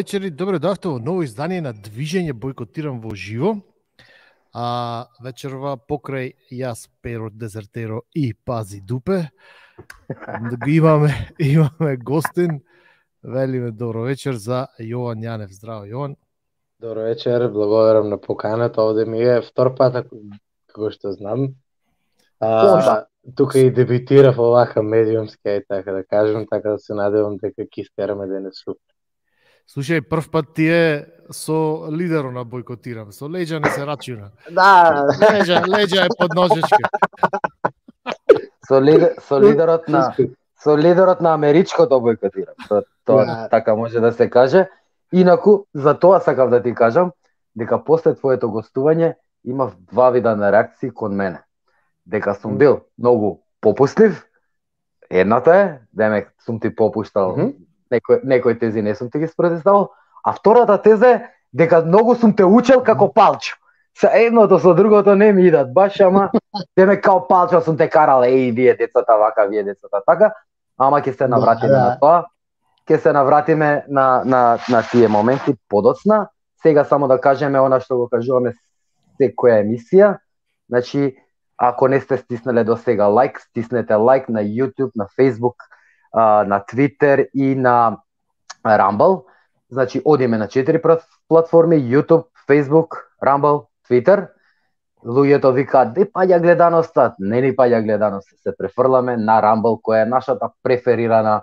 вечер и добро дојавте во ново издание на Движење Бойкотирам во живо. Вечерва покрај јас, Перо Дезертеро и Пази Дупе. Имаме гостин. Велиме добро вечер за Јован Јанев. Здраво, Јован. Добро вечер, благодарам на поканата. Овде ми е втор пат, како што знам. Тука и дебитирав овака медиумски, така да кажем, така да се надевам дека ќе стераме денес супер. Слушај, прв пат ти е со лидерот на Бойкотирам, со леđa не се рачуна. Да. Леđa е под ножичка. Со лидерот на америчкото Бойкотирам. Тоа така може да се каже. Инаку, за тоа сакав да ти кажам, дека после твоето гостување имав два вида на реакции кон мене. Дека сум бил многу попуслив, едната е, демек сум ти попуштал, некои тези не сум ти ги спротестувал, а втората теза е дека многу сум те учел како Палчо. Со едното со другото не ми идат баш, ама демек као Палчо сум те карал, вие децата вака, вие децата така, ама ќе се навратиме на тоа. Ќе се навратиме на тие моменти подоцна. Сега само да кажеме она што го кажуваме секоја емисија. Значи, ако не сте стиснеле до сега лайк, стиснете лайк на YouTube, на Facebook, на Twitter и на Rumble. Значи, одиме на 4 платформи: YouTube, Facebook, Rumble, Twitter. Луѓето викаат, де паѓа гледаноста? Не ни паѓа гледаноста. Се префрламе на Rumble, која е нашата преферирана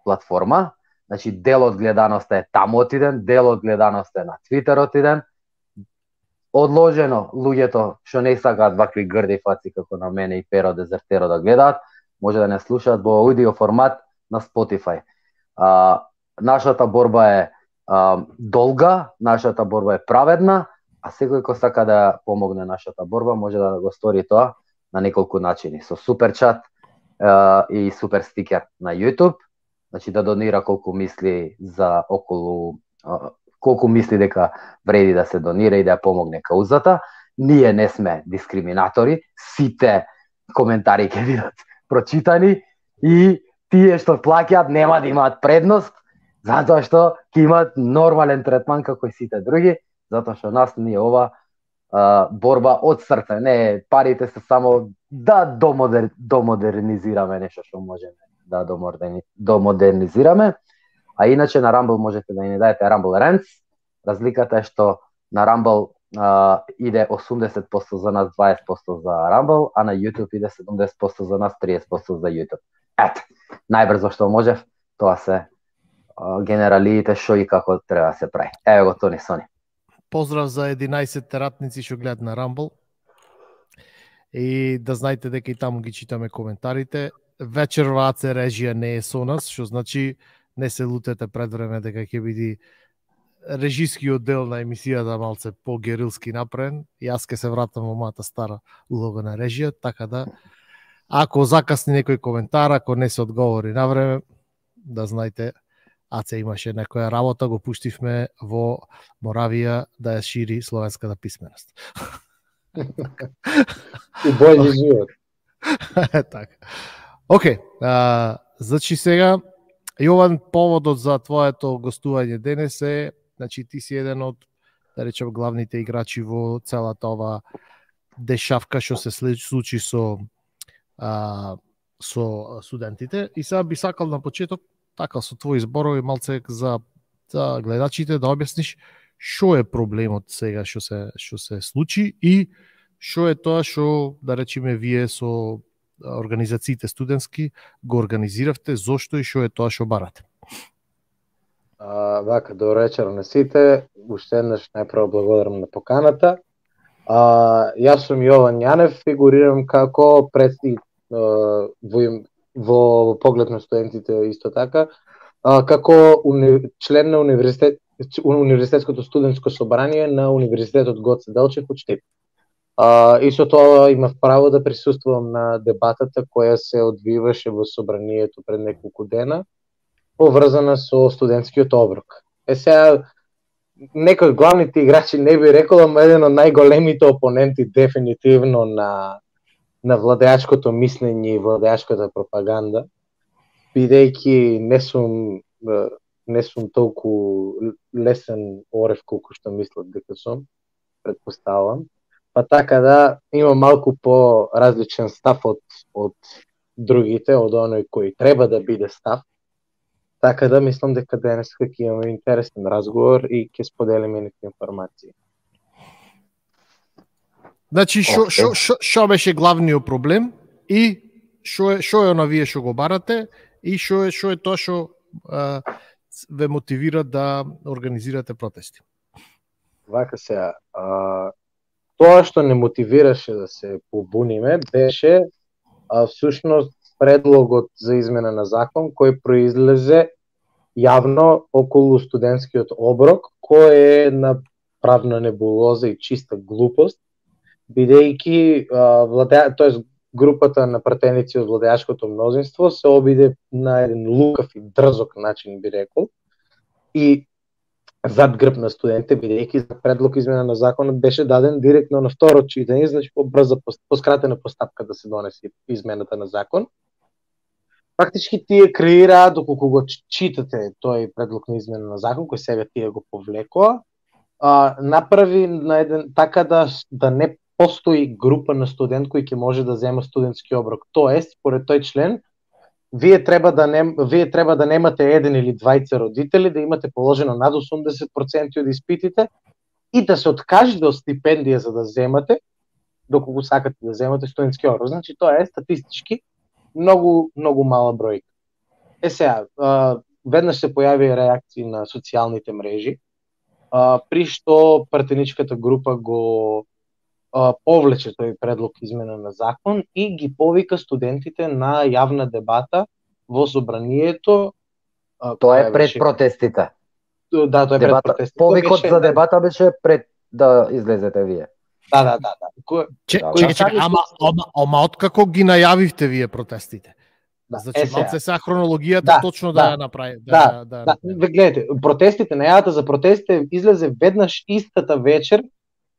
платформа. Значи, дел од гледаноста е таму отиден, дел од гледаноста е на Twitter отиден. Одложено, луѓето што не сакаат вакви грди фаци како на мене и Перо Дезертеро да гледаат, може да не слушаат во аудио формат на Spotify. Нашата борба е долга, нашата борба е праведна, а секој кој сака да помогне нашата борба може да го стори тоа на неколку начини. Со супер чат и супер стикер на YouTube, значи да донира колку мисли за колку мисли дека вреди да се донира и да ја помогне каузата. Ние не сме дискриминатори, сите коментари ќе бидат прочитани и тие што плаќаат нема да имаат предност, затоа што ќе имаат нормален третман како и сите други, затоа што нас ни е ова борба од срце. Не, парите се само да домодернизираме нешто што можеме да домодернизираме. А иначе на Rumble можете да ни дадете Rumble Rants. Разликата е што на Rumble иде 80% за нас, 20% за Rumble, а на YouTube иде 70% за нас, 30% за YouTube. Ето, најбрзо што можев, тоа се генералиите што и како треба да се прави. Ево го Тони Сони. Поздрав за 11 ратници што гледат на Rumble. И да знаете дека и таму ги читаме коментарите. Вечерва АЦ режија не е со нас, што значи не се лутете пред време дека ќе биде режискиот дел на емисијата малце по-герилски направен. Јас ќе се вратам во мојата стара улога на режија, така да ако закасни некој коментар, ако не се одговори на време, да знаете, АЦ имаше некоја работа, го пуштивме во Моравија да ја шири словенската писменост. И бољи живот. Така. Океј, значи сега, Јован, поводот за твоето гостување денес е, значи ти си еден од, да речем, главните играчи во целата ова дешавка што се случи со студентите. И сега би сакал на почеток, така со твои зборови, малце за гледачите да објасниш што е проблемот сега што се случи и што е тоа што, да речеме, вие со организациите студентски го организиравте, зошто и што е тоа што барате? Вака, добро вечер на сите. Уште еднаш најпрво благодарам на поканата. Јас сум Јован Јанев, фигурирам како председник во поглед на студентите исто така, како член на Универзитетското студентско собрание на Универзитетот Гоце Делчев од Штип. И со тоа имав право да присуствувам на дебатата која се одвиваше во собранието пред неколку дена, поврзана со студентскиот оброк. Сега, некој од главните играчи не би рекол, ама еден од најголемите опоненти дефинитивно на владеачкото мислење и владеачката пропаганда, бидејќи не сум не сум толку лесен орев колку што мислат дека сум, предпоставам. Па така да има малку по различен став од другите, од оној кој треба да биде став. Така да мислам дека денес ќе имаме интересен разговор и ќе споделиме некои информации. Значи што беше главниот проблем и што е она вие што го барате и што е тоа што ве мотивира да организирате протести? Вака сега, тоа што не мотивираше да се побуниме беше всушност предлогот за измена на закон кој произлезе јавно околу студентскиот оброк, кој е една правна небулоза и чиста глупост, бидејќи тоест групата на пратеници од владеачкото мнозинство се обиде на еден лукав и дрзок начин, би рекол, и зад грб на студентите, бидејќи предлог измена на законот беше даден директно на второ читање, значи по скратена постапка да се донесе измената на закон. Фактички тие креираа, доколку го читате тој предлог на измена на закон, кој сега тие го повлекоа, направи на еден така да не постои група на студент кој ќе може да зема студентски оброк. Тоест, според тој член, вие треба да немате еден или двајца родители, да имате положено над 80% од испитите и да се откажете од стипендија за да земате, доколку сакате да земате студентски оброк. Значи, тоа е статистички многу мала бројка. Сега, веднаш се појави реакции на социјалните мрежи, при што пратеничката група го повлече тој предлог измена на закон и ги повика студентите на јавна дебата во собранието. Тоа е пред протестите. Да, тоа е пред протестите. Повикот за дебата беше пред да излезете вие. Да. Чекај, ама откако ги најавивте вие протестите? Значи, малце сега хронологијата точно да ја направи. Гледате, протестите, најавата за протестите излезе веднаш истата вечер,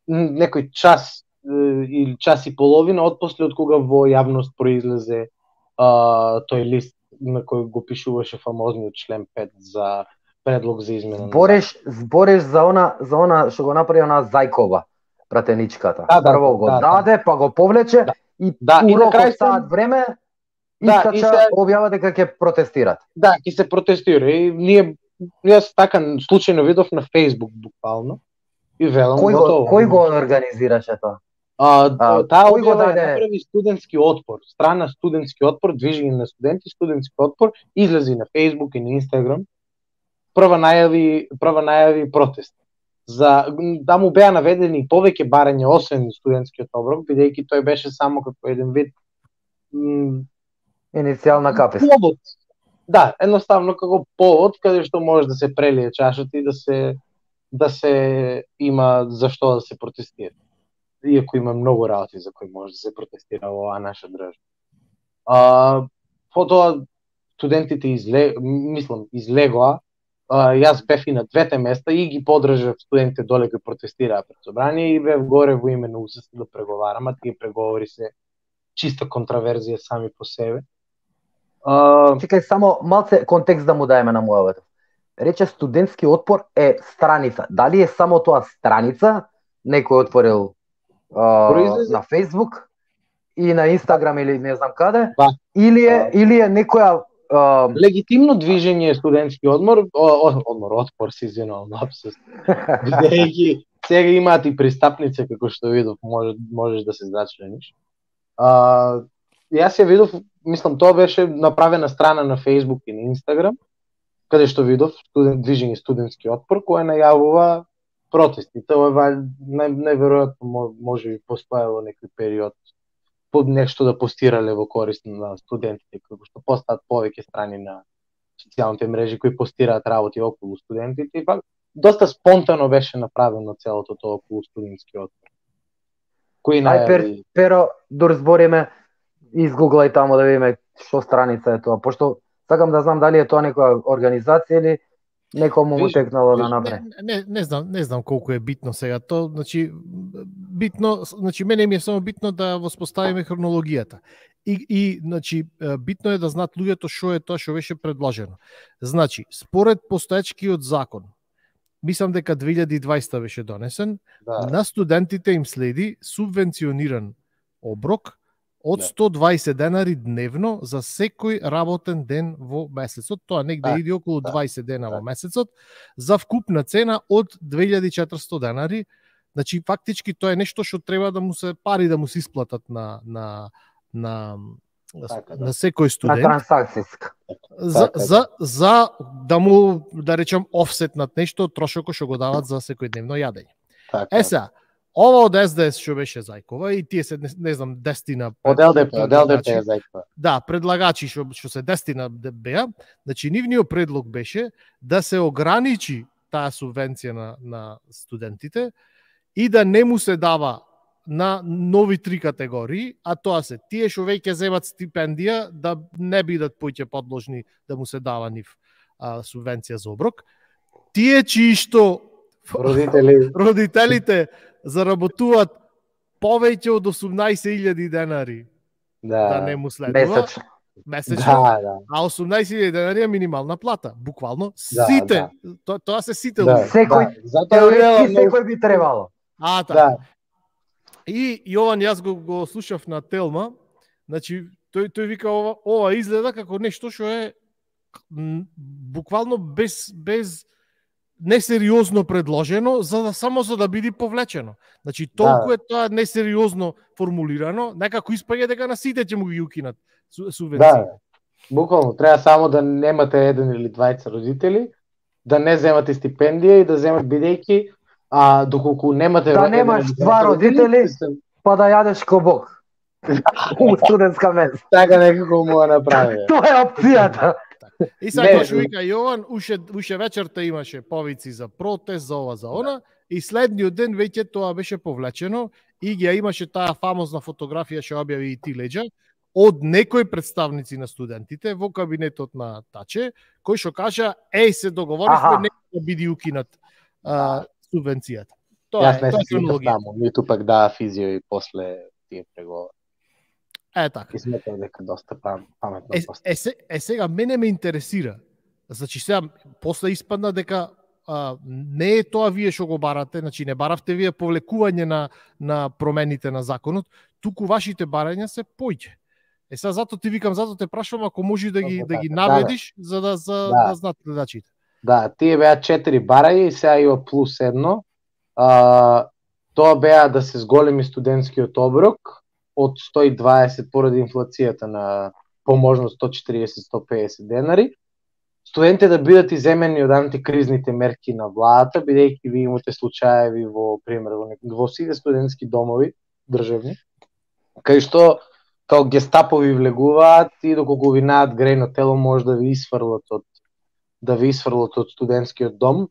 некој час или час и половина отпосле од кога во јавност произлезе тој лист на кој го пишуваше фамозниот член 5 за предлог за измена. Збориш за она што го направи она Зајкова, пратеничката. Прво го даде, па го повлече и урок од саат време искача објава дека ќе протестират. Да, ќе се протестира. И јас така случајно видов на Facebook буквално и велам кој го организираше тоа? Таа објава направи студентски отпор, страна студентски отпор, движење на студенти, студентски отпор, излези на Facebook и на Instagram. Прва најави протест. Да му беа наведени повеќе барања освен студентскиот оброк, бидејќи тој беше само како еден вид иницијална капест. Повод. Да, едноставно како повод каде што може да се прелие чашата и да се има за што да се протестира. Иако има многу работи за кои може да се протестира во оваа наша држава. Потоа студентите излегоа. Јас бев и на двете места и ги подржав студентите доле кои протестираа пред собрание и бев горе во име на УСС да преговарам, а тие преговори се чиста контраверзија сами по себе. Чекај, само малце контекст да му даеме на муавето. Рече студентски отпор е страница. Дали е само тоа страница, некој отворил на Facebook и на Instagram или не знам каде, или е некоја легитимно движење студентски отпор се извинувам, лапсус. Бидејќи сега имаат и пристапница како што видов, можеш да се зачлениш. Јас ја видов, мислам тоа беше направена страна на Facebook и на Instagram, каде што видов движење студентски отпор кој најавува протести. Тоа најверојатно може би постоело некој период под нешто да постирале во корист на студентите, како што постаат повеќе страни на социјалните мрежи кои постираат работи околу студентите. Доста спонтано беше направено целото тоа околу студентски отпор. Ај, Перо, збориме, изгуглај таму да видиме што страница е тоа, пошто сакам да знам дали е тоа некоја организација или некому му текнало да направи. Не знам колку е битно сега тоа, значи мене ми е само битно да воспоставиме хронологијата. И значи битно е да знаат луѓето што е тоа што беше предложено. Значи, според постоечкиот закон, мислам дека 2020 беше донесен, на студентите им следи субвенциониран оброк од 120 денари дневно за секој работен ден во месецот. Тоа негде иде околу 20 дена во месецот, за вкупна цена од 2400 денари. Значи, фактички тоа е нешто што треба да му се пари да му се исплатат на секој студент. На трансакцијска. За да му, да речем, офсетнат нешто од трошокот што го дават за секојдневно јадење. Сега, ова од СДС што беше Зајкова и тие се не знам 10 од ЛДП е Зајкова. Да, предлагачи што се 10 беа, значи нивниот предлог беше да се ограничи таа субвенција на студентите и да не му се дава на нови 3 категории, а тоа се тие што веќе земат стипендија да не бидат поќе подложни да му се дава нив субвенција за оброк. Тие чии што родителите заработуваат повеќе од 18.000 денари да не му следува. Месечно. А 18.000 денари е минимална плата. Буквално сите. Тоа се сите. Секој би требало. И Јован, јас го слушав на Телма, значи тој вика ова изгледа како нешто што е буквално без несериозно предложено само за да биде повлечено. Значи толку е тоа несериозно формулирано, некако испаѓа дека на сите ќе му ги укинат субвенции. Буквално треба само да немате еден или двајца родители, да не земате стипендија и да земат бидејќи доколку немате немаш два родители, па да јадеш кобок. У студентска менса. Така некако му ја направи. Тоа е опцијата. И сега што вика Јован, уште вечерта имаше повици за протест, за ова, за она, и следниот ден веќе тоа беше повлечено и ги имаше таа фамозна фотографија што објави и ти Леđa од некои представници на студентите во кабинетот на Таче, кој што кажа, се договоривме нека да биде укинат субвенцијата. Јас не се таму, ниту пак даа физио и после тие преговори. Така. И сметам дека доста паметно. Сега мене ме интересира. Значи сега после испадна дека не е тоа вие што го барате, значи не баравте вие повлекување на промените на законот, туку вашите барања се поќе. Сега зато ти викам, зато те прашувам ако можеш да ги наведиш за да знаат гледачите. Да, тие беа 4 барања и сега има плюс едно. Тоа беа да се зголеми студентскиот оброк од 120 поради инфлацијата на поможно 140-150 денари. Студентите да бидат иземени од антикризните мерки на владата, бидејќи ви имате случаеви во пример во сите студентски домови државни, кај што као гестапови влегуваат и доколку ви најдат грејно тело може да ви исфрлат од студентскиот дом.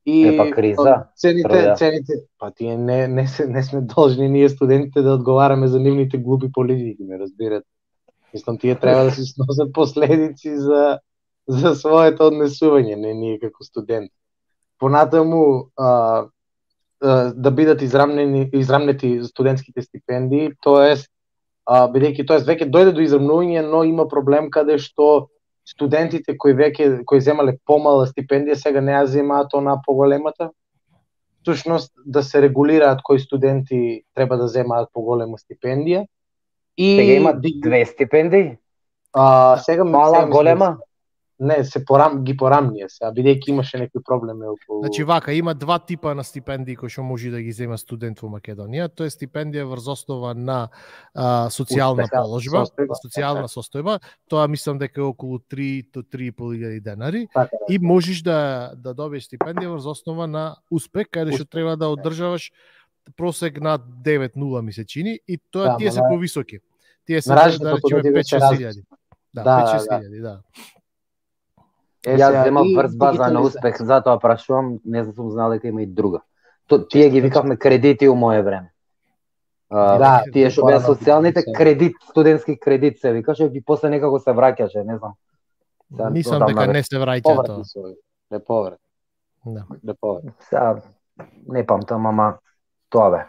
И криза. Цените, па тие не сме должни ние студентите да одговараме за нивните глупи политики, ме разбирате. Мислам, тие треба да се сносат последици за своето однесување, не ние како студенти. Понатаму да бидат израмнети студентските стипендии, тоест веќе дојде до израмнување, но има проблем каде што студентите кои земале помала стипендија сега не ја земаат она поголемата. Всушност да се регулираат кои студенти треба да земаат поголема стипендија. И сега има 2 стипендии? Сега мала, голема? Не, ги порамнија се, бидејќи имаше некои проблеми околу. Значи вака, има 2 типа на стипендии кои што може да ги зема студент во Македонија. Тоа е стипендија врз основа на социјална положба, социјална состојба. Тоа мислам дека е околу 3 до 3.500 денари. И можеш да добиеш стипендија врз основа на успех, каде што треба да одржаваш просек над 9.0 месечини и тоа тие се повисоки. Тие се да речеме 5-6 Да, 5-6 да. Јас земав врз база на успех, затоа прашувам, не сум знал дека има и друга. Тие ги викавме кредити у мое време. Тие што беа социјалните кредит, студентски кредит се викаше и после некако се враќаше, не знам. Мислам дека не се враќа тоа. Неповрат. Сега не памтам, ама тоа бе.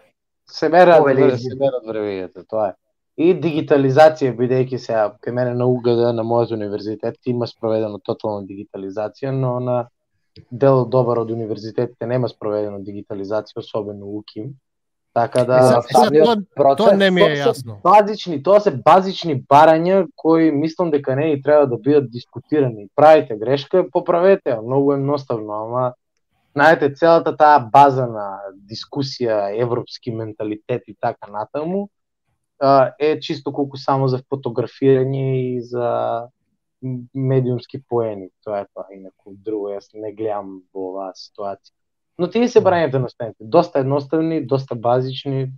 Се мерат времењата, тоа е. И дигитализација, бидејќи сега кај мене на УГД, на мојот универзитет, има спроведено тотална дигитализација, но на дел добар од универзитетите нема спроведено дигитализација, особено УКИМ. Така да тоа не ми е јасно. Тоа се базични барања кои мислам дека не и треба да бидат дискутирани. Правите грешка, поправете ја, многу едноставно, ама знаете, целата таа база на дискусија, европски менталитет и така натаму е чисто колку само за фотографирање и за медиумски поени. Тоа е тоа, инаку друго јас не гледам во оваа ситуација. Но тие се барањата на стените, доста едноставни, доста базични.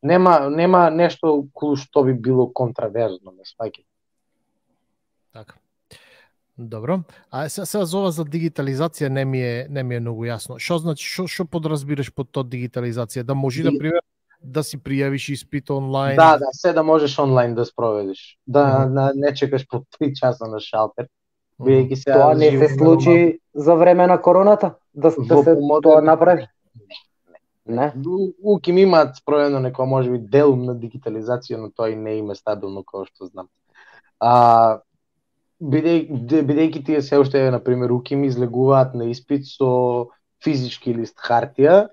Нема нешто кој што би било контраверзно, ме сваќате. Така. Добро. А сега за ова за дигитализација не ми е многу јасно. Што значи, што подразбираш под тоа дигитализација? Да може да пример да си пријавиш испит онлайн? Да, се да можеш онлайн да спроведиш. Да не чекаш по 3 часа на шалтер. Тоа не се случи за време на короната? Да се тоа направи? Не. УКИМ имаат спроведено некоја можеби делум на дигитализација, но тоа и не има стабилно како што знам. Бидејќи тие се уште, например, УКИМ излегуваат на испит со физички лист хартија,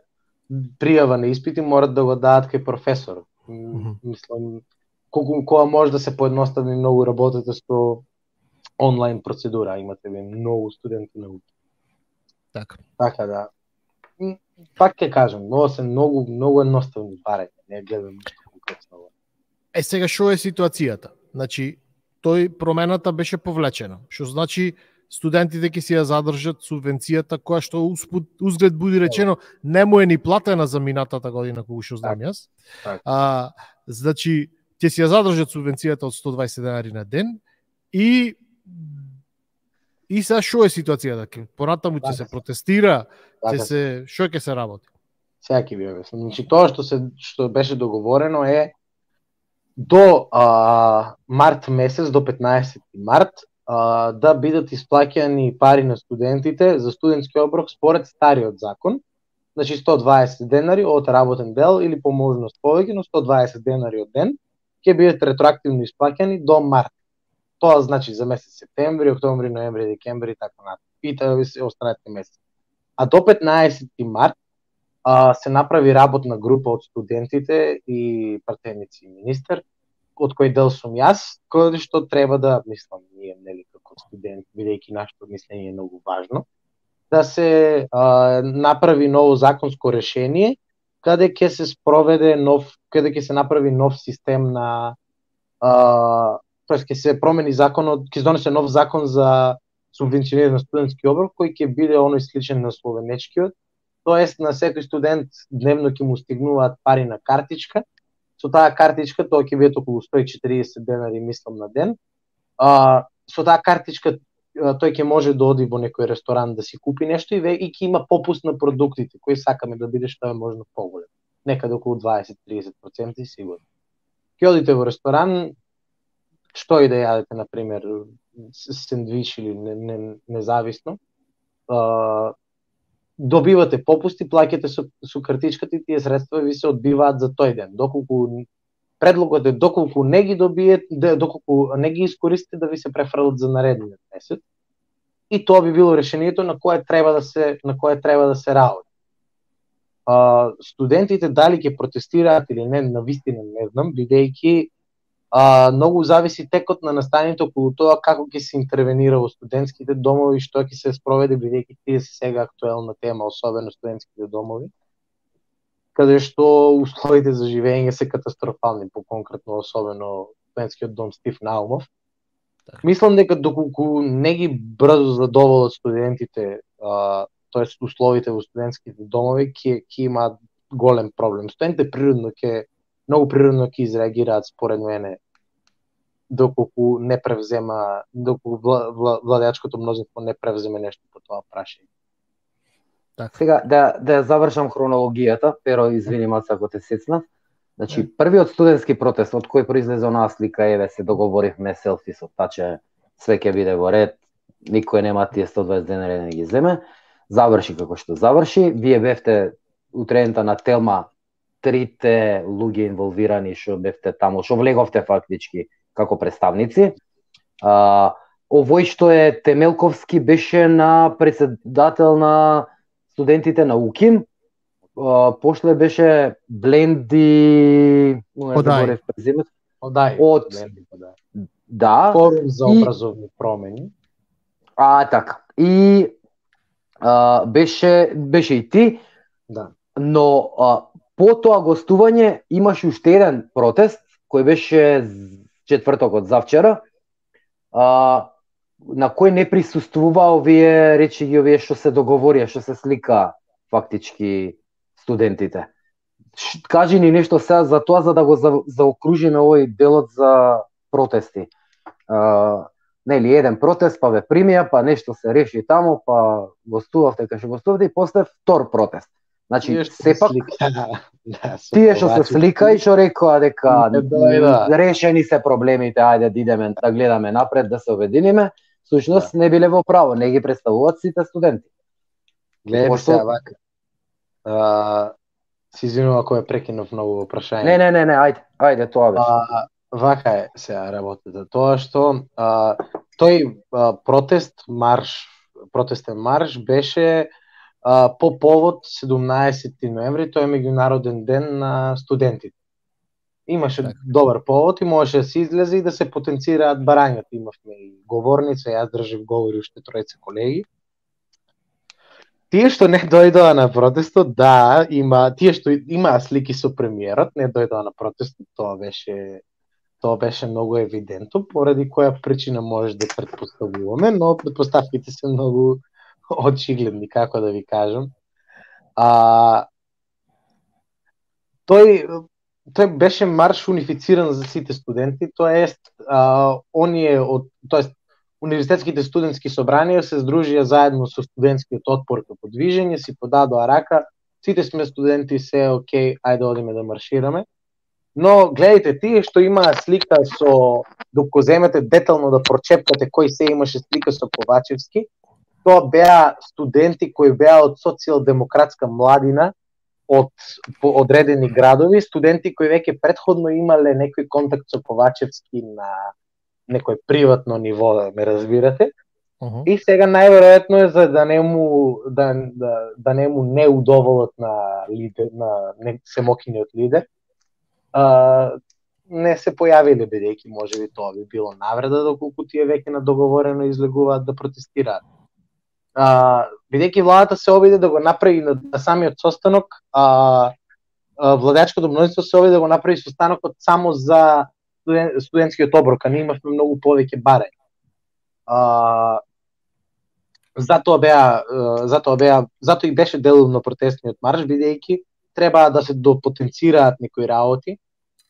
пријава на испити морат да го дадат кај професор. Мислам, кога може да се поедностави многу работата со онлайн процедура, имате многу студенти на УКИМ. Така да. Пак ќе кажам, но се многу едноставни барања, не гледам ништо конкретно. Сега што е ситуацијата? Значи, промената беше повлечена, што значи студентите ќе си ја задржат субвенцијата која што узглед буди речено не му е ни платена за минатата година кога што знам јас. Значи ќе си ја задржат субвенцијата од 120 денари на ден и сега што е ситуацијата? Понатаму ќе се протестира, што ќе се работи? Сега ќе ви објаснам. Значи тоа што беше договорено е до март месец, до 15 март, да бидат исплаќани пари на студентите за студентски оброк според стариот закон. Значи 120 денари од работен дел или по можност повеќе, но 120 денари од ден ќе бидат ретроактивно исплаќани до март. Тоа значи за месец септември, октомври, ноември, декември и така натаму. И тоа се останатите месеци. А до 15 март се направи работна група од студентите и пратеници и министер, од кој дел сум јас, кој што треба да, мислам, ние, нели, како студент, бидејќи нашето мислење е многу важно, да се направи ново законско решение, каде ќе се спроведе каде ќе се направи нов систем на ќе се промени законот, ќе се донесе нов закон за субвенционирање на студентски оброк, кој ќе биде оној сличен на словенечкиот. Тоест на секој студент дневно ќе му стигнуваат пари на картичка. Со таа картичка тоа ќе биде околу 140 денари, мислам, на ден. Со таа картичка тој ќе може да оди во некој ресторан да си купи нешто и ќе има попуст на продуктите, кои сакаме да биде што е можно поголем. Некаде околу 20-30% сигурно. Ќе одите во ресторан, што и да јадете, например, сендвич или независно, добивате попусти, плаќате со картичката и тие средства ви се одбиваат за тој ден. Предлогот е доколку не ги добиете, доколку не ги искористите да ви се префрлат за наредниот месец. И тоа би било решението на кое треба да се работи. Студентите дали ќе протестираат или не, навистина не знам, бидејќи многу зависи текот на настаните околу тоа како ќе се интервенира во студентските домови, што ќе се спроведе, бидејќи тие се сега актуелна тема, особено студентските домови, каде што условите за живење се катастрофални, по-конкретно особено студентскиот дом Стив Наумов. Мислам дека доколку не ги брзо задоволат студентите, тоест условите во студентските домови, ќе имаат голем проблем. Студентите многу природно ќе изреагираат според мене доколку владеачкото мнозинство не превземе нешто по тоа прашање. Сега да завршам хронологијата, Перо, извини маца ако те сецнав. Значи првиот студентски протест од кој произлезе онаа слика, еве се договоривме селфи со таче, све ќе биде во ред, никој нема тие 120 денари да ги земе. Заврши како што заврши. Вие бевте утредента на Телма трите луѓе инволвирани што бевте таму, што влеговте фактички како представници. Овој што е Темелковски беше на председател на студентите на УКИМ, пошле беше Бленди, Одај. Од да, Форум за образовни промени. Така. И беше и ти. Да. Но по тоа гостување имаше уште еден протест кој беше четвртокот завчера, на кој не присуствува овие што се договорија, што се слика фактички студентите. Кажи ни нешто сега за тоа, за да го заокружиме овој делот за протести. Нели, еден протест, па ве примија, па нешто се реши таму, па гостувавте кај што гостувавте и после втор протест. Значи, сепак, тие што се слика и што рекоа дека решени се проблемите, ајде да идеме да гледаме напред, да се обединиме, всушност не биле во право, не ги представуваат сите студенти. Гледате сега вака. Си извинувам ако ме прекинав многу во прашање. Не, ајде, тоа беше. Вака е сега работата. Тоа што тој протестен марш беше по повод 17 ноември, тој е меѓународен ден на студентите. Имаше добар повод и можеше да се излезе и да се потенцираат барањата. Имавме и говорница, јас држав говори уште тројца колеги. Тие што не дојдоа на протестот, да, тие што имаа слики со премиерот, не дојдоа на протестот, тоа беше многу евидентно, поради која причина може да претпоставуваме, но претпоставките се многу очигледни, како да ви кажам. Тој беше марш унифициран за сите студенти, тоест универзитетските студентски собранија се здружија заедно со студентскиот отпор како движење, си подадоа рака, сите сме студенти, се окей, ајде одиме да маршираме. Но гледайте, тие што имаа слика со, докато земете детално да прочепкате кој се имаше слика со Ковачевски, тоа беа студенти кои беа од социјалдемократска младина, од одредени градови, студенти кои веќе претходно имале некој контакт со Ковачевски на некој приватно ниво, да ме разбирате. И сега најверојатно е за да не му не удоволат на семокиниот лидер, не се појавиле, бидејќи можеби тоа би било навреда, доколку тие веќе на договорено излегуваат да протестираат. Бидејќи владата се обиде да го направи на самиот состанок, владеачкото мнозинство се обиде да го направи состанокот само за студентскиот оброк, а ние имавме многу повеќе барања. Затоа и беше деловно протестниот марш, бидејќи треба да се допотенцираат некои работи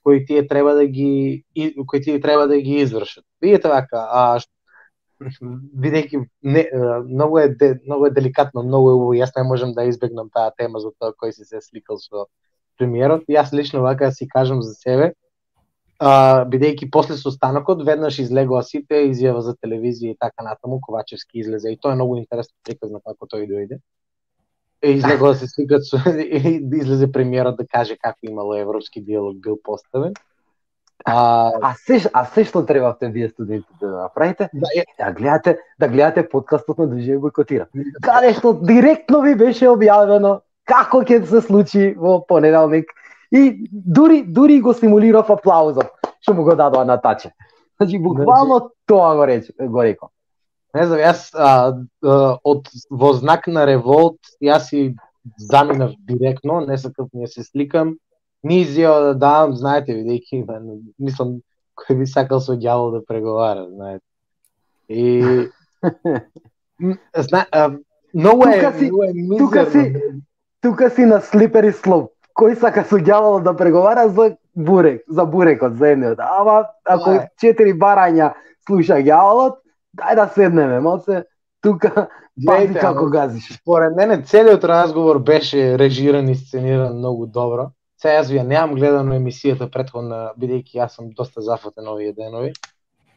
кои тие треба да ги извршат. Видите вака, бидејќи многу е деликатно, многу е убаво, јас не можам да избегнам таа тема за тоа кој се сликал со премиерот. Јас лично вака си кажам за себе, бидејќи после состанокот веднаш излегоа сите изјава за телевизија и така натаму, Ковачевски излезе и тоа е многу интересно приказно како тој дојде. Излегоа да се сликат излезе премиерот да каже како имало европски диалог бил поставен. Се што требавте вие студентите да направите, да гледате подкастот на Движење бойкотира. Каде што директно ви беше објавено како ќе се случи во понеделник и дури го симулирав аплаузот што му го дадоа на таче. Значи буквално тоа го рекол. Не знам, јас во знак на револт јас си заминав директно, не сакав не се сликам. Ни изјава да давам, знаете, бидејќи мислам кој би сакал со ѓавол да преговара, знаете. И многу е мизерно. Тука си на слипери слоп. Кој сака со ѓавол да преговара за бурекот, за едниот. Ама ако 4 барања слуша ѓаволот, дај да седнеме, малце тука пази како газиш. Според мене целиот разговор беше режиран и сцениран многу добро. Сега јас немам гледано емисијата претходна, бидејќи јас сум доста зафатен овие денови,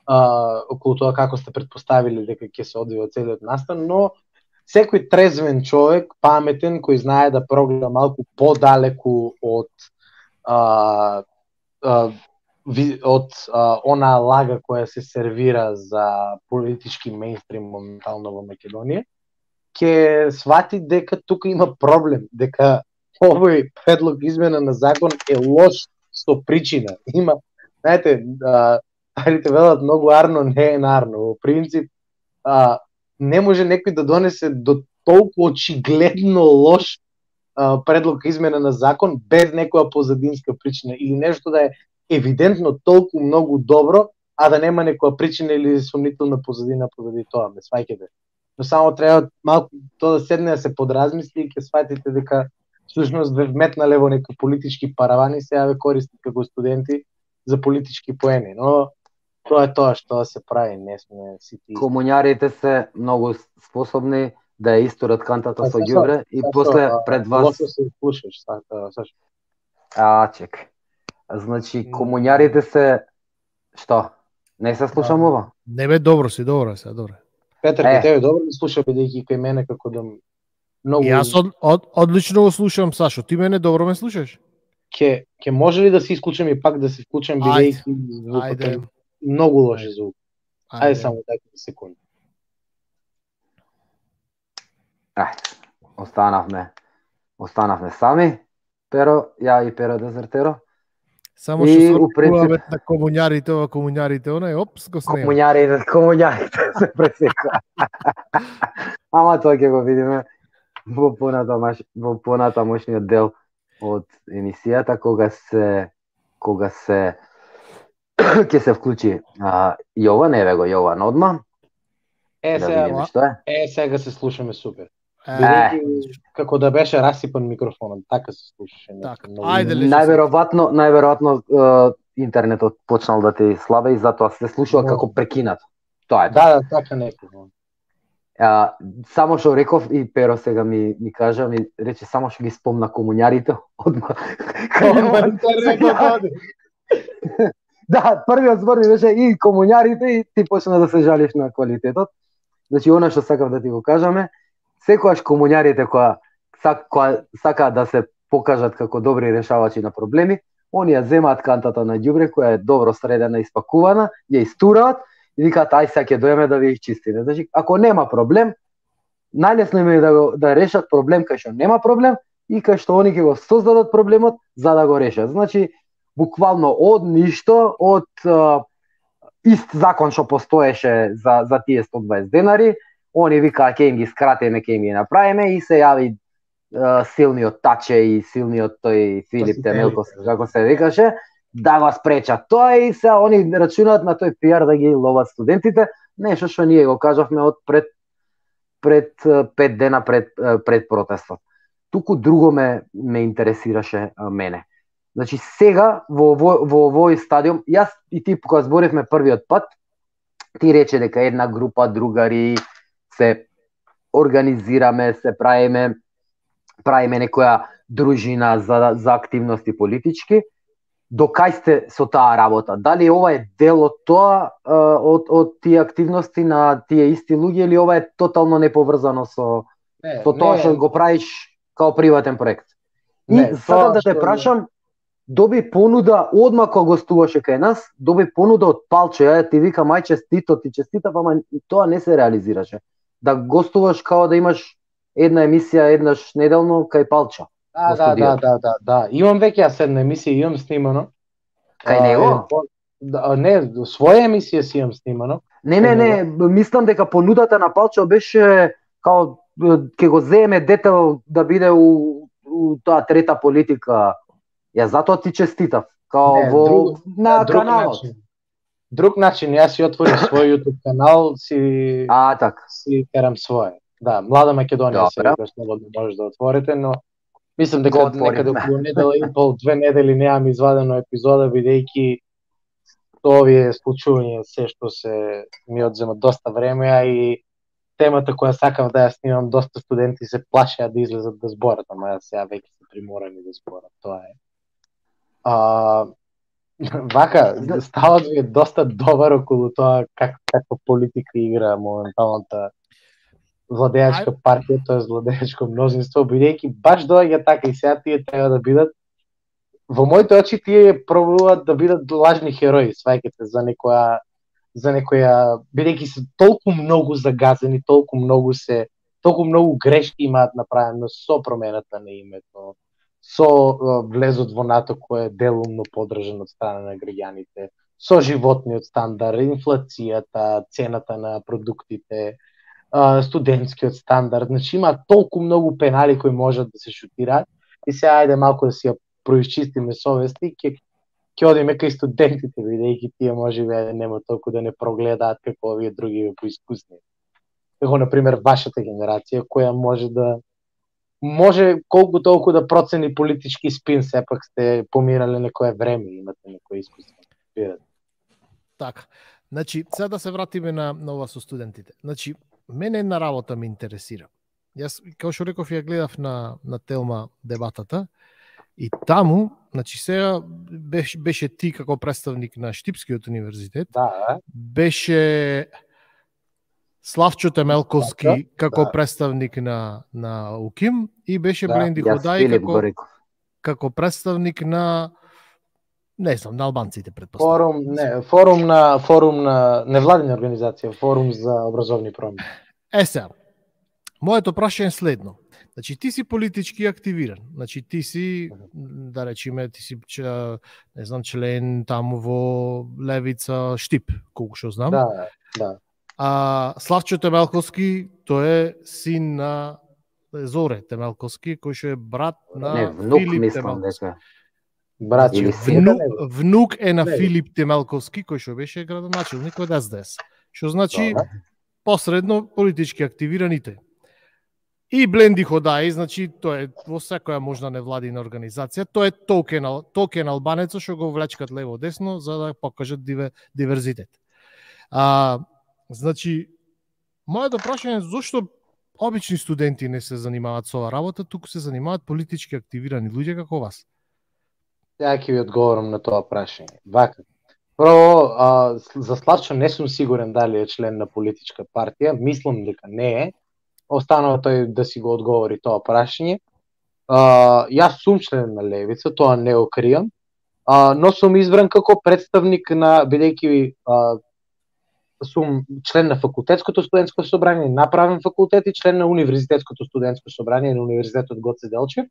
околу тоа како сте претпоставили дека ќе се одвива целиот настан, но секој трезвен човек, паметен, кој знае да прогледа малку подалеку од од она лага која се сервира за политички мејнстрим моментално во Македонија, ќе свати дека тука има проблем, дека овој предлог измена на закон е лош со причина. Има, знаете, старите велат многу арно не е нарно. Во принцип, не може некој да донесе до толку очигледно лош предлог измена на закон без некоја позадинска причина или нешто да е евидентно толку многу добро, а да нема некоја причина или сомнителна позадина позади тоа, ме сваќате. Но само треба малку тоа да седне да се подразмисли и ќе сватите дека всушност ве вметнале во некои политички паравани, сега ве користат како студенти за политички поени, но тоа е тоа што се прави, не сме сите. Комуњарите се многу способни да ја исторат кантата со ѓубре и после пред вас. Лошо се слушаш, Сашо. Чек. Значи комуњарите се што? Не се слушам ова? Не бе, добро си, добро. Петар, кај тебе добро да слуша бидејќи кај мене како да многу. Јас одлично го слушам, Сашо. Ти мене добро ме слушаш? Ќе може ли да се исклучам и пак да се вклучам бидејќи звукот е многу лош звук. Ајде само дайте секунда. Останавме сами. Перо, ја и Перо Дезертеро. Само што се опреципуваме на комуњарите, онај, опс, го снема. Комуњарите се пресека. Ама тоа ќе го видиме во понатамошниот дел од емисијата, кога се ќе се вклучи Јован, еве го Јован одма. Сега се слушаме супер. Како да беше расипан микрофонот, така се слушаше. Најверојатно интернетот почнал да ти слабе и затоа се слушува како прекинат. Тоа е. Да, така некако. Само што реков и Перо сега ми кажа, ми рече само што ги спомна комуњарите одма. Да, првиот збор ми беше и комуњарите и ти почна да се жалиш на квалитетот. Значи, она што сакав да ти го кажаме, секогаш комуњарите која сакаат да се покажат како добри решавачи на проблеми, они ја земаат кантата на ѓубре која е добро средена и испакувана, ја истураат и викаат ај сега ќе доеме да ви изчистиме. Значи, ако нема проблем, најлесно им е да решат проблем кај што нема проблем и кај што они ќе го создадат проблемот за да го решат. Значи, буквално од ништо, од ист закон што постоеше за тие 120 денари, они викаа ќе им ги скратиме, ќе им ги направиме и се јави силниот Таче и силниот тој Филип Темелко, како се викаше, да го спречат тоа и се они рачунаат на тој пиар да ги ловат студентите, нешто што ние го кажавме од пред 5 дена пред протестот. Туку друго ме интересираше мене. Значи сега во овој стадиум, јас и ти кога зборивме првиот пат, ти рече дека една група другари се организираме, се правиме некоја дружина за активности политички. До кај сте со таа работа? Дали ова е дел од тоа, од тие активности на тие исти луѓе, или ова е тотално неповрзано со тоа што го правиш као приватен проект? И сакам да те прашам, доби понуда одма кога гостуваше кај нас, доби понуда од Палчо, ја ти викам ај честито, ти честитав, ама тоа не се реализираше. Да гостуваш као да имаш една емисија еднаш неделно кај Палчо. Да. Имам веќе јас една емисија, имам снимано. Кај него? Не, своја емисија си имам снимано. Не, мислам дека понудата на Палчо беше као ќе го земе дете да биде у таа трета политика. Ја затоа ти честитав, као на каналот. Друг начин, јас си отворив свој YouTube канал, си терам своје. Да, Млада Македонија се вика, слободно може да отворите, но мислам дека некаде околу недела и пол, 2 недели немам извадено епизода, бидејќи овие случувања се што се ми одзема доста време, а и темата која сакав да ја снимам, доста студенти се плашеа да излезат да зборат, ама јас сега веќе се приморани да зборат, тоа е. Вака, ставот ви е доста добар околу тоа каква политика игра моменталната владеачка партија, тоа е владеачко мнозинство, бидејќи баш доаѓа така и сега тие треба да бидат во моите очи тие пробуваат да бидат лажни херои, сваќате за некоја бидејќи се толку многу загазени, толку многу грешки имаат направено со промената на името, со влезот во НАТО кој е делумно поддржан од страна на граѓаните, со животниот стандард, инфлацијата, цената на продуктите, студентскиот стандард. Значи има толку многу пенали кои можат да се шутираат и сега ајде малку да си ја происчистиме совести, ќе одиме кај студентите, бидејќи тие можеби нема толку да не прогледаат како овие други поискусни. Како на пример вашата генерација која може колку толку да процени политички спин, сепак сте помирале некое време, имате некој искуство. Така. Значи, сега да се вратиме на ова со студентите. Значи, мене една работа ме интересира. Јас, како што реков, ја гледав на Телма дебатата и таму, значи сега беше ти како представник на Штипскиот универзитет, беше Славчо Темелковски како представник на УКИМ и беше Бленди Ходај како представник на не знам, на албанците предпоставувам. Форум на невладина организација, форум за образовни промени. Сега, моето прашање е следно. Значи ти си политички активиран. Значи ти си, да речеме, ти си не знам, член таму во Левица Штип, колку што знам. Да. Славчо Темелковски, тој е син на Зоре Темелковски, кој што е брат на Филип Темелковски. Внук е на Филип Темелковски, кој што беше градоначелник од СДС. Што значи посредно политички активираните. И Бленди Ходај, значи тој е во секоја можна невладина организација, тој е токен албанецо што го влечкат лево десно за да покажат диверзитет. Значи, моето прашање е зошто обични студенти не се занимаваат со оваа работа, туку се занимаваат политички активирани луѓе како вас? Ја ќе ви одговорам на тоа прашање. Вака. Прво, за Славчо не сум сигурен дали е член на политичка партија, мислам дека не е. Останува тој да си го одговори тоа прашање. Јас сум член на Левица, тоа не го кријам, но сум избран како представник на, бидејќи сум член на факултетското студентско собрание на правен факултет и член на универзитетското студентско собрание на Универзитетот Гоце Делчев.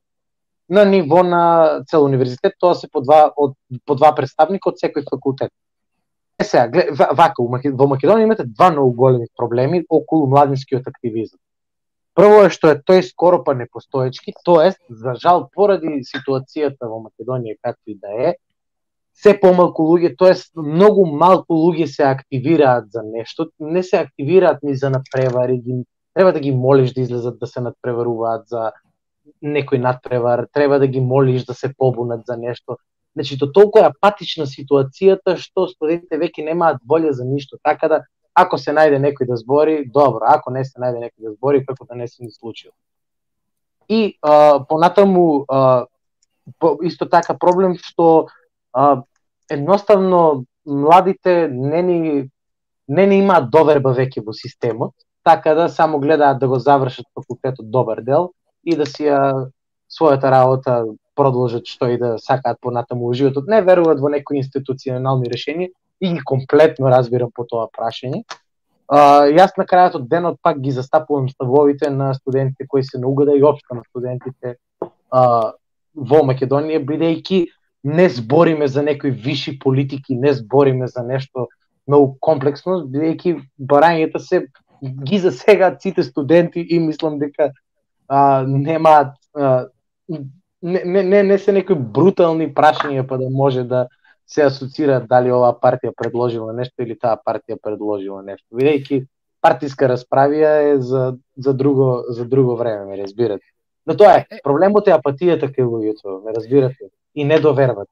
На ниво на цел универзитет, тоа се по два представника од секој факултет. Сега, вака, во Македонија имате два многу големи проблеми околу младинскиот активизам. Прво е што е тој скоро па непостоечки, тоест, за жал, поради ситуацијата во Македонија както и да е, се помалку луѓе, тоест многу малку луѓе се активираат за нешто, не се активираат ни за надпревари, треба да ги молиш да излезат да се надпреваруваат за некој надпревар, треба да ги молиш да се побунат за нешто. Значи, до толку е апатична ситуацијата што студентите веќе немаат волја за ништо, така да ако се најде некој да збори, добро, ако не се најде некој да збори, како да не се ни случило. И понатаму исто така проблем што едноставно младите не ни имаат доверба веќе во системот, така да само гледаат да го завршат факултетот добар дел и да си својата работа продолжат што и да сакаат понатаму во животот. Не веруваат во некои институционални решенија и ги комплетно разбирам по тоа прашање. Јас на крајот од денот пак ги застапувам ставовите на студентите кои се на угода и општо на студентите во Македонија, бидејќи не збориме за некои виши политики, не збориме за нешто многу комплексно, бидејќи барањата се ги засегаат сите студенти и мислам дека немаат не се некои брутални прашања па да може да се асоцираат дали оваа партија предложила нешто или таа партија предложила нешто. Бидејќи партиска расправија е за друго време, ме разбирате. Но тоа е, проблемот е апатијата кај луѓето, ме разбирате, и недовербата.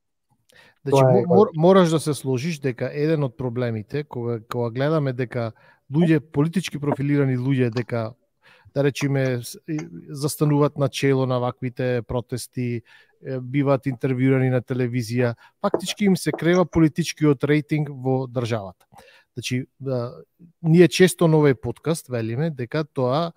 Значи, мораш да се сложиш дека еден од проблемите, кога гледаме дека луѓе, политички профилирани луѓе, дека да речеме застануваат на чело на ваквите протести, биваат интервјуирани на телевизија, фактички им се крева политичкиот рейтинг во државата. Значи, ние често на овој подкаст велиме дека тоа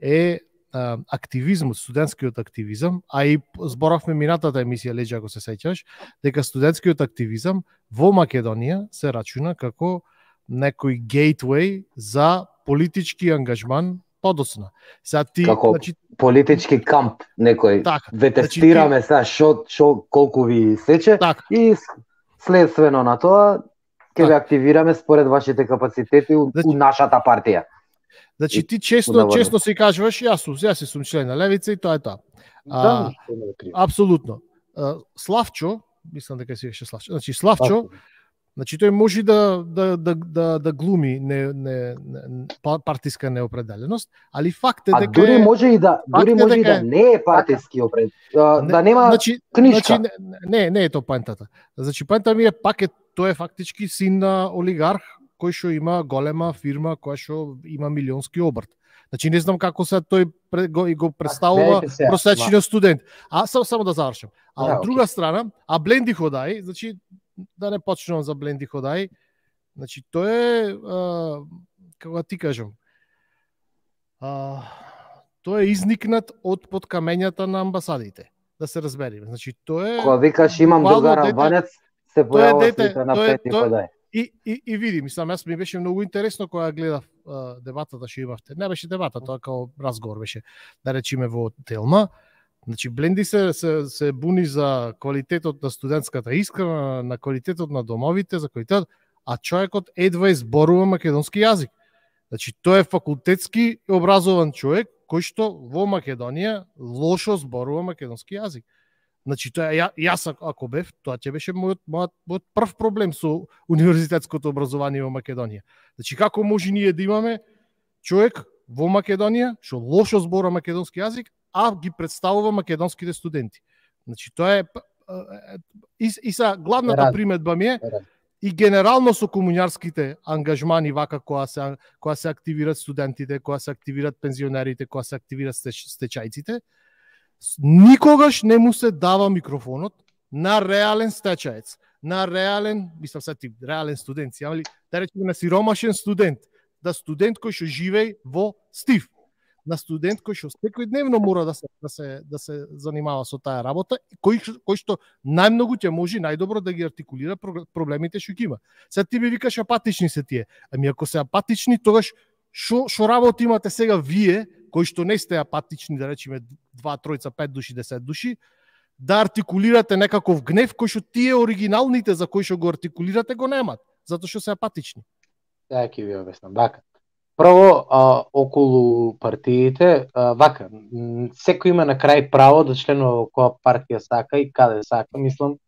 е активизмот, студентскиот активизам, а и зборавме минатата емисија Леџа, ако се сеќаш, дека студентскиот активизам во Македонија се рачуна како некој гейтвей за политички ангажман подоцна. Сега ти, како значи, политички камп некој. Така, ве тестираме сега шо колку ви сече и следствено на тоа ќе ве активираме според вашите капацитети у нашата партија. Значи ти често си кажуваш јас сум член на левица и тоа е тоа. Апсолутно. Славчо, мислам дека си беше Славчо. Значи Славчо, значи тој може да глуми партиска неопределеност, али факт е дека дури може и да не е партиски определен, да нема книжка. Значи не е тоа поентата. Значи поента ми е пак тој е фактички син на олигарх кој што има голема фирма која што има милионски обрт. Значи не знам како се тој го представува просечниот студент. Само да завршам. Од друга страна, Бленди Ходај, значи да не почнувам за Бленди Ходај, значи тој е како ти кажам, тој е изникнат од подкамењата на амбасадите, да се разбериме. Значи тој е кога викаш имам другар албанец, се појавува слика на Бленди Ходај. И види, мислам, јас ми беше многу интересно кога гледав дебатата што имавте. Не беше дебата, тоа како разговор беше, да речеме во Телма. Значи Бленди се буни за квалитетот на студентската искрана, на квалитетот на домовите, за квалитет, а човекот едва зборува македонски јазик. Значи тој е факултетски образован човек кој што во Македонија лошо зборува македонски јазик. Значи тоа јас ако бев, тоа ќе беше мојот прв проблем со универзитетското образование во Македонија. Значи како може ние да имаме човек во Македонија што лошо зборува македонски јазик, а ги представува македонските студенти. Значи тоа е и са главната приметба ми е и генерално со комуњарските ангажмани вака кога се активираат студентите, кога се активираат пензионерите, кога се активираат стечајците, никогаш не му се дава микрофонот на реален стечаец, на реален, мислам се тип, реален студент, али да речеме на сиромашен студент, да студент кој што живее во Стив, на студент кој што секојдневно мора да се занимава со таа работа, кој што најмногу ќе може најдобро да ги артикулира проблемите што ги има. Сега ти ми викаш апатични се тие. Ами ако се апатични, тогаш што работа имате сега вие, кои што не сте апатични, да речеме 2, 3, 5 души, 10 души, да артикулирате некаков гнев кој што тие оригиналните за кои што го артикулирате го немат, затоа што се апатични. Ја ќе ви обяснам. Вака. Прво, околу партиите, вака, секој има на крај право да членува во која партија сака и каде сака, мислам.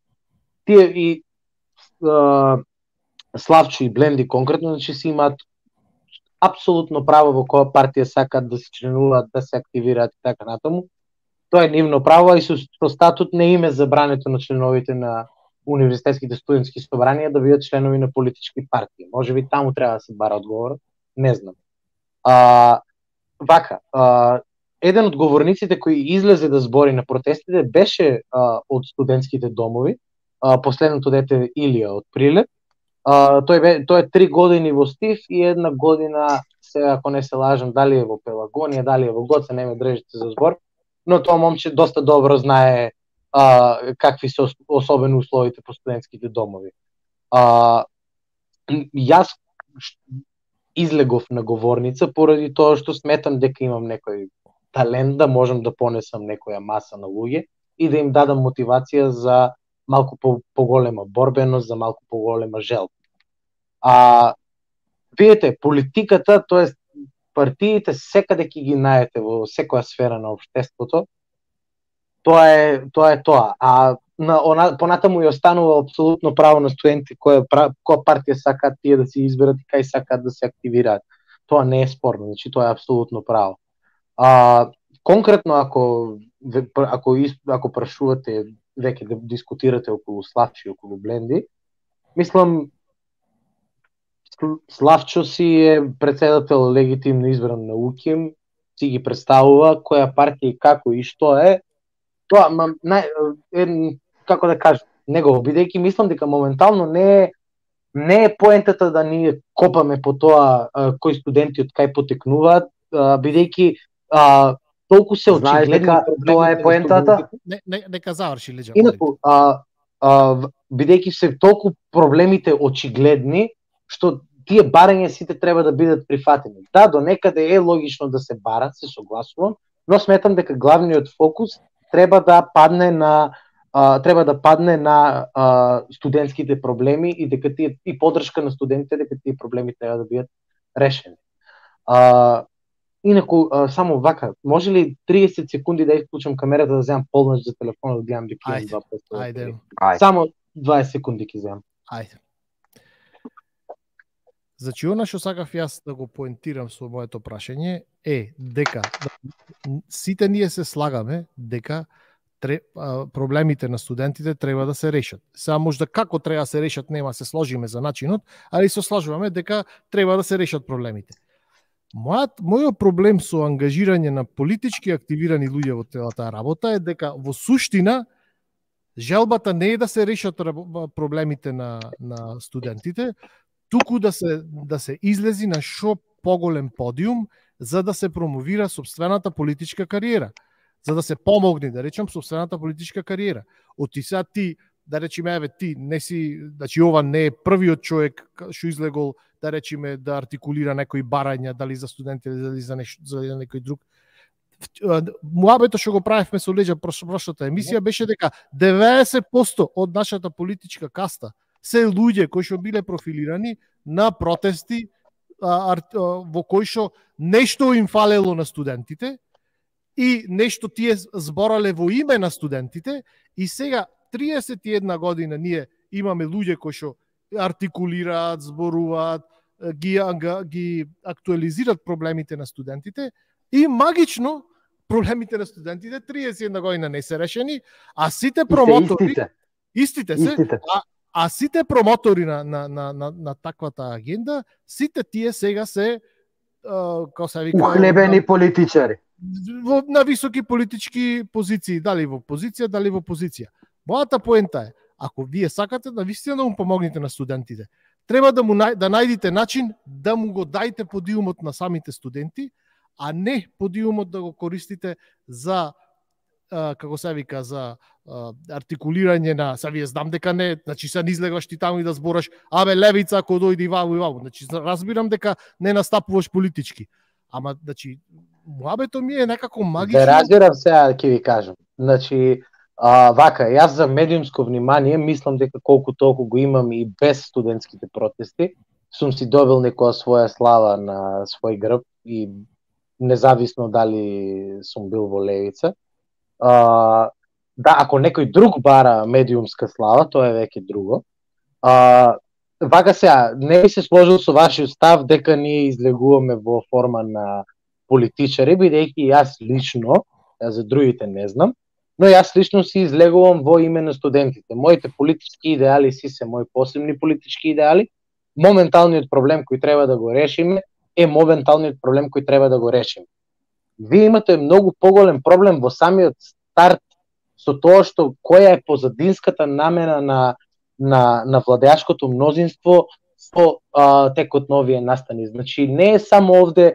Тие и Славчо и Бленди конкретно, значи си имаат апсолутно право во која партија сакат да се членуваат, да се активираат и така натаму. Тоа е нивно право и со статут не им е забрането на членовите на универзитетските студентски собранија да бидат членови на политички партии. Може би таму треба да се бара одговор, не знам. Вака, еден од говорниците кој излезе да збори на протестите беше од студентските домови, последното дете Илија од Прилеп. Тој е 3 години во Стив и 1 година, сега ако не се лажам, дали е во Пелагонија, дали е во Гоце, не ме држите за збор, но тоа момче доста добро знае какви се особено условите по студентските домови. Јас излегов на говорница поради тоа што сметам дека имам некој талент да можам да понесам некоја маса на луѓе и да им дадам мотивација за малку поголема борбеност, за малку поголема жел. Видите, политиката, тоест партиите секаде ќе ги најдете во секоја сфера на општеството. Тоа е тоа. Понатаму и останува апсолутно право на студенти која партија сакаат тие да се изберат и кај сакаат да се активираат. Тоа не е спорно, значи тоа е апсолутно право. Конкретно ако прашувате веќе да дискутирате околу Славчо и околу Бленди, мислам Славчо си е председател легитимно избран на УКИМ, си ги представува која партија и како и што е. Тоа како да кажам, него бидејќи мислам дека моментално не е поентата да ние копаме по тоа кои студенти од кај потекнуваат, бидејќи толку се Знаеш очигледни дека тоа е поентата? Нека заврши Леџа. Инаку, бидејќи се толку проблемите очигледни, што тие барања сите треба да бидат прифатени. Да, до некаде е логично да се бара, се согласувам, но сметам дека главниот фокус треба да падне на студентските проблеми и дека тие и поддршка на студентите дека тие проблеми треба да бидат решени. Инаку, само вака, може ли 30 секунди да исклучам камерата да земам полнаш за телефонот, да гледам дека имам два песто? Ајде. Само 20 секунди ќе земам. Ајде. Значи, она што сакав јас да го поентирам со моето прашање е дека сите ние се слагаме дека проблемите на студентите треба да се решат. Сега можда како треба да се решат нема се сложиме за начинот, али се сложуваме дека треба да се решат проблемите. Мојот проблем со ангажирање на политички активирани луѓе во целата работа е дека во суштина желбата не е да се решат проблемите на студентите, туку да се излези на шо поголем подиум за да се промовира сопствената политичка кариера, за да се помогне, да речем, сопствената политичка кариера. Сега ти, да речеме, ти не си, значи ова не е првиот човек што излегол, да речеме, да артикулира некои барања, дали за студенти, дали за некој друг. Муабето што го правевме со Леџа прошлата емисија беше дека 90% од нашата политичка каста се луѓе кои што биле профилирани на протести во кои што нешто им фалело на студентите и нешто тие зборале во име на студентите и сега 31 година ние имаме луѓе кои што артикулираат, зборуваат, ги актуализираат проблемите на студентите и магично проблемите на студентите 31 година не се решени, а сите промотори истите се. А сите промотори на таквата агенда, сите тие сега се како се вика ухлебени политичари на високи политички позиции, дали во позиција, дали во опозиција. Мојата поента е, ако вие сакате да вистина да му помогнете на студентите, треба да најдите начин да му го дајте подиумот на самите студенти, а не подиумот да го користите за како се вика, за артикулирање на, вие знам дека не, значи се излегаш ти таму и да збораш, левица ако дојде ваму и ваму, значи разбирам дека не настапуваш политички. Ама, значи, муабето ми е некако магично. Да разбирам сега ќе ви кажам. Значи, вака, јас за медиумско внимание мислам дека колку толку го имам и без студентските протести, сум си добил некоја своја слава на свој грб и независно дали сум бил во левица. Да, ако некој друг бара медиумска слава, тоа е веќе друго. Вака сега, не би се сложил со вашиот став дека ние излегуваме во форма на политичари, бидејќи јас лично, за другите не знам, но јас лично си излегувам во име на студентите. Моите политички идеали си се мои посебни политички идеали. Моменталниот проблем кој треба да го решиме е моменталниот проблем кој треба да го решиме. Вие имате многу поголем проблем во самиот старт со тоа што која е позадинската намена на владеачкото мнозинство со текот на овие настани. Значи не е само овде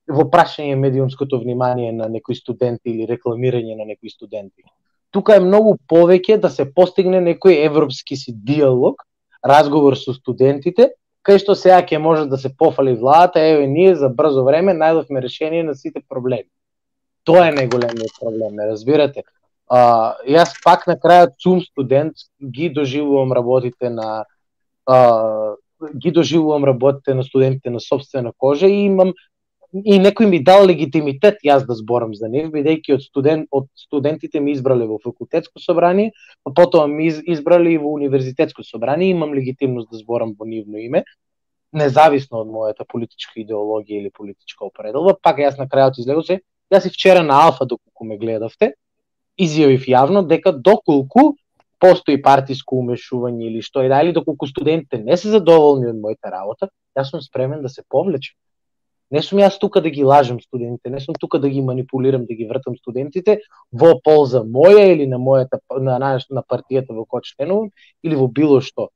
во прашање медиумското внимание на некои студенти или рекламирање на некои студенти. Тука е многу повеќе да се постигне некој европски си диалог, разговор со студентите, кај што сега ќе може да се пофали владата, еве ние за брзо време најдовме решение на сите проблеми. Тоа е најголемиот проблем, ме разбирате? Јас пак на крајот сум студент, ги доживувам работите на студентите на собствена кожа и имам и некој ми дал легитимитет јас да зборам за нив, бидејќи од студентите ми избрале во факултетско собрание, а потоа ми избрале и во универзитетско собрание, имам легитимност да зборам во нивно име, независно од мојата политичка идеологија или политичка определба. Пак јас на крајот излегов се, јас и вчера на Алфа доколку ме гледавте, изјавив јавно дека доколку постои партиско умешување или што и да, или доколку студентите не се задоволни од мојата работа, јас сум спремен да се повлечам. Не сум јас тука да ги лажам студентите, не сум тука да ги манипулирам, да ги вртам студентите во полза моја или на мојата на партијата во која членувам или во било што.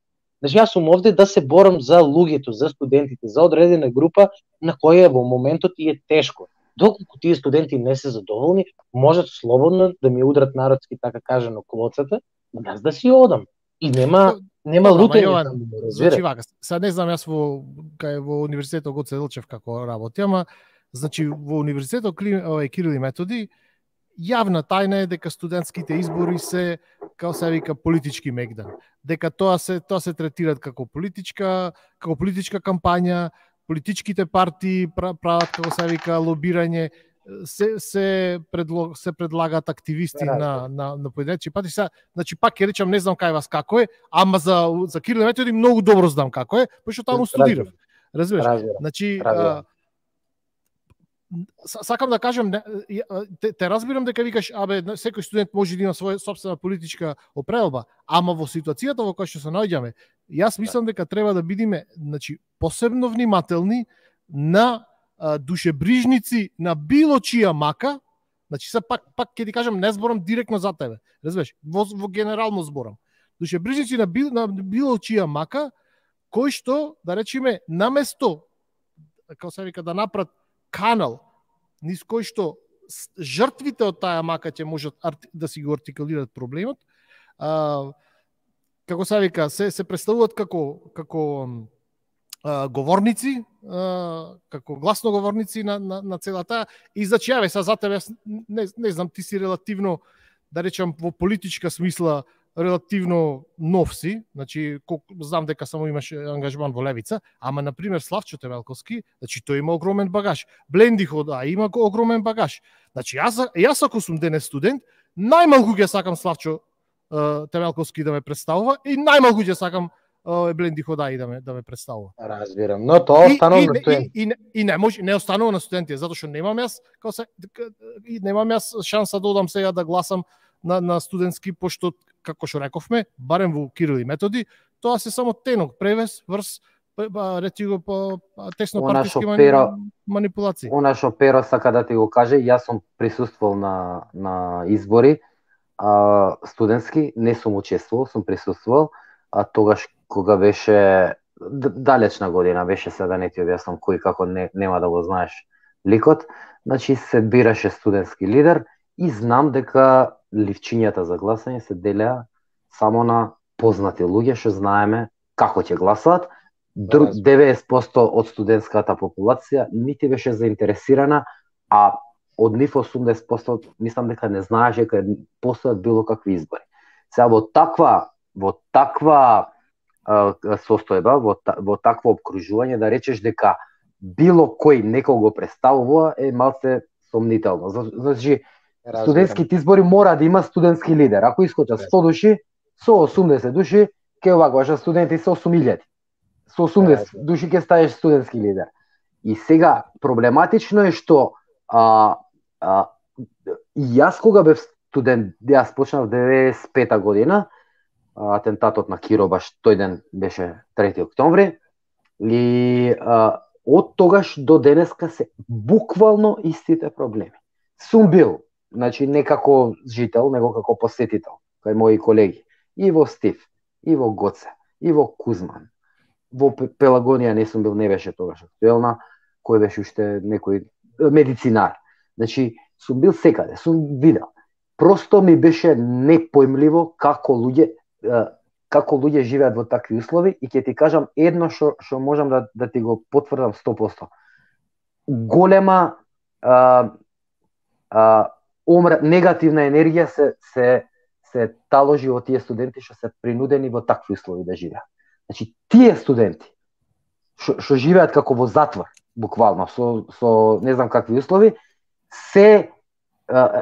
Значи јас сум овде да се борам за луѓето, за студентите, за одредена група на која во моментот и е тешко. доколку тие студенти не се задоволни, можат слободно да ми удрат народски така кажано клоцата, јас да си одам. И нема лутење таму, значи вака, сега не знам јас во универзитетот Гоце Делчев како работи, ама значи во универзитетот Кирил и Методи јавна тајна е дека студентските избори се, како се вика, политички мегдан. Дека тоа се третираат како политичка кампања, политичките партии прават, како се вика, лобирање, се предлагаат активисти на поединечни партии. Значи пак ќе речам, не знам кај вас како е, ама за Кирил и Методи многу добро знам како е, пошто таму студирав. Разбираш? Значи сакам да кажам, те разбирам дека викаш, секој студент може да има своја собствена политичка определба, ама во ситуацијата во која што се наоѓаме, јас мислам дека треба да бидиме, значи, посебно внимателни на душебрижници на било чија мака, значи се пак ќе ти кажам, не зборам директно за тебе, разбираш, во генерално зборам. Душебрижници на било чија мака, кои што, да речеме, наместо, како се вика, да направат канал низ кој што жртвите од таа мака ќе можат да си го артикулираат проблемот, како се вика, се представуваат како говорници, како гласноговорници на целата, и значи јаве са за тебе, не знам, ти си релативно, да речам, во политичка смисла релативно нов си, значи знам дека само имаш ангажман во левица, ама на пример Славчо Темелковски, значи тој има огромен багаж. Бленди Хода има огромен багаж. Значи јас ако сум денес студент, најмалку ќе сакам Славчо Темелковски да ме представува и најмалку ќе сакам Бленди Ходаи да ме представува. Разбирам, но тоа останува на студенти. И не останува на студенти, затоа што немам јас шанса да одам сега да гласам на студентски, пошто, како што рековме, барем во Кирил и Методи, тоа се само тенок, превес, врз, рети го по тесно партиски манипулации. Она што Перо сака да ти го каже, јас сум присуствувал на избори студентски, не сум учествувал, сум присуствувал, тогаш кога беше далечна година, беше се да не ти објаснам кој како нема да го знаеш ликот, значи се бираше студентски лидер и знам дека ливчињата за гласање се делеа само на познати луѓе што знаеме како ќе гласаат. 90% од студентската популација нити беше заинтересирана, а од нив 80% мислам дека не знаеше дека постојат било какви избори. Сега во таква состојба, во такво обкружување, да речеш дека било кој некој го представува е малце сомнително. Значи, студентските избори мора да има студентски лидер. Ако искочат 100 души, со 80 души ќе овакваш студенти со 8000. Со 80 души ќе ставиш студентски лидер. И сега проблематично е што јас кога бев студент, јас почнав 95-та година, атентатот на Киро баш тој ден беше 3 октомври, и од тогаш до денеска се буквално истите проблеми. Сум бил, значи не како жител, него како посетител, кај мои колеги, и во Стив, и во Гоце, и во Кузман. Во Пелагонија не сум бил, не беше тогаш актуелна, кој беше уште некој медицинар. Значи, сум бил секаде, сум видел. Просто ми беше непојмливо како луѓе живеат во такви услови, и ќе ти кажам едно што можам да ти го потврдам 100%. Голема негативна енергија се таложи од тие студенти што се принудени во такви услови да живеат. Значи, тие студенти што живеат како во затвор, буквално, со не знам какви услови, се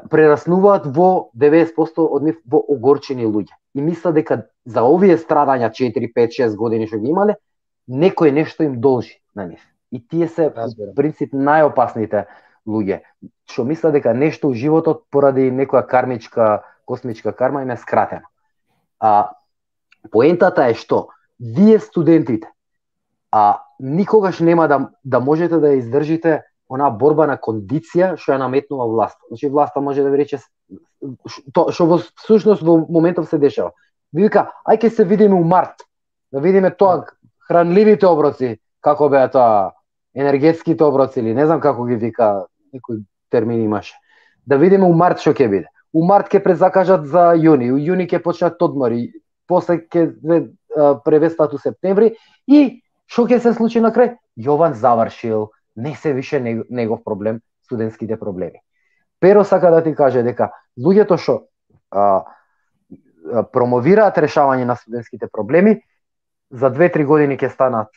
прераснуваат во 90% од нив во огорчени луѓе. И мисля дека за овие страдања 4, 5, 6 години што ги имале, некој нешто им должи на нив. И тие се, в принцип, најопасните луѓе, што мисля дека нешто у животот поради некоја кармичка, космичка карма им е скратено. Поентата е што вие студентите никогаш нема да можете да издржите она борба на кондиција што ја наметнува власта. Значи власта може да ви рече што во всушност во моментов се дешава. Ви вика, ај ќе се видиме у март, да видиме тоа хранливите оброци, како беа тоа енергетските оброци или не знам како ги вика некој термин имаше. Да видиме у март што ќе биде. У март ќе презакажат за јуни, у јуни ќе почнат одмори, после ќе превестат у септември и што ќе се случи на крај? Јован завршил, не се више негов проблем, студентските проблеми. Pero сака да ти каже дека луѓето што промовираат решавање на студентските проблеми, за 2-3 години ќе станат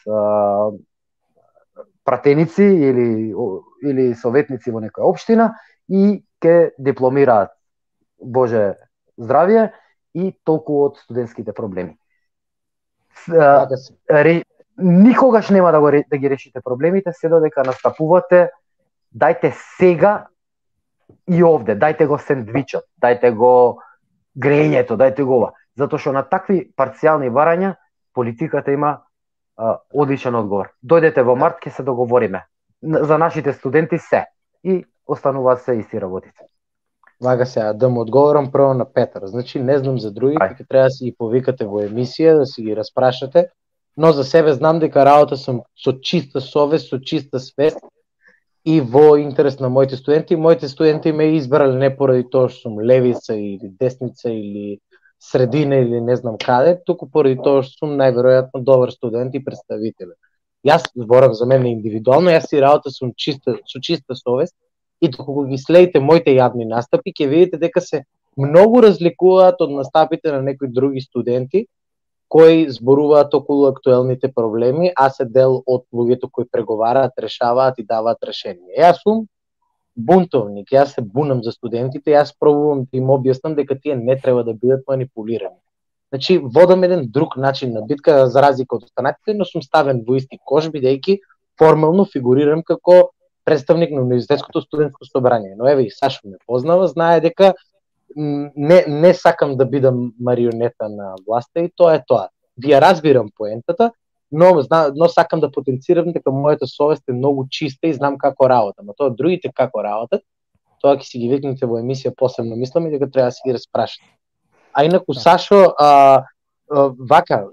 пратеници или советници во некоја општина и ќе дипломираат, Боже здравје, и толку од студентските проблеми. Никогаш нема да ги решите проблемите, се додека настапувате, дајте сега и овде, дајте го сендвичот, дајте го грејењето, дајте го ова. Затоа што на такви парцијални барања политиката има одличен одговор. Дојдете во март, ќе се договориме. За нашите студенти се. И остануваат се исти работите. Вага сега, да му одговорам прво на Петар. Значи, не знам за другите, ќе треба да си ги повикате во емисија, да си ги распрашате, но за себе знам дека работа сум со чиста совест, со чиста свест и во интерес на моите студенти. Моите студенти ме избрале не поради тоа што сум левица или десница или средина или не знам каде, туку поради тоа што сум најверојатно добар студент и представител. Јас зборам за мене индивидуално, јас си работа сум со чиста совест и доколку ги следите моите јавни настапи, ќе видите дека се многу разликуваат од настапите на некои други студенти кои зборуваат околу актуелните проблеми, а се дел од луѓето кои преговараат, решаваат и даваат решение. Јас сум бунтовник, јас се бунам за студентите, јас пробувам да им објаснам дека тие не треба да бидат манипулирани. Значи, водам еден друг начин на битка за разлика од останатите, но сум ставен во исти кош, бидејќи формално фигурирам како представник на Универзитетското студентско собрание. Но еве и Сашо ме познава, знае дека не сакам да бидам марионета на власта и тоа е тоа. Ви ја разбирам поентата, но сакам да потенцирам дека мојата совест е многу чиста и знам како работам. А тоа другите како работат, тоа ќе си ги викнете во емисија посебно, мислам и дека треба да си ги распрашате. А инаку Сашо, вака,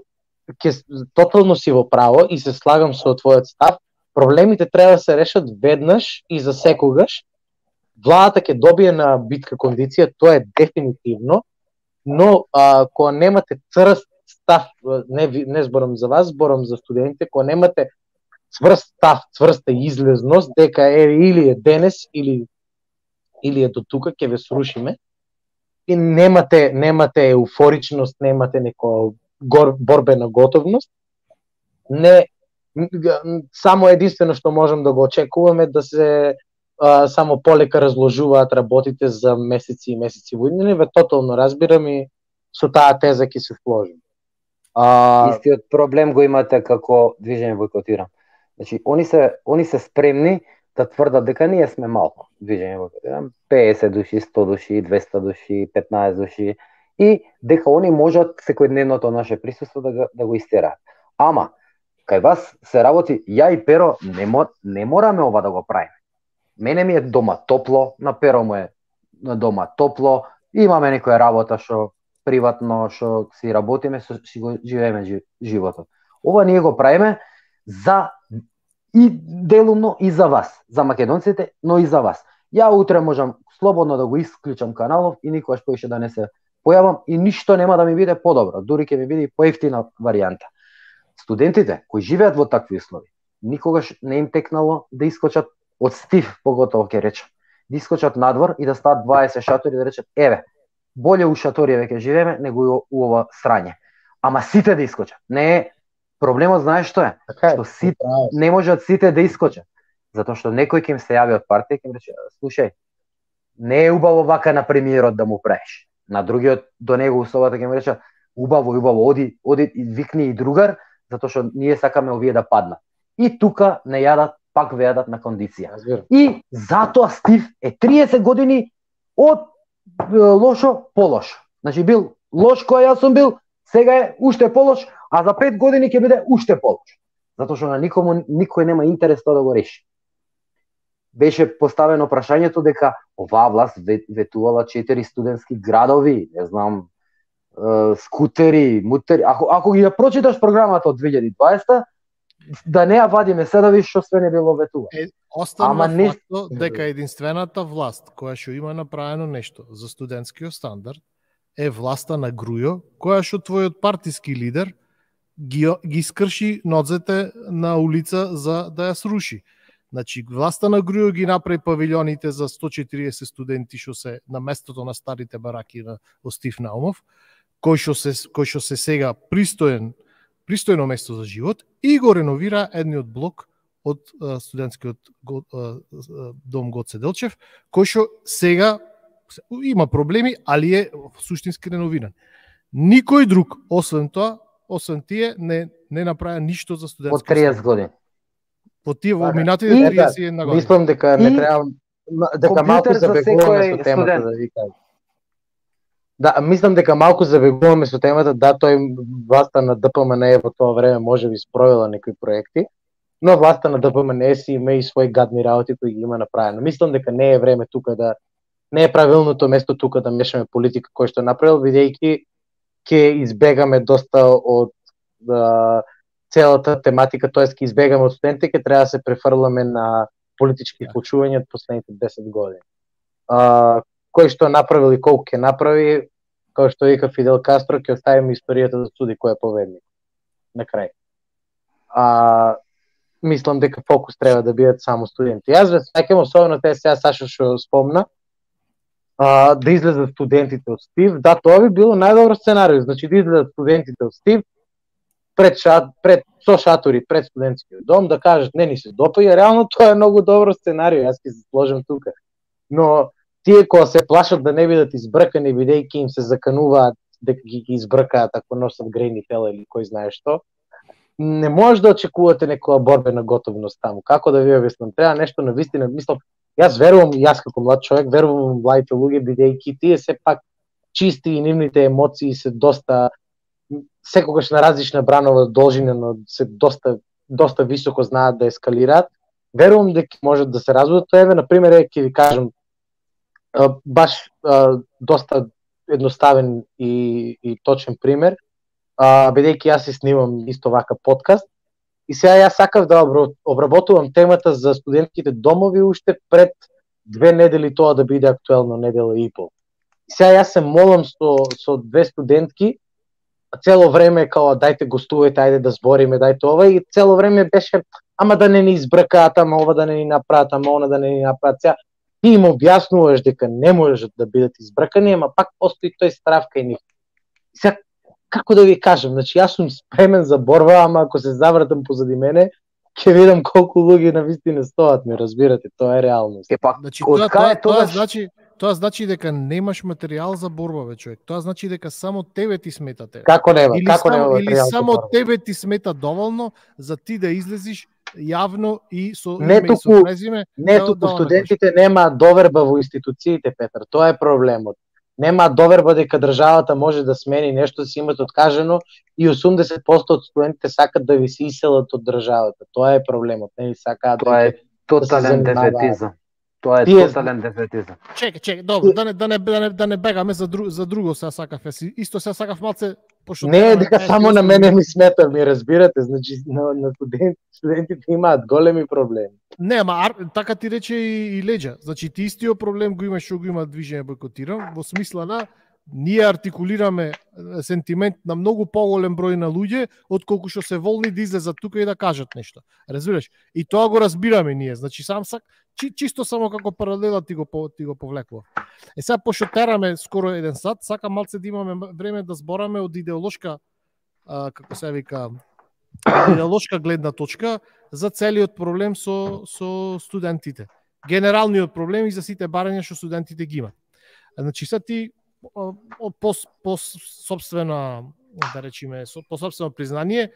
тотално си во право и се слагам со твојот став, проблемите треба да се решат веднаш и за секогаш. Владата ќе добие на битка кондиција, тоа е дефинитивно, но кога немате црст став, не зборам за вас, зборам за студентите, кога немате цврст став, цврста излезност, дека или е денес, или е до тука, ќе ве срушиме, и немате еуфоричност, немате некоја борбена готовност, само единствено што можам да го очекуваме да се само полека разложуваат работите за месеци и месеци во иднина, ве тотално разбирам и со таа теза ќе се сложим. Истиот проблем го имате како движење Бојкотирам. Значи, они се спремни да тврдат дека ние сме малку движење Бојкотирам, 50 души, 100 души, 200 души, 15 души, и дека они можат секојдневното наше присуство да го истераат. Ама, кај вас се работи, ја и Pero не мораме ова да го правиме. Мене ми е дома топло, на Pero му е на дома топло, имаме некоја работа што приватно, што си работиме, си го живееме животот. Ова ние го правиме за и делумно и за вас, за македонците, но и за вас. Ја утре можам слободно да го исклучам каналов и никогаш поише да не се појавам и ништо нема да ми биде подобро, дури ќе ми биде поевтина варијанта. Студентите кои живеат во такви услови, никогаш не им текнало да искочат од стив, поготово ќе речам, да искочат надвор и да стават 20 шатори и да речат, еве, боле у шаториве ќе живееме него у ова срање. Ама сите да искочат. Не е проблемот, знаеш што е? Што сите не можат сите да искочат. Затоа што некој ќе им се јави од партија и ќе им рече, слушај, не е убаво вака на премиерот да му правиш. На другиот до него условата ќе му рече, убаво, оди и викни и другар, затоа што ние сакаме овие да паднат. И тука не јадат, пак вејадат на кондиција. И затоа Стив е 30 години од лошо полош. Значи бил лош кој јас сум бил, сега е уште полош, а за 5 години ќе биде уште полош. Затоа што на никој нема интерес тоа да го реши. Беше поставено прашањето дека оваа власт ветувала 4 студентски градови, не знам, скутери, мутери. Ако ги ја прочиташ програмата од 2020, да не ја вадиме се да видиш што све не било ветува. Останува фактот дека единствената власт која што има направено нешто за студентскиот стандард е власта на Грујо, која што твојот партиски лидер ги скрши ноцете на улица за да ја сруши. Значи, власта на Грујо ги направи павилионите за 140 студенти што се на местото на старите бараки на Стив Наумов, кој што се сега пристојно место за живот, и го реновира едниот блок од студентскиот дом Гоце Делчев, кој што сега има проблеми, али е суштински реновиран. Никој друг, освен тие, не направи ништо за студентскиот од 30 години. По тие во минатите 31 години. Мислам дека не треба дека малку забегуваме со темата да ви кажам. Да, мислам дека малку забегуваме со темата, да, тој власта на ДПМН во тоа време може би спровела некои проекти, но власта на ДПМН си има и свои гадни работи кои ги има направено. Мислам дека не е време тука да не е правилното место тука да мешаме политика кој што направил, бидејќи ќе избегаме доста од целата тематика, тоест ќе избегаме од студентите, ќе треба да се префрламе на политички случувања од последните 10 години. Кој што направил и колку ќе направи, како што вика Фидел Кастро, ќе оставиме историјата да суди кој е победник. На крај. Мислам дека фокус треба да бидат само студенти. Јас ве сеќавам особено те сега Сашо што спомна, да излезат студентите од Стив. Да, тоа би било најдобро сценарио. Значи да излезат студентите од Стив со шатори пред студентскиот дом, да кажат не ни се допаѓа. Реално тоа е многу добро сценарио, јас ќе се сложам тука. Но тие кога се плашат да не бидат избркани, бидејќи им се закануваат дека ги избркаат ако носат грејни тела или кој знае што, не може да очекувате некоја борбена готовност таму. Како да ви објаснам? Треба нешто на вистина. Мислам, јас верувам, јас како млад човек верувам во младите луѓе, бидејќи тие се пак чисти и нивните емоции се доста секогаш на различна бранова должина, но се доста високо знаат да ескалираат. Верувам дека можат да се разводат. Тоа еве на пример ќе ви кажам баш доста едноставен и точен пример. Бидејќи јас си снимам исто вака подкаст и сега јас сакав да обработувам темата за студентските домови уште пред 2 недели тоа да биде актуелно, недела и пол. И сега јас се молам со две студентки, цело време као дајте гостувајте, ајде да збориме, дајте ова, и цело време беше ама да не ни избркаат, ама ова да не ни направат, ама она да не ни направат. Сега ти им објаснуваш дека не можат да бидат избркани, ама пак постои тој страв кај нив. Сега како да ви кажам, значи јас сум спремен за борба, ама ако се завртам позади мене, ќе видам колку луѓе навистина стоат, ми разбирате, тоа е реалност. Значи, тоа значи дека немаш материјал за борба, бе човек. Тоа значи дека само тебе ти смета тебе. Како нема? Или само тебе ти смета доволно за ти да излезиш јавно и со име и со презиме. Не туку студентите немаат доверба во институциите, Петар, тоа е проблемот. Нема доверба дека државата може да смени нешто, си имат откажено, и 80% од студентите сакат да ви се иселат од државата. Тоа е проблемот, не сакаат. Тоа е тотален дефетизам. Тоа е тотален дефетизам. Чекај, добро, да не бегаме за друго, сега сакав. Исто сега сакав малце пошто не е дека само на мене ми смета, ми разбирате, значи на студентите имаат големи проблеми. Не, ама така ти рече и Леđa. Значи ти истиот проблем го имаш што го има движење бойкотирам, во смисла на ние артикулираме сентимент на многу поголем број на луѓе отколку што се волни да излезат тука и да кажат нешто. Разбираш? И тоа го разбираме ние. Значи чисто само како паралела ти го повлекува. Сега пошто тераме скоро 1 сат, сакам малце да имаме време да збораме од идеолошка како се вика идеолошка гледна точка за целиот проблем со студентите. Генералниот проблем и за сите барања што студентите ги имаат. Значи сега ти по собствена, да речеме, по собствено признание,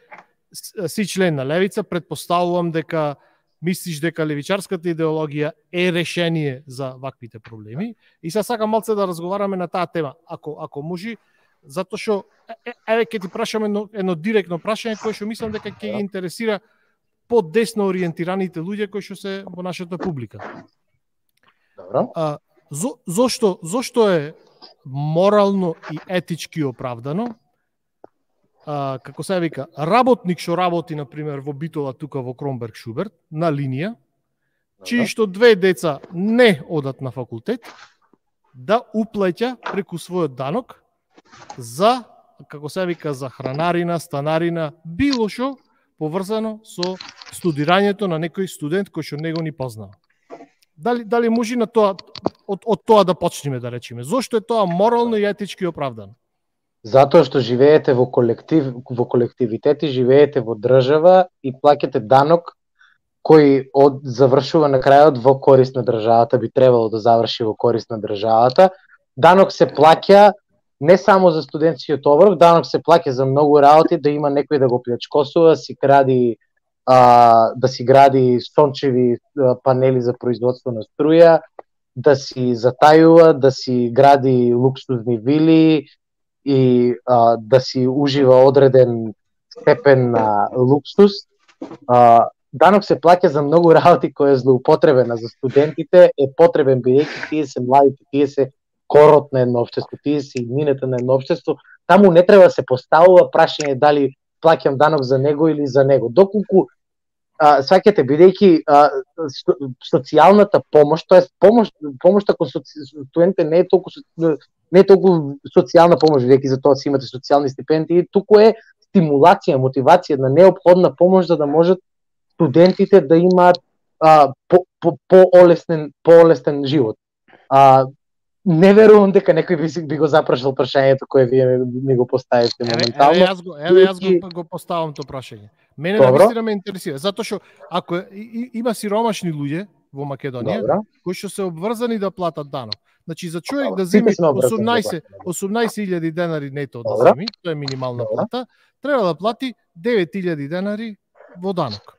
си член на левица, предпоставувам дека мислиш дека левичарската идеологија е решение за ваквите проблеми. И сега сакам малце да разговараме на таа тема, ако може, затоа што еве ќе ти прашаме едно директно прашање кое што мислам дека ќе ги интересира по-десно ориентираните луѓе кои што се во нашата публика. Добро. Зошто е морално и етички оправдано како се вика, работник што работи, например, во Битола тука во Кромберг Шуберт, на линија, чии што две деца не одат на факултет, да уплаќа преку својот данок за, како се вика, за хранарина, станарина, било што поврзано со студирањето на некој студент кој што него ни познава. Дали може на тоа, од тоа да почнеме, да речеме? Зошто е тоа морално и етички оправдано? Затоа што живеете во колективитети, живеете во држава и плаќате данок кој завршува на крајот во корист на државата, би требало да заврши во корист на државата. Данок се плаќа не само за студентскиот оброк, данок се плаќа за многу работи, да има некој да го плячкосува, да си гради сончеви панели за производство на струја, да си затајува, да си гради луксузни вили и да си ужива одреден степен на луксус. Данок се плаќа за многу работи кои е злоупотребена за студентите, е потребен бидејќи тие се младите, тие се корот на едно општество, тие се иднината на едно општество. Таму не треба да се поставува прашање дали плаќам данок за него или за него. Доколку сваќате, бидејќи социјалната помош, тоест помошта кон студентите не е толку социјална помош, бидејќи за тоа си имате социјални стипендии, туку е стимулација, мотивација на неопходна помош за да можат студентите да имаат поолесен живот. Не верувам дека некој би го запрашал прашањето кое вие ми го поставите моментално. Јас го поставам тоа прашање. Мене навистина ме интересира, затоа што ако има сиромашни луѓе во Македонија кои што се обврзани да платат данок. Значи за човек да земи 18.000 денари нето да земи, тоа е минимална плата, треба да плати 9.000 денари во данок.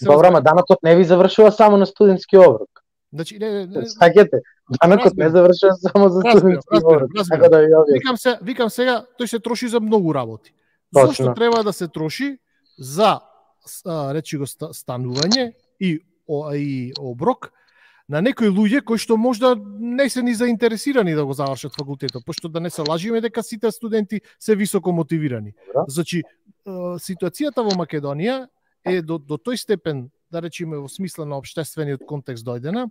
Добро, ама данокот не ви завршува само на студентски оброк. Значи, сакате, данокот не завршува само за студентски оброк. Викам сега, тој се троши за многу работи. Зошто треба да се троши за речи го станување и оброк на некои луѓе кои што можда не се ни заинтересирани да го завршат факултетот, пошто да не се лажиме дека сите студенти се високо мотивирани. Значи, ситуацијата во Македонија е до тој степен, да речеме во смисла на општествениот контекст дојдена,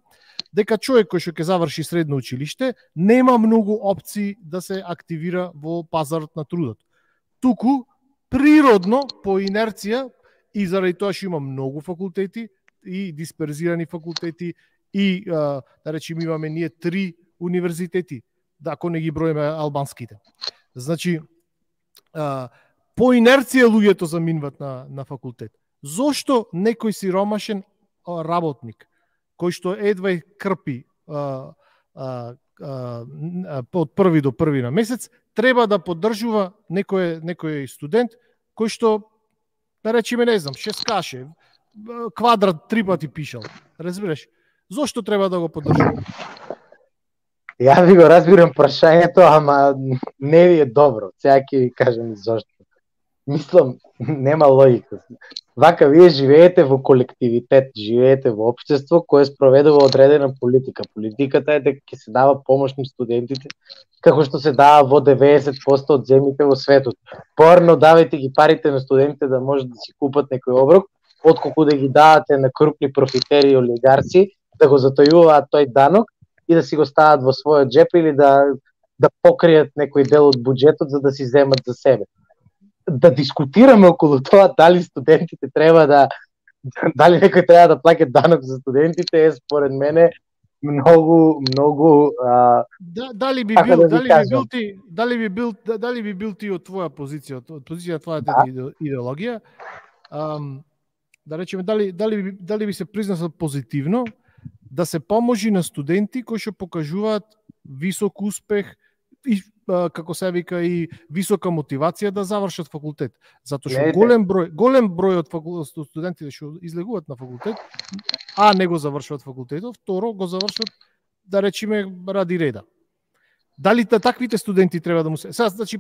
дека човек кој што ќе заврши средно училиште нема многу опции да се активира во пазарот на трудот. Туку природно, по инерција и заради тоа што има многу факултети и дисперзирани факултети и да речеме имаме ние 3 универзитети, да ако не ги броиме албанските. Значи по инерција луѓето заминват на факултет. Зошто некој сиромашен работник кој што едва крпи од први до први на месец треба да поддржува некој студент кој што, да речеме, не знам, шескаше, квадрат 3 пати пишал. Разбираш? Зошто треба да го поддржува? Ја ви го разбирам прашањето, ама не ви е добро. Сега ќе ви кажам зошто. Мислам, нема логика. Вака, вие живеете во колективитет, живеете во општество кое спроведува одредена политика. Политиката е дека ќе се дава помош на студентите, како што се дава во 90% од земјите во светот. Порно давајте ги парите на студентите да можат да си купат некој оброк, отколку да ги давате на крупни профитери и олигарци, да го затојуваат тој данок и да си го стават во својот джеп или да покријат некој дел од буџетот за да си земат за себе. Да дискутираме околу тоа дали студентите дали некој треба да плаќа данок за студентите е според мене многу дали би бил ти од твоја позиција, од позиција твојата идеологија, да речеме дали би се признал позитивно да се поможи на студенти кои што покажуваат висок успех и како се вика и висока мотивација да завршат факултет, затоа што голем број од студентите што излегуваат на факултет, не го завршуваат факултетот, второ го завршуваат, да речеме, ради реда. Дали таквите студенти треба да му се... Значи,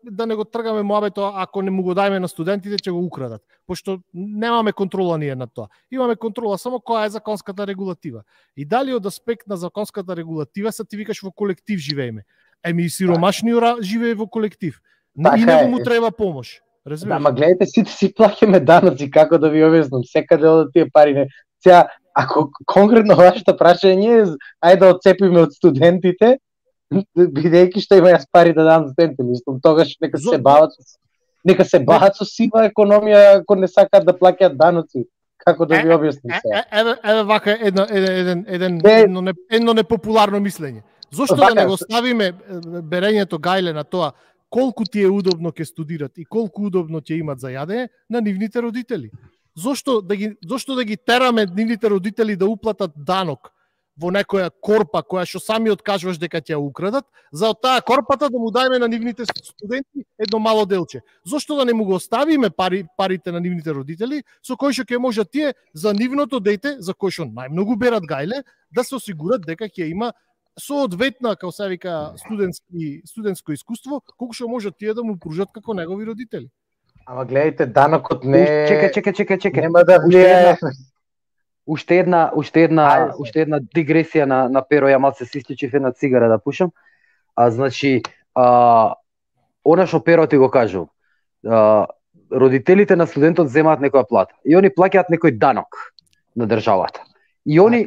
да не го тргаме моабето, ако не му го дајме на студентите, ќе го украдат. Пошто немаме контрола ние на тоа. Имаме контрола само која е законската регулатива. И дали од аспект на законската регулатива, ти викаш во колектив живееме. Сиромашниот живее во колектив. И него му треба помош. Разбираш? Ама гледайте, сите си плаќаме даноци, како да ви објаснам, секаде одат тие пари. Не. Сега, ако конкретно вашето прашање е, ајде да отцепиме од студентите, бидејќи што има јас пари да дам студентите, мислам, тогаш нека се бават со сива економија, ако не сакаат да плаќаат даноци. Како да ви објаснам сега? Еве вака едно непопуларно мислење. Зошто да не го ставиме берењето гајле на тоа колку ти е удобно ќе студират и колку удобно ќе имат за јадење на нивните родители? Зошто да ги тераме нивните родители да уплатат данок во некоја корпа која што сами откажуваш дека ќе ја украдат, за од таа корпата да му дајме на нивните студенти едно мало делче? Зошто да не му го оставиме парите на нивните родители, со кои што ќе можат тие за нивното дете, за кој што најмногу берат гајле, да се осигурат дека ќе има соодветна, како се вика, студентско искуство, колку што можат тие да му пружат како негови родители. Ама гледайте, данокот не... Чекај. Нема да влијае... Уште една дигресија на Перо, ја малце се исклучив една цигара да пушам. Значи, она што Перо ти го кажу, родителите на студентот земаат некоја плата и они плаќаат некој данок на државата. И они,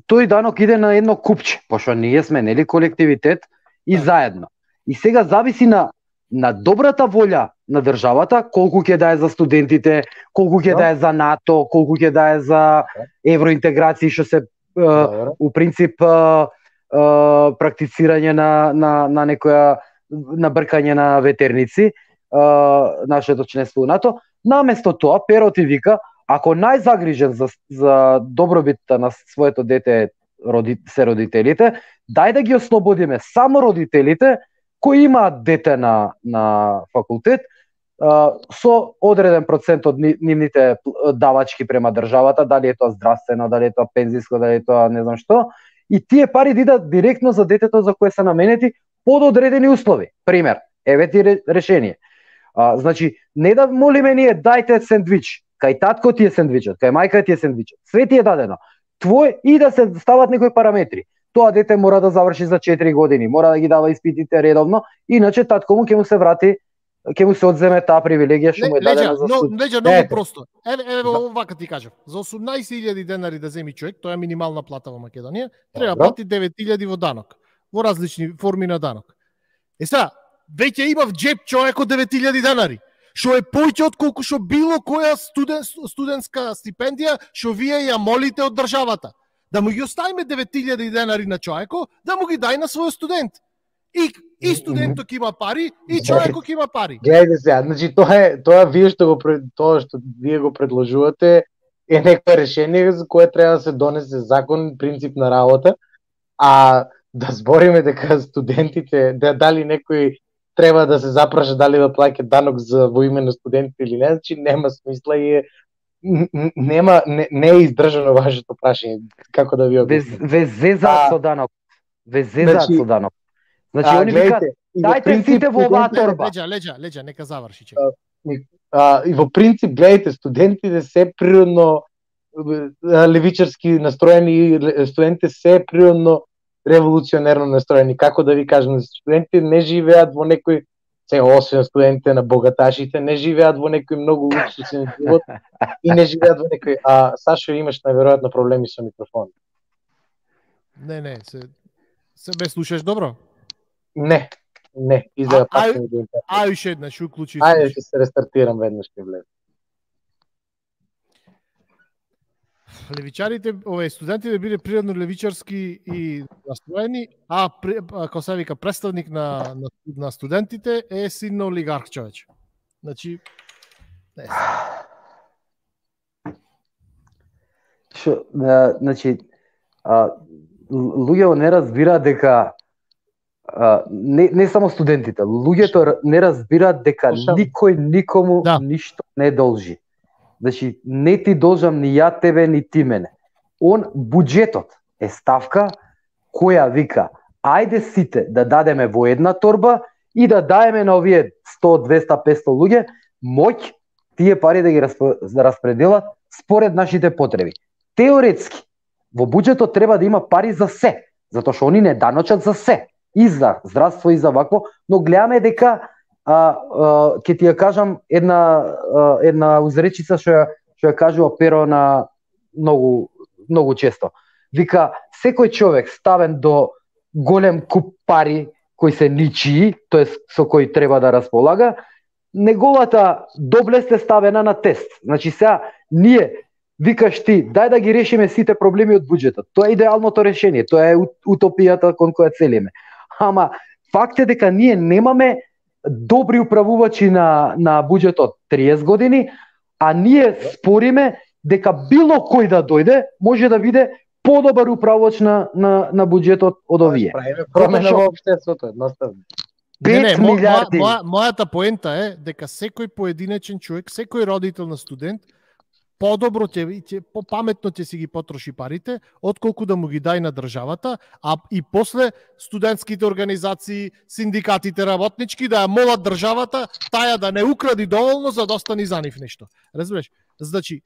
тој данок иде на едно купче, пошто ние сме, нели, колективитет и заедно. И сега зависи на добрата волја на државата, колку ќе дае за студентите, колку ќе дае за НАТО, колку ќе дае за евроинтеграција, што се у принцип практицирање на некоја набркање на ветерници, нашето членство у НАТО. Наместо тоа, Перо ти вика, ако најзагрижен за добробитта на своето дете се родителите, дај да ги ослободиме само родителите кои имаат дете на факултет, со одреден процент од нивните давачки према државата, дали е тоа здравствено, дали е тоа пензиско, дали е тоа не знам што, и тие пари идат директно за детето за кое се наменети под одредени услови. Пример, еве ти решение. Значи, не да молиме ние дајте сендвич, кај татко ти е сендвичот, кај мајка ти е сендвичот, све ти е дадено. Твој и да се стават некои параметри. Тоа дете мора да заврши за 4 години, мора да ги дава испитите редовно, иначе татко му ќе му се врати, ќе му се одземе таа привилегија што му е дадена за суд. Леѓа, многу просто. Еве вака ти кажам. За 18.000 денари да земи човек, тоа е минимална плата во Македонија, треба плати 9.000 во данок, во различни форми на данок. Сега, веќе има в джеб човекот 9.000 денари, што е поќе од колку што било која студентска стипендија што вие ја молите од државата. Да му ги оставиме 9.000 денари на човеко, да му ги дај на свој студент. И студентот има пари, и човекот има пари. Гледајте сега, значи тоа што вие го предложувате е некој решение за кое треба да се донесе закон, принцип на работа, а да збориме дека студентите, дали некој треба да се запраша дали да плаќа данок во име на студентите или не, значи нема смисла и не е издржано вашето прашање, како да ви објаснам. Везезаат со данок. Везезаат со данок. Значи, они викаат, дајте сите во оваа торба. Леđа, нека заврши. И во принцип, гледайте, студентите се природно левичарски настроени, студентите се природно револуционерно настроени. Како да ви кажам, студентите не живеат во некој, освен студентите на богаташите, не живеат во некој многу луксусен живот и не живеат во некој... Сашо, имаш најверојатно проблеми со микрофон. Не, се ме слушаш добро? Не, изгледа пак не го интернет. Уште еднаш, уклучи. Ајде, ќе се рестартирам веднаш ќе влезам. Левичарите, студентите биле природно левичарски и настроени, како се вика, представник на студентите е син на олигарх човече. Значи, не Значи, луѓето не разбираат дека не само студентите, луѓето не разбираат дека никој никому ништо не должи. Значи, не ти должам ни ја тебе, ни ти мене. Буџетот е ставка која вика, ајде сите да дадеме во една торба и да даеме на овие 100, 200, 500 луѓе моќ тие пари да ги распределат според нашите потреби. Теоретски, во буџетот треба да има пари за се, затоа што они не даночат за се. И за здравство, и за вакво, но гледаме дека ќе ти ја кажам една узречица што ја кажува Перо на многу често. Вика, секој човек ставен до голем куп пари кои се ничии, тоест со кои треба да располага, неговата доблест е ставена на тест. Значи сега ние викаш ти, дај да ги решиме сите проблеми од буџетот. Тоа е идеалното решение, тоа е утопијата кон која целиме. Ама факт е дека ние немаме добри управувачи на буџетот 30 години, а ние спориме дека било кој да дојде може да биде подобар управувач на буџетот од овие. Правиме промена во општеството, едноставно. 5 милиарди. Мојата поента е дека секој поединечен човек, секој родител на студент подобро попаметно ќе си ги потроши парите, отколку да му ги дај на државата, а и после студентските организации, синдикатите работнички да ја молат државата таја да не укради доволно за да остани за нив нешто. Разбираш? Значи,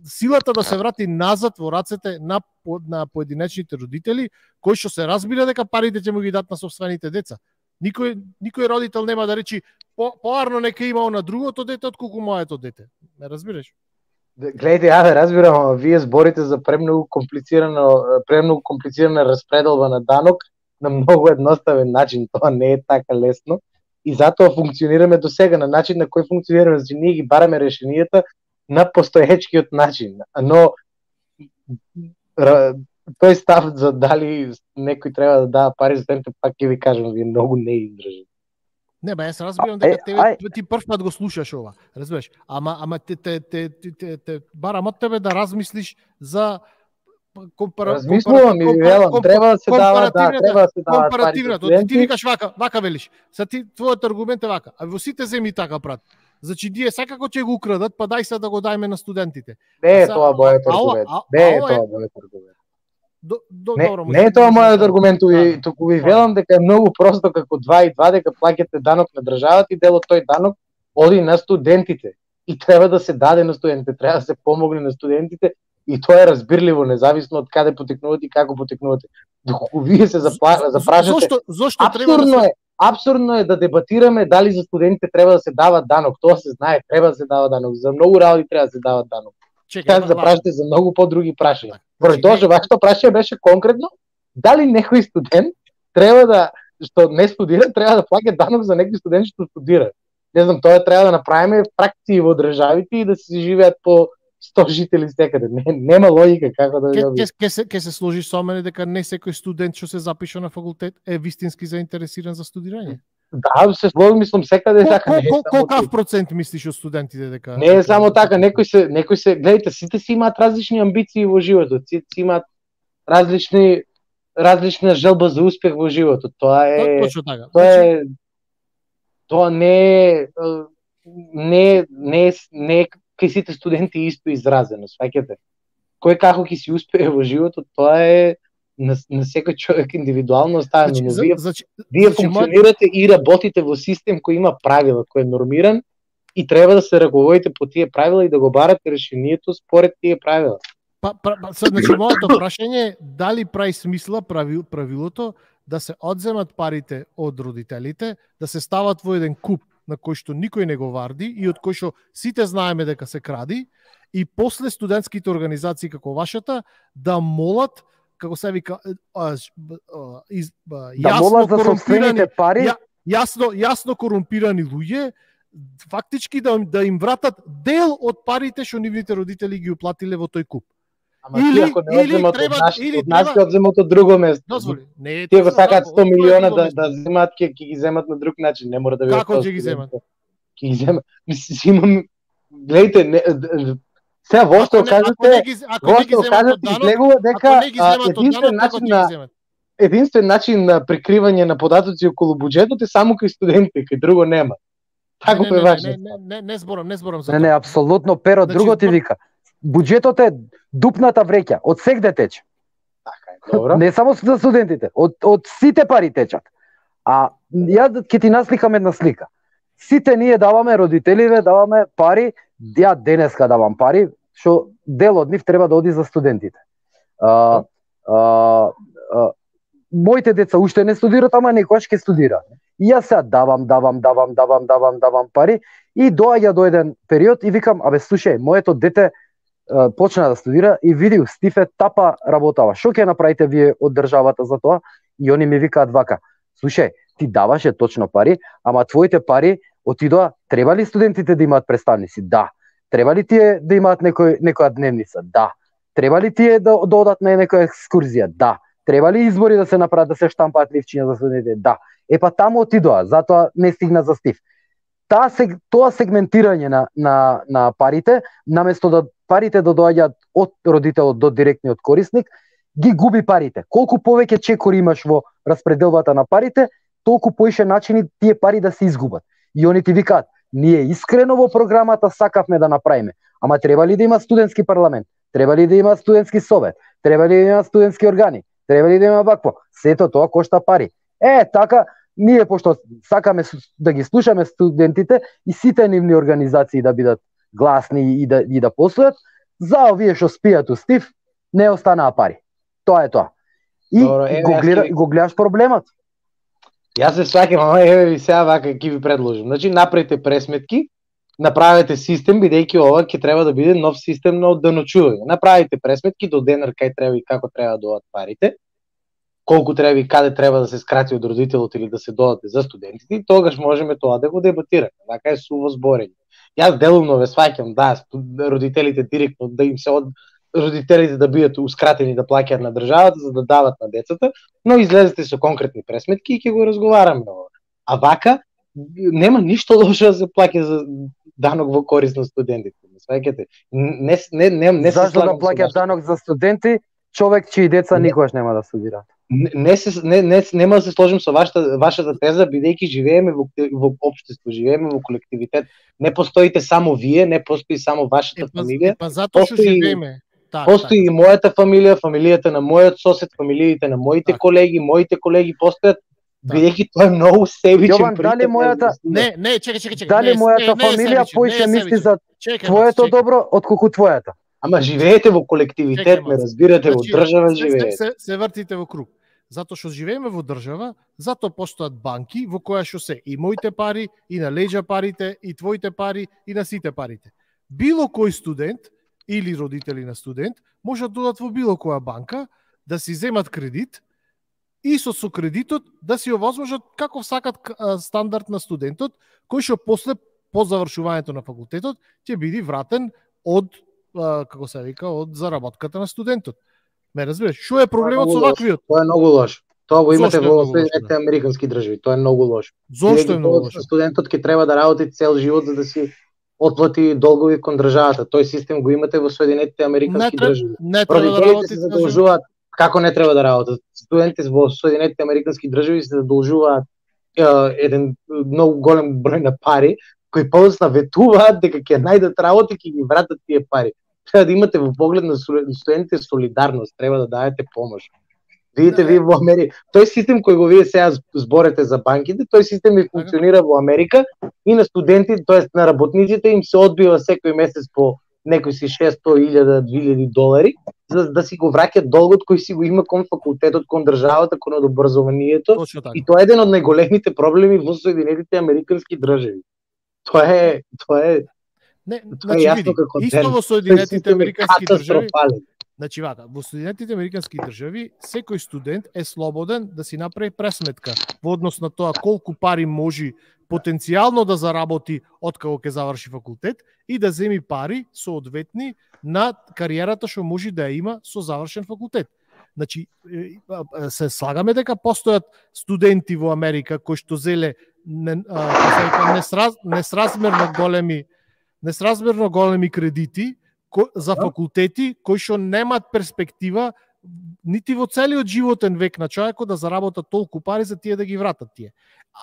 силата да се врати назад во рацете на поединечните родители, кои што се разбира дека парите ќе му ги дадат на собствените деца. Никој родител нема да речи поарно нека имао на другото дете отколку моето дете. Не разбираш? Гледајте, ја разбирам, ама вие зборите за премногу комплицирана распределба на данок на многу едноставен начин. Тоа не е така лесно и затоа функционираме до сега на начин на кој функционираме, значи ние ги бараме решенијата на постоечкиот начин. Но тој став за дали некој треба да дава пари за студентите, пак ќе ви кажам, ви многу не издржи. Не, бе, јас разбирам дека ти прв пат го слушаш ова, разбираш? Ама те барам од тебе да размислиш за Размислувам и велам, треба да се дава, треба да се дава компаративната. Ти викаш вака велиш. Са ти твојот аргумент е вака. А во сите земји така прат. Значи ние секако ќе го украдат, па дај се да го дајме на студентите. Не е тоа мојот аргумент. Не е тоа мојот аргумент. Не е тоа мојот аргумент, туку ви велам дека е многу просто како 2 и 2 дека плаќате данок на државата и дел од тој данок оди на студентите. И треба да се даде на студентите, треба да се помогне на студентите и тоа е разбирливо независно од каде потекнувате и како потекнувате. Доколку вие се запрашате, зошто треба да се... Апсурдно е да дебатираме дали за студентите треба да се дава данок. Тоа се знае, треба да се дава данок. За многу работи треба да се дава данок. Чекај, да прашате за многу подруги прашања. Поради тоа што вашето прашање беше конкретно, дали некој студент треба да што не студира, треба да плаќа данок за некој студент што студира. Не знам, тоа треба да направиме практики во државите и да се живеат по 100 жители секаде. Нема логика како да Ке се сложиш со мене дека не секој студент што се запиша на факултет е вистински заинтересиран за студирање? Да, се слогам, мислам секаде така. Колкав процент мислиш од студентите дека? Не е само така, некои се, гледайте, сите си имаат различни амбиции во животот, сите си имаат различна желба за успех во животот. Тоа е точно така. Тоа не е кај сите студенти исто изразено, сваќате. Кој како ќе си успее во животот, тоа е на секој човек индивидуално оставено, но вие функционирате и работите во систем кој има правила, кој е нормиран и треба да се раководите по тие правила и да го барате решението според тие правила. Значи, моето прашање е дали прави смисла правилото да се одземат парите од родителите, да се стават во еден куп на кој што никој не го варди и од кој што сите знаеме дека се кради, и после студентските организации како вашата да молат, како се вика, јасно корумпирани луѓе, фактички да им вратат дел од парите што нивните родители ги уплатиле во тој куп. Ама или треба од нас ќе одземат од друго место. Тие го сакаат 100 милиона да земат, ќе ги земат на друг начин, не мора да бидат. Како ќе ги земат? Ќе ги земат. Мислам, гледайте, сега вошто кажете, излегува дека единствен начин на прикривање на податоци околу буџетот е само кај студентите, кај друго нема. Тако е важно. Не зборам за тоа. Не, апсолутно, Перо, друго ти вика. Буџетот е дупната вреќа, од сегде тече. Така е, добро. Не само за студентите, од сите пари течат. А ја ќе ти насликам една слика. Сите ние даваме, родителиве даваме пари, ја денеска давам пари, што дел од нив треба да оди за студентите. Моите деца уште не студираат, ама некојаш ќе студираат. И јас сега давам пари и доаѓа до еден период и викам, абе слушај, моето дете почна да студира и види Стифе тапа работава. Што ќе направите вие од државата за тоа? И они ми викаат вака: слушај, ти даваше точно пари, ама твоите пари отидоа, треба ли студентите да имаат представници? Да. Треба ли тие да имаат некоја дневница? Да. Треба ли тие да одат на некоја екскурзија? Да. Треба ли избори да се направат, да се штампаат ливчиња за студентите? Да. Епа таму отидоа, затоа не стигна за Стив. Тоа сегментирање на парите, наместо да парите да доаѓаат од родителот до директниот корисник, ги губи парите. Колку повеќе чекори имаш во распределбата на парите, толку поише начини тие пари да се изгубат. И они ти викаат: ние искрено во програмата сакавме да направиме, ама треба ли да има студентски парламент? Треба ли да има студентски совет? Треба ли да има студентски органи? Треба ли да има вакво? Сето тоа кошта пари. Така, ние пошто сакаме да ги слушаме студентите и сите нивни организации да бидат гласни и да постојат, за овие што спијат у Стив, не останаа пари. Тоа е тоа. И го гледаш проблемот. Јас се сваќам, ама ви сега вака ќе ви предложам. Значи, направите пресметки, направете систем, бидејќи ова ќе треба да биде нов систем на одденочување. Направите пресметки до денар кај треба и како треба да доаѓаат парите, колку треба и каде треба да се скрати од родителот или да се додаде за студентите, и тогаш можеме тоа да го дебатираме. Вака е суво зборење. Јас делумно ве сваќам, да, родителите директно да им се родителите да бидатускратени да плаќаат на државата за да дават на децата, но излезете со конкретни пресметки и ќе го разговараме ова. А вака нема ништо лошо да се плаќа за данок во корист на студентите. Сваќате? Не зашто да плаќаат данок за студенти, човек чии деца никогаш нема да студираат. Нема да се сложим со вашата теза, бидејќи живееме во општество, живееме во колективитет. Не постоите само вие, не постои само вашата фамилија. Затоа што живееме. Постои и мојата фамилија, фамилијата на мојот сосед, фамилиите на моите моите колеги постојат, бидејќи тоа е многу себичен. Јован, дали мојата чекај. Дали мојата фамилија поише мисли за твоето добро отколку твојата? Ама живеете во колективитет, ме разбирате, во држава живеете. Се вртите во круг. Затоа што живееме во држава, затоа постојат банки во која што се и моите пари, и на леѓа парите, и твоите пари, и на сите парите. Било кој студент или родители на студент можат да додат во било која банка, да си земат кредит и со кредитот да си овозможат како сакат стандард на студентот, кој што после по завршувањето на факултетот ќе биде вратен од како се вика, од заработката на студентот. Ме разбираш, што е проблемот со ваквиот? Тоа е многу лошо. Тоа го имате во Соединетите американски држави, тоа е многу лошо. Зошто е многу лошо? Студентот ќе треба да работи цел живот за да си отплати долгови кон државата. Тој систем го имате во Соединетите американски држави. Родителите се задолжуваат, како не треба да работат. Студентите во Соединетите американски држави се задолжуваат еден многу голем број на пари, кои после ветуваат дека ќе најдат работа и ќе ги вратат тие пари. Треба да имате во поглед на студентите солидарност, треба да дадете помош. Видите вие во Америка, тој систем кој го вие сега зборете за банките, тој систем и функционира во Америка и на студентите, тоест на работниците им се одбива секој месец по некои си 600.000, 2.000 долари, за да си го враќат долгот кој си го има кон факултетот, кон државата, кон образованието. И тоа е еден од најголемите проблеми во Соединетите американски држави. Тоа е не, значи види, исто во Соединетите американски држави. Значи вака, во Соединетите американски држави секој студент е слободен да си направи пресметка во однос на тоа колку пари може потенцијално да заработи откако ќе заврши факултет и да земи пари соодветни на кариерата што може да ја има со завршен факултет. Значи се слагаме дека постојат студенти во Америка кои што зеле несразмерно големи кредити за факултети кои што немаат перспектива нити во целиот животен век на човекот да заработат толку пари за тие да ги вратат тие.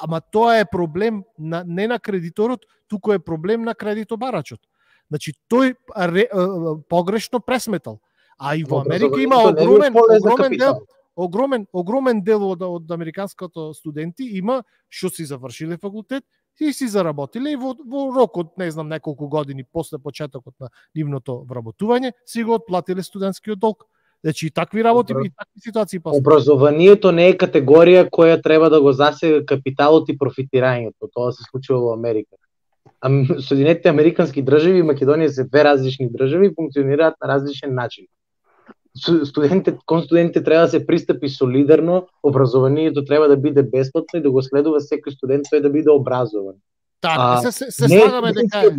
Ама тоа е проблем не на кредиторот, туку е проблем на кредитобарачот. Значи тој погрешно пресметал. А и во Америка има огромен дел од американското студенти има што си завршиле факултет и си заработиле и во рок од не знам неколку години после почетокот на нивното вработување си го отплатиле студентскиот долг. Значи такви работи и такви ситуации постојат. Образованието не е категорија која треба да го засега капиталот и профитирањето. Тоа се случува во Америка. Соединетите американски држави и Македонија се две различни држави и функционираат на различен начин. Кон студентите треба да се пристапи солидарно, образованието треба да биде бесплатно и да го следува секој студент тој да биде образован. Така, се слагаме дека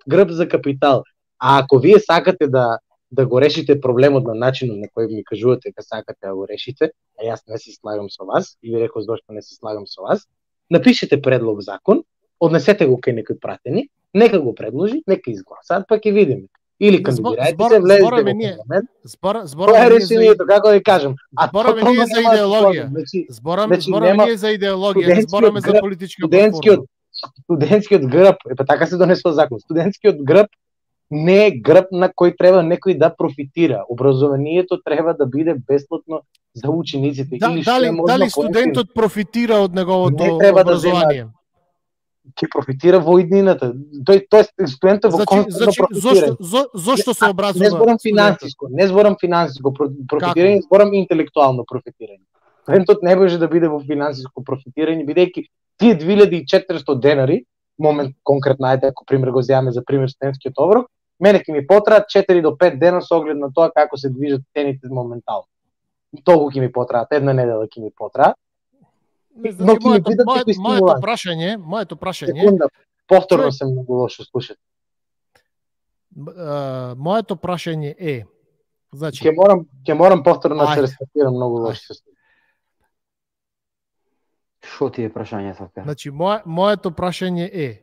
грб за капитал. А ако вие сакате да го решите проблемот на начинот на кој ми кажувате дека сакате да го решите, а јас не се слагам со вас, и ви реков зошто не се слагам со вас, напишете предлог закон, однесете го кај некој пратеник, нека го предложи, нека изгласаат, па ќе видиме. Или кандидирајте се, влезете во парламент. Тоа е решението, како да кажам. Збораме ние за идеологија. Збораме ние за идеологија, не збораме за политичка платформа. Студентскиот грб, па така се донесува закон. Студентскиот грб не е грб на кој треба некој да профитира. Образованието треба да биде бесплатно за учениците. Дали студентот профитира од неговото образование? Ќе профитира во иднината. Тој студентот во константно профитира. Зошто се образува? Не зборам финансиско профитирање, зборам интелектуално профитирање. Студентот не може да биде во финансиско профитирање, бидејќи тие 2400 денари, момент конкретно, ајде ако пример го земаме за пример студентскиот оброк, мене ќе ми потраат 4 до 5 дена со оглед на тоа како се движат цените моментално. Толку ќе ми потраат, една недела ќе ми потраат. Но моето прашање. Секунда, повторно се многу лошо слушате. Моето прашање е, значи ќе морам повторно да се рестартирам, многу лошо се слуша. Што ти е прашањето? Значи моето прашање е,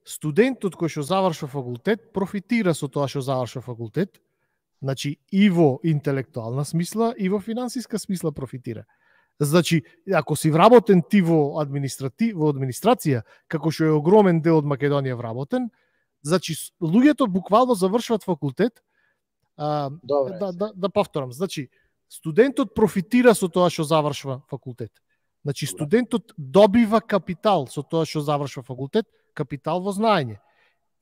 студентот кој што завршува факултет профитира со тоа што завршува факултет, значи и во интелектуална смисла и во финансиска смисла профитира. Значи, ако си вработен ти во администрација, како што е огромен дел од Македонија вработен, значи луѓето буквално завршуваат факултет. Да повторам, значи студентот профитира со тоа што завршува факултет. Значи студентот добива капитал со тоа што завршува факултет, капитал во знаење.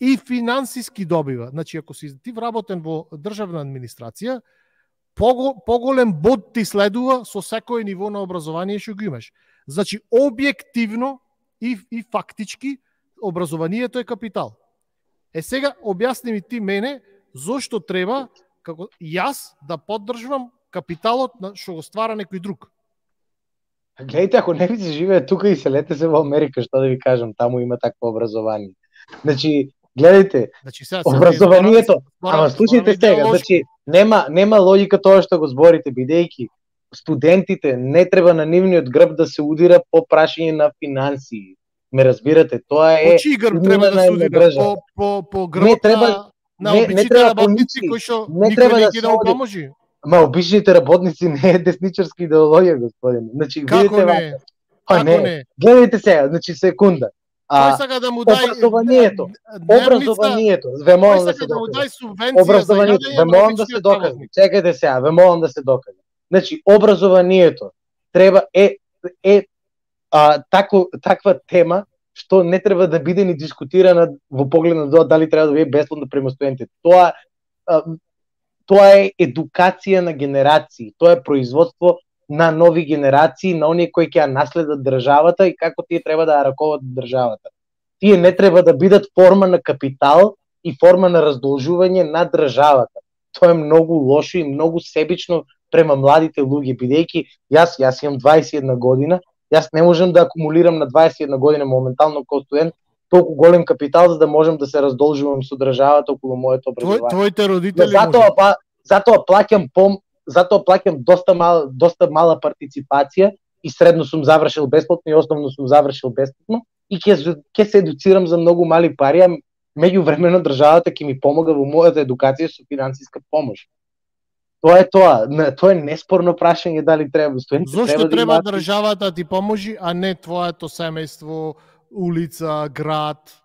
И финансиски добива. Значи ако си ти вработен во државна администрација, поголем бод ти следува со секој ниво на образование што го имаш. Значи објективно и фактички образованието е капитал. Сега објасни ми ти мене зошто треба како јас да поддржувам капиталот на што го ствара некој друг. Гледайте, ако не ви се живее тука и селете се во Америка, што да ви кажам, таму има такво образование. Значи, гледайте, образованието, ама слушайте сега, значи нема логика тоа што го зборите, бидејќи студентите не треба на нивниот грб да се удира по прашање на финансии. Ме разбирате, тоа е чии грб треба да се удира по грб на обичните работници кои што никој не ќе да помоши. Ма обичните работници не е десничарска идеологија, господин. Значи како не? Како не? Гледайте сега, значи секунда. Тој сака да му дај образованието, ве молам да се докаже. Образованието, ве молам да се докаже. Чекајте сега, ве молам да се докаже. Значи образованието треба таква тема што не треба да биде ни дискутирана во поглед на тоа дали треба да биде бесплатно према студентите. Тоа е едукација на генерации, тоа е производство на нови генерации, на оние кои ќе ја наследат државата и како тие треба да ја раковат државата. Тие не треба да бидат форма на капитал и форма на раздолжување на државата. Тоа е многу лошо и многу себично према младите луѓе, бидејќи јас имам 21 година, јас не можам да акумулирам на 21 година моментално како студент толку голем капитал за да можам да се раздолжувам со државата околу моето образование. Твоите родители затоа плаќам доста мала партиципација и средно сум завршил бесплатно и основно сум завршил бесплатно и ќе се едуцирам за многу мали пари, а меѓувремено државата ќе ми помага во мојата едукација со финансиска помош. Тоа е тоа. Тоа е неспорно прашање дали треба студентите. Зошто треба државата ти поможи, а не твоето семејство, улица, град?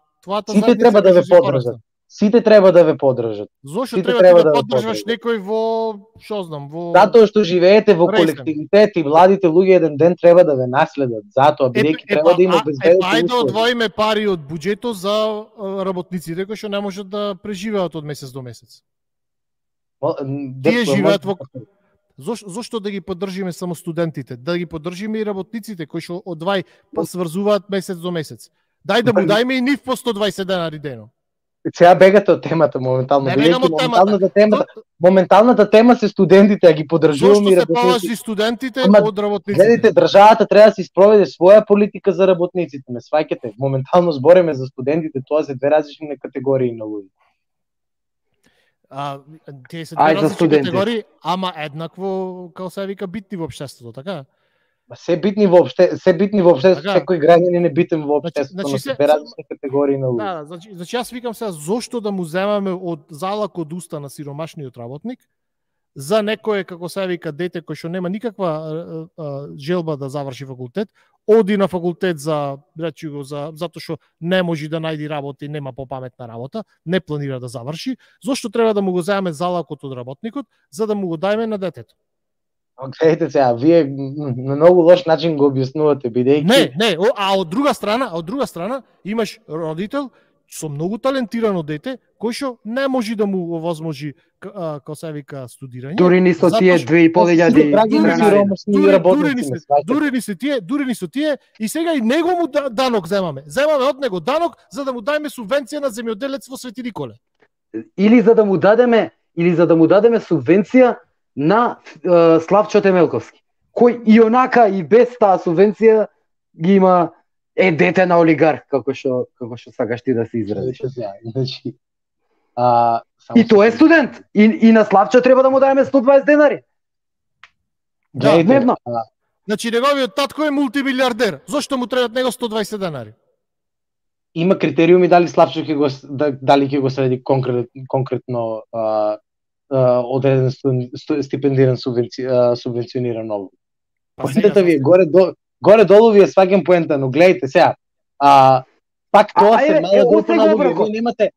Сите треба да ве поддржат. Сите треба да ве поддржат. Зошто треба да поддржаш некој во, што знам, во затоа што живеете во колективитет и младите луѓе еден ден треба да ве наследат. Затоа бидејќи треба да има безбедност. Ајде да одвоиме пари од буџетот за работниците кои што не можат да преживеат од месец до месец. Тие живеат во Зошто да ги поддржиме само студентите? Да ги поддржиме и работниците кои што одвај сврзуваат месец до месец. Дај да му дајме и нив по 120 денари дено. Сега бегате од темата моментално. Не бегам од темата. Моменталната тема се студентите, а ги поддржуваме и работниците. Зошто се положи студентите од работниците? Гледайте, државата треба да се спроведе своја политика за работниците. Ме сваќате. Моментално збориме за студентите, тоа се две различни категории на луѓе. Тие се две различни категории, ама еднакво, како се вика, битни во општеството, така? Се битни во општеството, секој граѓанин е битен во општеството, но се две различни категории на луѓе. Да, значи јас викам сега, зошто да му земаме од залак од уста на сиромашниот работник за некое, како се вика, дете кој што нема никаква желба да заврши факултет, оди на факултет затоа што не може да најди работа и нема попаметна работа, не планира да заврши, зошто треба да му го земеме залакот од работникот за да му го дајме на детето? Гледайте сега, вие на многу лош начин го објаснувате, бидејќи... Не, а од друга страна имаш родител со многу талентирано дете, кој што не може да му овозможи, како се вика, студирање. Дури ни со тие 2500 дури ни со тие, и сега и него му данок земаме. Земаме од него данок за да му дајме субвенција на земјоделец во Свети Николе. Или за да му дадеме субвенција на Славчо Темелковски, кој и онака и без таа субвенција ги има дете на олигарх, како што сакаш ти да се изразиш. Значи, и тој е студент. И на Славчо треба да му дајме 120 денари. Да, дневно. Значи неговиот татко е мултимилиардер. Зошто му требаат него 120 денари? Има критериуми дали Славчо дали ќе го следи конкретно одреден стипендиран субвенциониран облик. Поентата ви е горе-долу ви е сваќам поента, но гледайте сега. Пак тоа се мала група на луѓе, вие немате...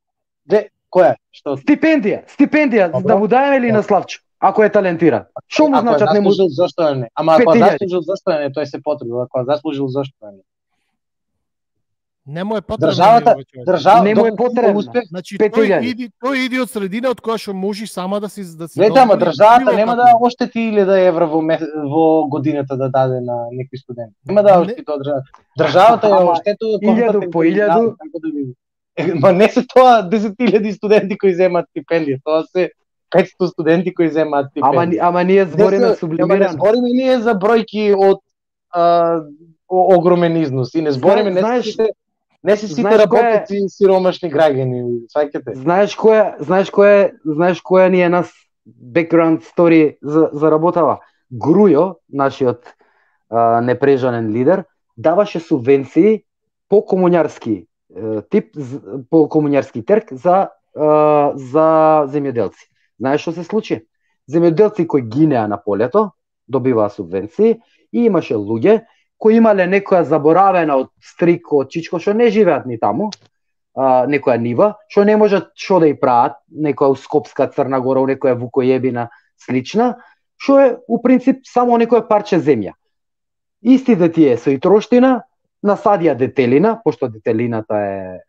Која? Што? Стипендија, да му дајме ли на Славчо, ако е талентиран? Што му значат не му... Зашто не? Ама ако заслужил, зашто не? Тој се потребува. Ако заслужил, зашто не? Не му е потребно. Држава не му е потребно. Значи тој иди од средина од која што можеш сама да си Гледате, ама државата нема да оштети 1000 евра во годината да даде на некој студент. Нема да оштети тоа државата. Државата ја оштетува 1000 по 1000. Ма не се тоа 10.000 студенти кои земаат стипендија, тоа се 500 студенти кои земаат стипендија. Ама ние збориме сублимирано. Збориме ние за бројки од огромен износ и не збориме не се сите работници сиромашни граѓани, сваќате. Знаеш која ни е нас background story за работава? Грујо, нашиот непрежанен лидер, даваше субвенции по комуњарски тип, по комуњарски терк за земјоделци. Знаеш што се случи? Земјоделци кои гинеа на полето добиваа субвенции и имаше луѓе кои имале некоја заборавена од стрик, од чичко, што не живеат ни таму, некоја нива, што не можат што да ја прават, некоја Скопска, Црна Гора, некоја Вукојебина слична, што е у принцип само некоја парче земја. Истите тие со и троштина, насадија детелина, пошто детелината е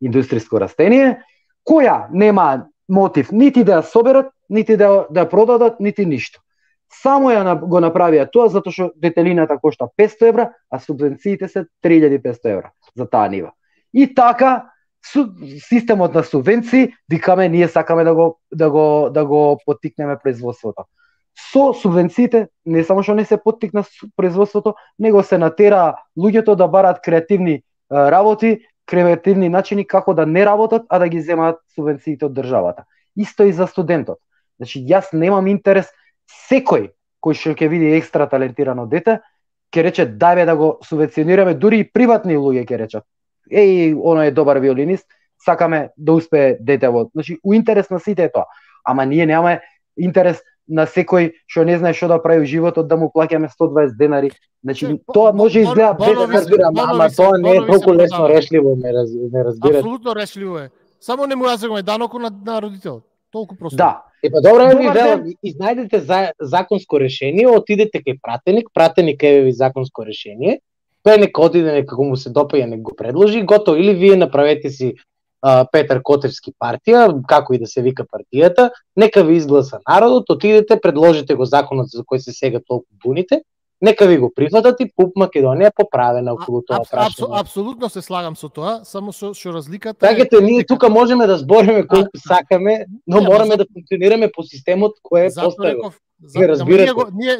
индустријско растение, која нема мотив нити да ја соберат, нити да ја продадат, нити ништо. Само го направија тоа затоа што детелината кошта 500 евра, а субвенциите се 3500 евра за таа нива. И така системот на субвенции, викаме ние сакаме да го поттикнеме производството. Со субвенциите не само што не се поттикна производството, него се натера луѓето да бараат креативни работи, креативни начини како да не работат, а да ги земаат субвенциите од државата. Исто и за студентот. Значи јас немам интерес. Секој кој што ќе види екстра талентирано дете, ќе рече дајме да го субвенционираме, дури и приватни луѓе ќе речат. Оно е добар виолинист, сакаме да успее детево. Значи, у интерес на сите е тоа. Ама ние немаме интерес на секој што не знае што да прави во животот да му плаќаме 120 денари. Значи, тоа може изгледа без ама тоа не е толку лесно решливо, ме разбирате. Апсолутно решливо е. Само не му јазегаме данокот на родителот. Толку просто. Да. Добро ви велам, изнајдете законско решение, отидете кај пратеник еве ви законско решение, тој нека отиде, нека му се допаѓа, нека го предложи, готово, или вие направете си Петар Котевски партија, како и да се вика партијата, нека ви изгласа народот, отидете, предложите го законот за кој се сега толку буните, нека ви го прифатат и ПУП Македонија поправена околу тоа прашање. Апсолутно се слагам со тоа, само што разликата Така ние тука можеме да збориме колку сакаме, но мораме да функционираме по системот кој е поставен.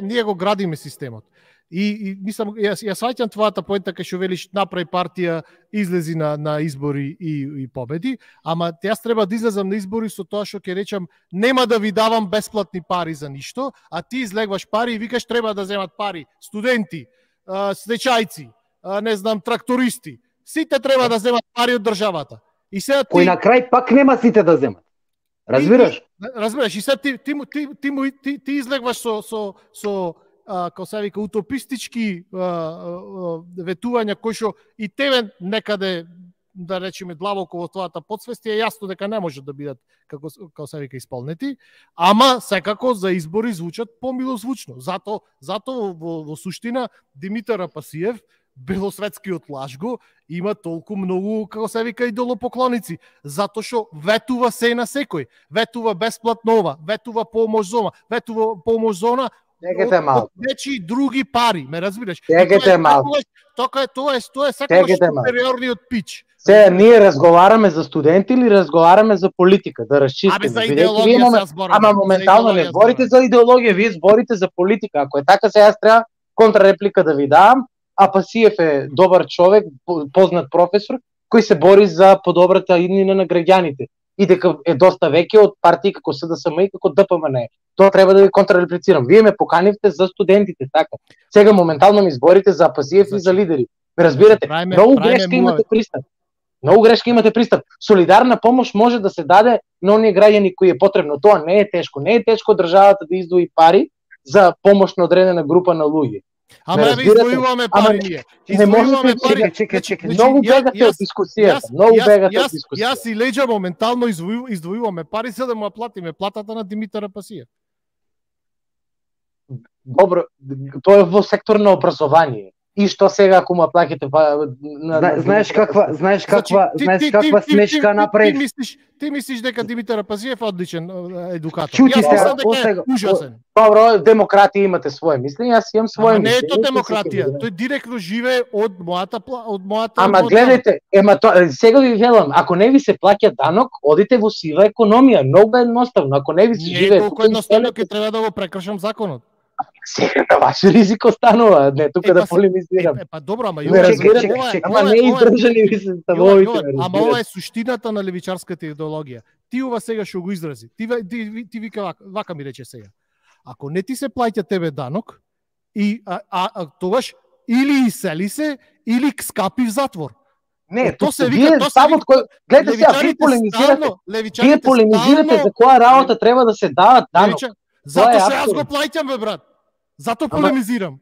Ние го градиме системот. И мислам, ја сваќам твојата поента кај што велиш направи партија, излези на избори и победи, ама јас треба да излезам на избори со тоа што ќе речам нема да ви давам бесплатни пари за ништо, а ти излегваш пари и викаш треба да земат пари студенти, стечајци, не знам, трактористи. Сите треба да земат пари од државата. И сега кој на крај пак нема сите да земат. Разбираш? Разбираш, и сега ти излегваш со како се вика утопистички ветувања кои што и тебе некаде да речеме длабоко во твојата подсвест е јасно дека не можат да бидат како се вика исполнети, ама секако за избори звучат помилозвучно. Зато во суштина Димитар Апасиев, белосветскиот лажго, има толку многу, како се вика, идолопоклоници, затоа што ветува се на секој, ветува бесплатно ова, ветува помош зона, ветува помош зона, Чекайте малку. Нечи други пари, ме разбираш? Чекайте малку. Тоа е секогаш супериорниот пич. Се, ние разговараме за студенти или разговараме за политика, да расчистиме. Абе, за идеологија се зборам. Ама моментално не зборите за идеологија, вие зборите за политика. Ако е така, се јас треба контрареплика да ви дам. Апасиев е добар човек, познат професор, кој се бори за подобрата иднина на граѓаните. И дека е доста веќе од партии како СДСМ и како ДПМН. Тоа треба да ви контрареплицирам. Вие ме поканивте за студентите, така. Сега моментално ми зборите за Апасиев и за лидери. Ме разбирате? Многу грешка имате пристап. Многу грешка имате пристап. Солидарна помош може да се даде на оние граѓани кои е потребно. Тоа не е тешко. Не е тешко државата да издвои пари за помош на одредена група на луѓе. Ама еве издвојуваме пари ние. Издвојуваме пари. Чекај. Многу бегате од дискусијата. Многу бегате од дискусијата. Јас и Леџа моментално издвојуваме пари за да му платиме платата на Димитар Апасиев. Добро, тоа е во сектор на образование. И што сега ако му плаќате знаеш каква смешка направи? Ти мислиш дека Димитар Апасиев е одличен едукатор. Чути се, ужасен. Добро, демократија имате свое мислење, јас имам свое мислење. Не е тоа демократија, тој директно живее од мојата Ама гледайте, сега ви велам, ако не ви се плаќа данок, одите во сива економија, многу едноставно. Ако не ви се живее, толку едноставно ќе треба да го прекршам законот. Сега на ваш ризик останува, не тука да полемизирам. Па добро, ама ама не издржани ви се ставовите. Ама ова е суштината на левичарската идеологија. Ти ова сега што го изрази. Ти вика вака ми рече сега. Ако не ти се плаќа тебе данок и тогаш или исели се или скапи в затвор. Не, тоа се вика, гледате сега, вие полемизирате за која работа треба да се дават данок. Затоа што јас го плаќам, бе брат. Затоа полемизирам.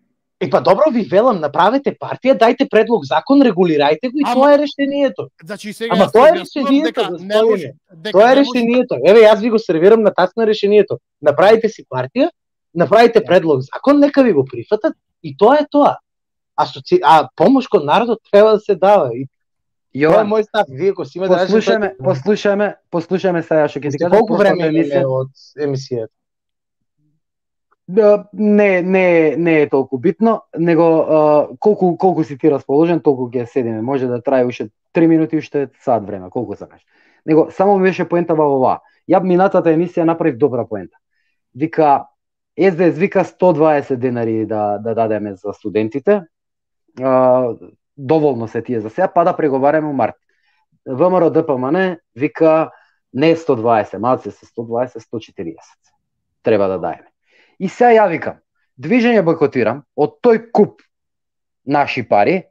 Па добро ви велам, направете партија, дајте предлог закон, регулирајте го и тоа е решението. Значи сега ама тоа е решението. Тоа е решението. Еве јас ви го сервирам на тацна решението. Направите си партија, направите предлог закон, нека ви го прифатат и тоа е тоа. А помош кон народот треба да се дава. Тоа е мој став. Вие го си имате послушаме сега што ќе ти кажам. Колку време е од емисијата? Не е толку битно, него колку си ти расположен, толку ќе седиме. Може да трае уште 3 минути, уште сат време, колку сакаш. Него само ми беше поента во ова. Ја минатата емисија направив добра поента. Вика СДС вика 120 денари да дадеме за студентите. Доволно се тие за сега, па да преговараме во март. ВМРО ДПМН вика не 120, малце се 120, 140. Треба да даеме. И сега ја викам, движење бойкотирам, од тој куп наши пари,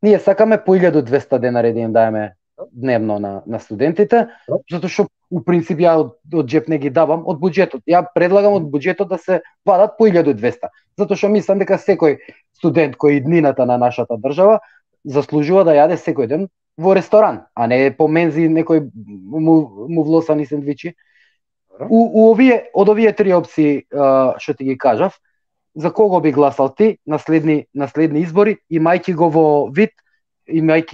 ние сакаме по 1200 денари да им даеме дневно на студентите, затоа што у принцип ја од джеп не ги давам, од буџетот. Ја предлагам од буџетот да се вадат по 1200, затоа што мислам дека секој студент кој иднината на нашата држава заслужува да јаде секој ден во ресторан, а не по мензи некој му влосани сендвичи. Од овие три опции што ти ги кажав, за кого би гласал ти на следни избори, имајќи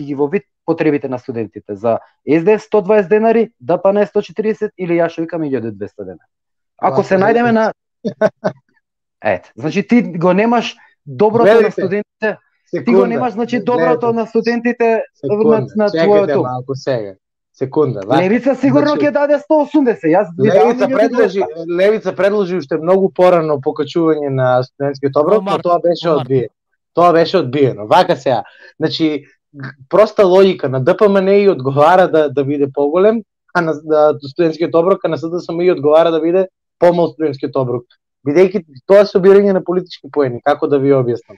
ги во вид потребите на студентите? За СДС 120 денари, ДПН 140 или ја што викам 1200 денари? Ако се најдеме на значи ти го немаш доброто на студентите. Ти го немаш, значи, доброто на студентите на твоето. Малку сега. Секунда. Левица сигурно ќе даде 180. Левица предложи уште многу порано покачување на студентскиот оброк, но тоа беше одбиено. Тоа беше одбиено. Вака сега. Значи, проста логика на ДПМН одговара да биде поголем, а на студентскиот оброк, а на СДСМ одговара да биде помал студентскиот оброк. Бидејќи тоа е собирање на политички поени, како да ви објаснам.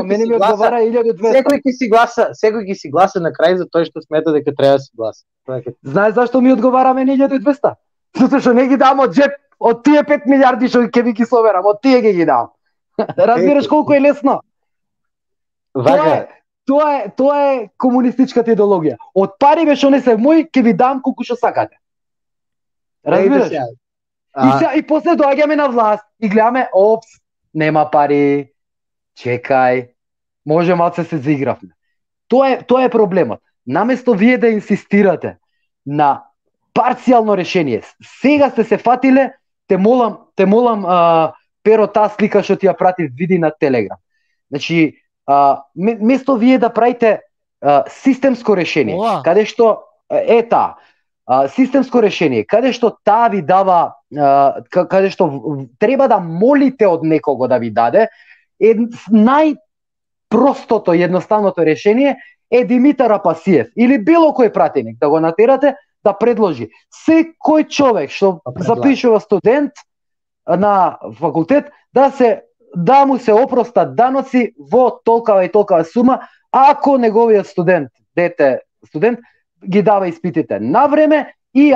Мене ми одговара 1200. Секој ќе си гласа на крај за тој што смета дека треба да си гласа. Знаеш зашто ми одговара мене 1200? Затоа што не ги дам од джеп, од тие 5 милиарди што ќе ви ги соберам, од тие ги дам. Разбираш колку е лесно? Тоа е комунистичката идеологија. Од пари бе што не се мој, ќе ви дам колку што сакате. Разбираш? И после доаѓаме на власт и гледаме, опс, нема пари, чекај, може малце се заигравме. Тоа е проблемот. Наместо вие да инсистирате на парцијално решение, сега сте се фатиле, те молам, Перо, таа слика што ти ја пратив, види на Телеграм. Значи, место вие да правите системско решение, каде што системско решение, каде што таа ви дава, каде што треба да молите од некого да ви даде, најпростото, едноставното решение е Димитар Апасиев или било кој пратеник да го натерате да предложи секој човек што запишува студент на факултет да му се опростат даноци во толкава и толкава сума, ако неговиот студент ги дава испитите на време и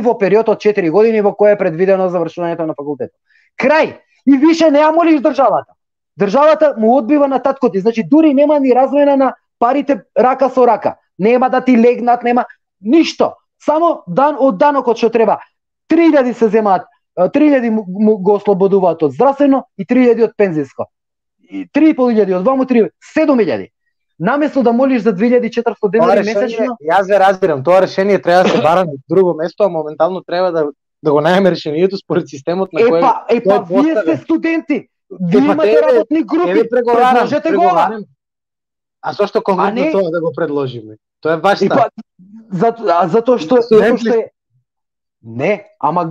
во период од 4 години во кој е предвидено завршувањето на факултетот. Крај! И више не ја молиш државата. Државата му одбива на таткоти, значи дури нема ни размена на парите рака со рака. Нема да ти легнат, нема ништо. Само од данокот што треба. 3000 се земаат, 3000 го ослободуваат од здравствено и 3000 од пензиско. 3500 од ваму 7000. Наместо да молиш за 2400 денари месечно, јас ве разбирам, тоа решение треба да се бара на друго место, а моментално треба да го најдеме решението според системот на кој вие сте студенти. Вие имате работни групи, предложете го. А зошто конкретно тоа да го предложиме? Тоа е ваш став. Затоа што не, ама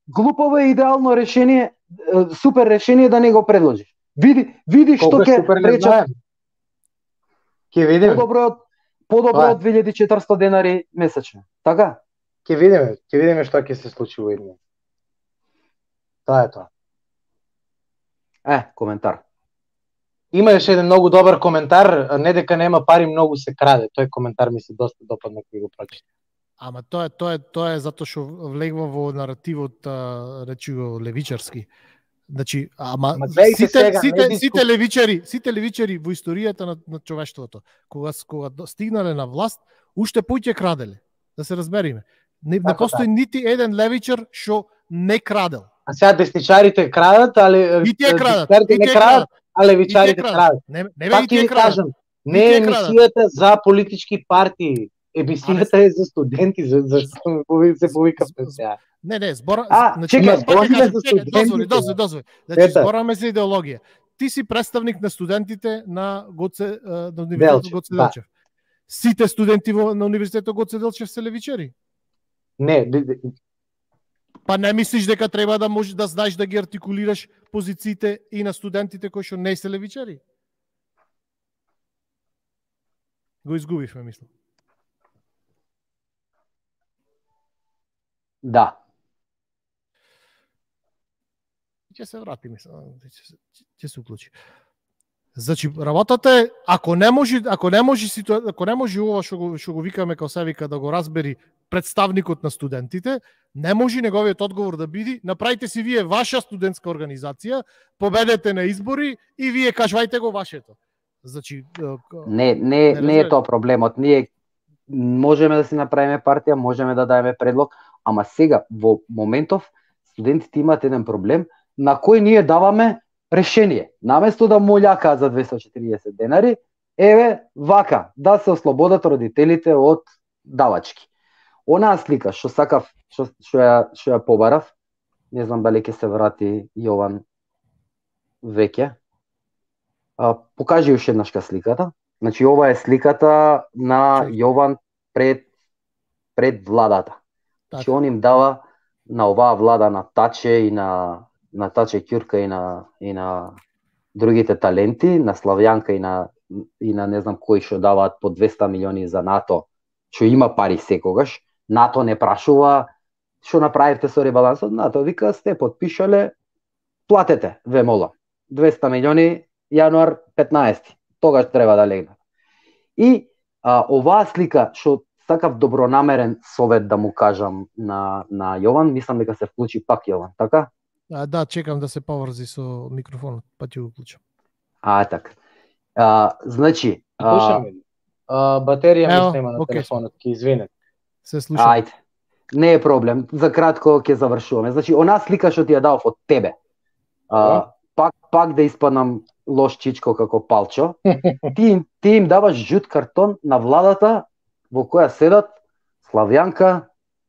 глупово е идеално решение, супер решение да не го предложиш. Види што ќе речат. Ќе видиме. Подобро од 2400 денари месечно. Така? Ќе видиме што ќе се случи во иднина. Тоа е тоа. Коментар. Имаше еден многу добар коментар, не дека нема пари, многу се краде. Тој коментар ми се доста допадна кога го прочитав. Ама тоа е затоа што влегва во наративот, речи го, левичарски. Значи, сите левичари во историјата на човештвото, кога стигнале на власт, уште поќе краделе. Да се разбериме. Не постои нити еден левичар што не крадел. А сега десничарите крадат, али и тие крадат, не крадат, а левичарите крадат. Пак ќе кажам, не е емисијата за политички партии. Емисијата е за студенти, зашто се повика сега. Не, збора... Дозволи. Значи, збораме за идеологија. Ти си представник на студентите на Универзитетот Гоце Делчев. Сите студенти на Универзитетот Гоце Делчев се левичари? Не. Па не мислиш дека треба да можеш да знаеш да ги артикулираш позициите и на студентите кои што не се левичари? Го изгубивме, мислам. Да. Ќе се врати, мислам, ќе се уклучи. Значи, работата е, ако не може ова што го викаме као се вика да го разбери представникот на студентите, не може неговиот одговор да биде: направите си вие ваша студентска организација, победете на избори и вие кажувајте го вашето. Значи, не е тоа проблемот. Ние можеме да си направиме партија, можеме да даеме предлог, ама сега во моментов студентите имаат еден проблем на кој ние даваме решение. Наместо да молјака за 240 денари, еве вака да се ослободат родителите од давачки. Онаа слика што сакав, што ја побарав, не знам дали ќе се врати Јован веќе. Покажи уште еднашка сликата. Значи ова е сликата на Јован пред владата. Значи он им дава на оваа влада, на Таче и на Таче Ќурка и на другите таленти, на Славјанка и на не знам кои што даваат по 200 милиони за НАТО, што има пари секогаш. НАТО не прашува што направивте со ребалансот, НАТО вика сте подпишале, платете, ве молам. 200 милиони јануар 15. Тогаш треба да легнат. И оваа слика што сакав добронамерен совет да му кажам на Јован, мислам дека се вклучи пак Јован, така? Да, чекам да се поврзи со микрофонот, па ќе го вклучам. Така. Значи, батерија ми снема на телефонот, ќе извинете. Се слушам. Ајде. Не е проблем, за кратко ќе завршуваме. Значи, онаа слика што ти ја дав од тебе, пак да испаднам лош чичко како Палчо, ти им даваш жут картон на владата во која седат Славјанка,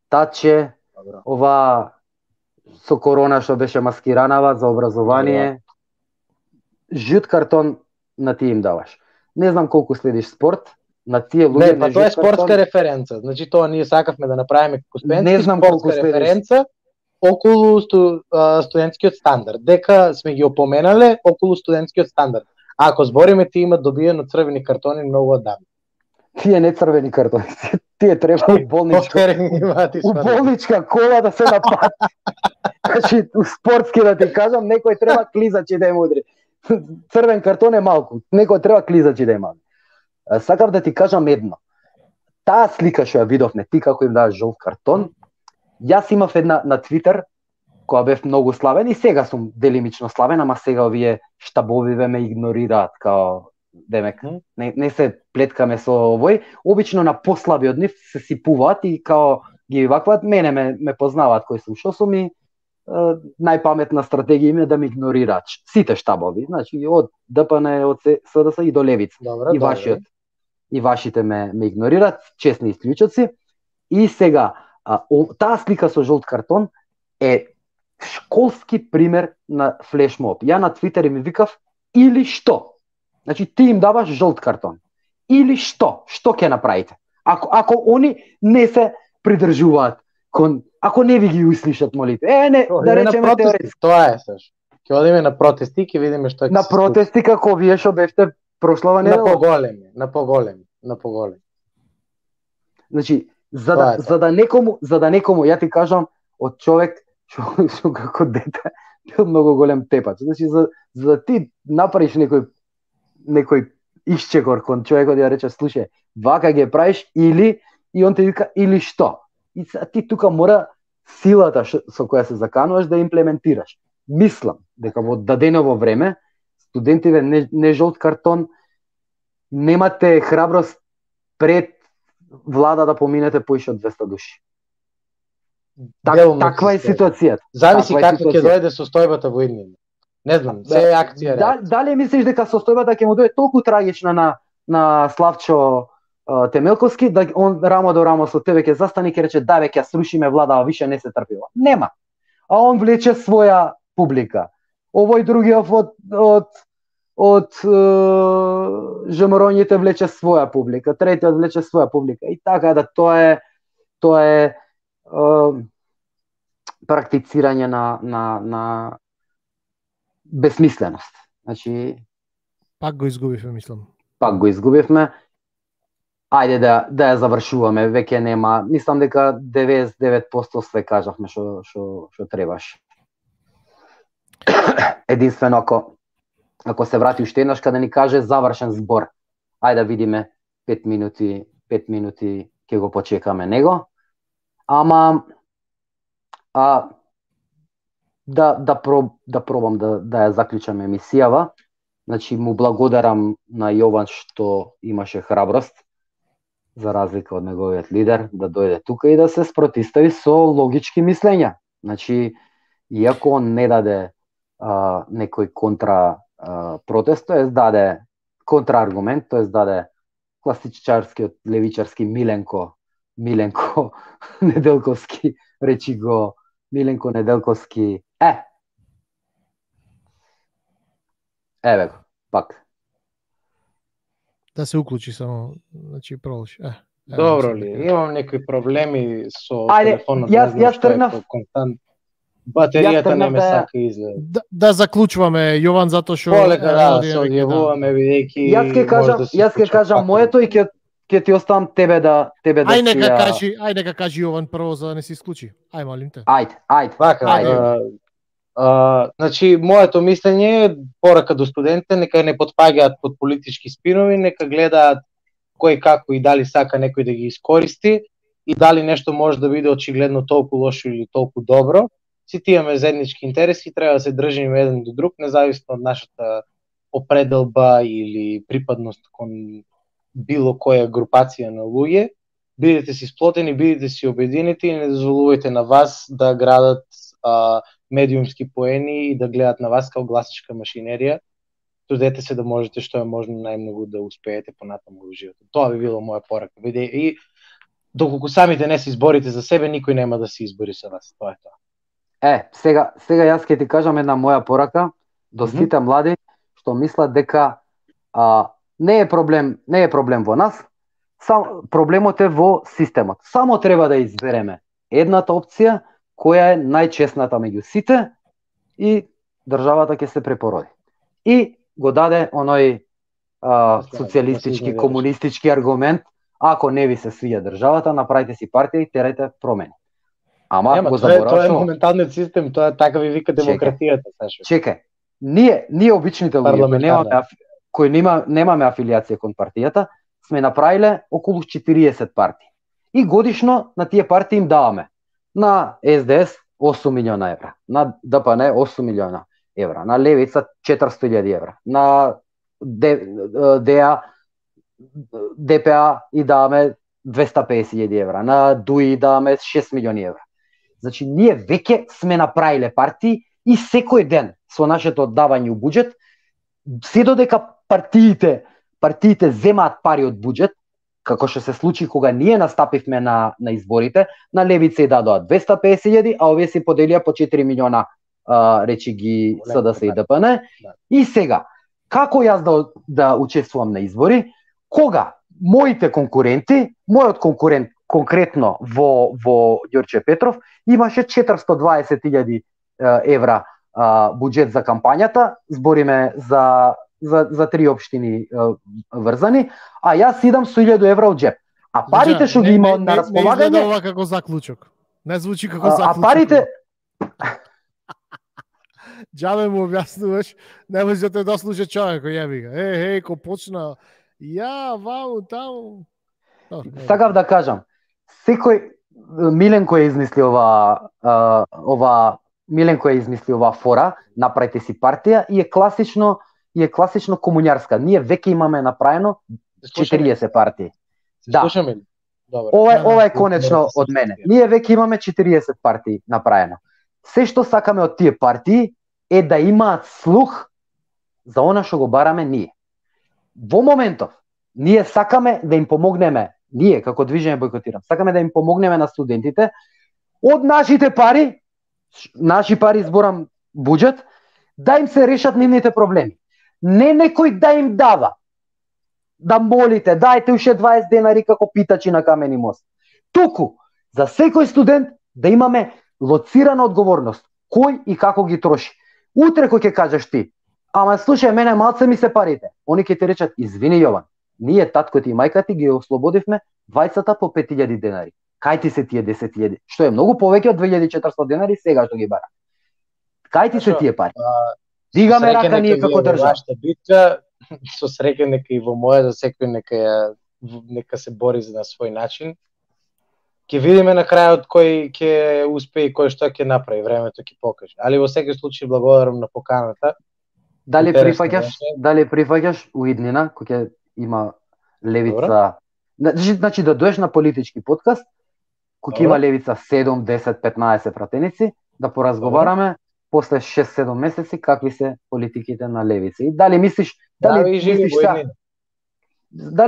Таче, ова со корона што беше маскиранава за образование. Жут картон на ти им даваш. Не знам колку следиш спорт, на тие луѓе не, па тоа е спортска референца. Значи тоа ние сакавме да направиме како спортска референца околу студентскиот стандард. Дека сме ги опоменале околу студентскиот стандард. Ако збориме, ти имат добиено црвени картони многу одамна. Тие не црвени картони, тие треба у болничка кола да се напати. Значи, спортски да ти кажам, некој треба клизачи да им удри. Црвен картон е малку, некој треба клизачи да има. Сакав да ти кажам едно. Таа слика што ја видовме, ти како им даваш жолт картон, јас имав една на Твитер, која бев многу славен и сега сум делимично славен, ама сега овие штабовиве ме игнорираат као демек. Не се плеткаме со овој. Обично на послаби од нив се сипуваат и као ги вакват, мене ме познаваат кој сум, што сум и најпаметна стратегија им е да ме игнорираат. Сите штабови, значи од ДПН, од СДС и до Левица. И вашите ме игнорираат, честни исклучоци. И сега, таа слика со жолт картон е школски пример на флешмоб. Ја на Твитер ми викав или што? Значи ти им даваш жолт картон. Или што? Што ќе направите? Ако они не се придржуваат ако не ви ги услишат молите. Не, да речеме теоретски. Тоа е саш. Ќе одиме на протести, ќе видиме што ќе на протести како вие што бевте прошлава недела. На поголеми. Значи, за да некому, ја ти кажам од човек што како дете бил многу голем тепач. Значи за да ти направиш некој исчекор кон човекот ја рече слушај, вака ги правиш или и он ти вика или што? И ти тука мора силата со која се закануваш да имплементираш. Мислам дека во даденово време студентиве не жолт картон, немате храброст пред влада да поминете поише од 200 души. Таква е ситуацијата. Зависи како ќе дојде состојбата во иднина. Не знам, се е акција. Дали мислиш дека состојбата ќе му дојде толку трагична на Славчо Темелковски, да он рамо до рамо со тебе ќе застане и ќе рече да бе ќе срушиме влада, а више не се трпива. Нема. А он влече своја публика. Овој другиот од жемороњите влече своја публика, третиот влече своја публика. И така да тоа е практицирање на безсмисленост. Значи пак го изгубивме, мислам. Пак го изгубивме. Ајде да ја завршуваме, веќе нема. Мислам дека 99% све кажавме што требаше. Единствено ако се врати уште еднаш да ни каже завршен збор. Ајде да видиме 5 минути ќе го почекаме него. Ама да пробам да ја заклучам емисијава. Значи му благодарам на Јован што имаше храброст, за разлика од неговиот лидер, да дојде тука и да се спротистави со логички мислења. Значи, иако он не даде некој контра протест, тоест даде контрааргумент, тоест даде класичарскиот левичарски Миленко Неделковски, речи го Миленко Неделковски. Еве го, пак. Да се уклучи само, значи продолжи. Добро ли? Имам некои проблеми со телефонот, јас тргнав констант. Батеријата не ме сака изгледа. Да заклучуваме, Јован, затоа што полека се одјавуваме бидејќи Јас ќе кажам моето и ќе ти оставам тебе да Ај нека кажи Јован прво за да не се исклучи. Ај молим те. Ајде. Значи моето мислење е порака до студентите нека не потпаѓаат под политички спинови, нека гледаат кој како и дали сака некој да ги искористи и дали нешто може да биде очигледно толку лошо или толку добро. Сите имаме заеднички интереси, треба да се држиме еден до друг, независно од нашата определба или припадност кон било која групација на луѓе. Бидете си сплотени, бидете си обединети и не дозволувајте на вас да градат медиумски поени и да гледат на вас као гласачка машинерија. Трудете се да можете што е можно најмногу да успеете понатаму во животот. Тоа би било моја порака. И доколку самите не се изборите за себе, никој нема да се избори за вас. Тоа е тоа. Сега јас ќе ти кажам една моја порака до сите млади што мислат дека не е проблем во нас, проблемот е во системот. Само треба да избереме едната опција која е најчесната меѓу сите и државата ќе се препороди. И го даде оној социјалистички, комунистички аргумент, ако не ви се свиѓа државата, направите си партија и терајте промени. Ама го забораваш. Тоа е моменталниот систем, тоа така ви вика демократијата, Сашо. Чекај. Ние обичните луѓе кои немаме афилијација кон партијата, сме направиле околу 40 партии. И годишно на тие партии им даваме на СДС 8 милиона евра, на ДПН 8 милиона евра, на Левица 400.000 евра, на ДПА и даваме 250.000 евра, на ДУИ даваме 6 милиони евра. Значи, ние веќе сме направиле партии и секој ден со нашето давање у буџет, се додека партиите земаат пари од буџет, како што се случи кога ние настапивме на изборите, на Левица и дадоа 250.000, а овие се поделија по 4 милиона речи ги СДС и ДПН. И сега, како јас да учествувам на избори, кога моите конкуренти, мојот конкурент конкретно во Ѓорче Петров имаше 420.000 евра буџет за кампањата, збориме за 3 општини врзани, а јас идам со 1000 евра од джеп. А парите што ги има на располагање... Не изгледа ова како заклучок. Не звучи како заклучок. А парите... Џабе му објаснуваш, не може да те дослуша човекот, јеби га. Ко почна... вау, таму... Сакав да кажам, секој Миленко е измисли Миленко е измисли оваа фора, направите си партија и е класично комуњарска. Ние веќе имаме направено 40 партии. Да. Ова е конечно од мене. Ние веќе имаме 40 партии направено. Се што сакаме од тие партии е да имаат слух за она што го бараме ние. Во моментов, ние сакаме да им помогнеме, ние како движење Бојкотирам, сакаме да им помогнеме на студентите од наши пари зборам буџет, да им се решат нивните проблеми. Не некој да им дава, да молите, дајте уште 20 денари како питачи на Камени мост. Туку, за секој студент да имаме лоцирана одговорност, кој и како ги троши. Утре кој ќе кажеш ти, ама слушај, мене малце ми се парите, они ќе ти речат, извини Јован, ние таткото и мајка ти ги ослободивме 20 по 5000 денари. Кај ти се тие 10.000, што е многу повеќе од 2400 денари сега што ги бара. Кај ти се тие пари? Дигаме рака ние како држава. Битка, со среќа нека и во моја, да секој нека се бори за на свој начин. Ќе видиме на крајот кој ќе успее и кој што ќе направи, времето ќе покаже. Али во секој случај благодарам на поканата. Дали прифаќаш у иднина кој ќе има Левица? Значи да доеш на политички подкаст, кој ќе има Левица 7, 10, 15 пратеници, да поразговараме после 6-7 месеци какви се политиките на левица. И дали мислиш, дали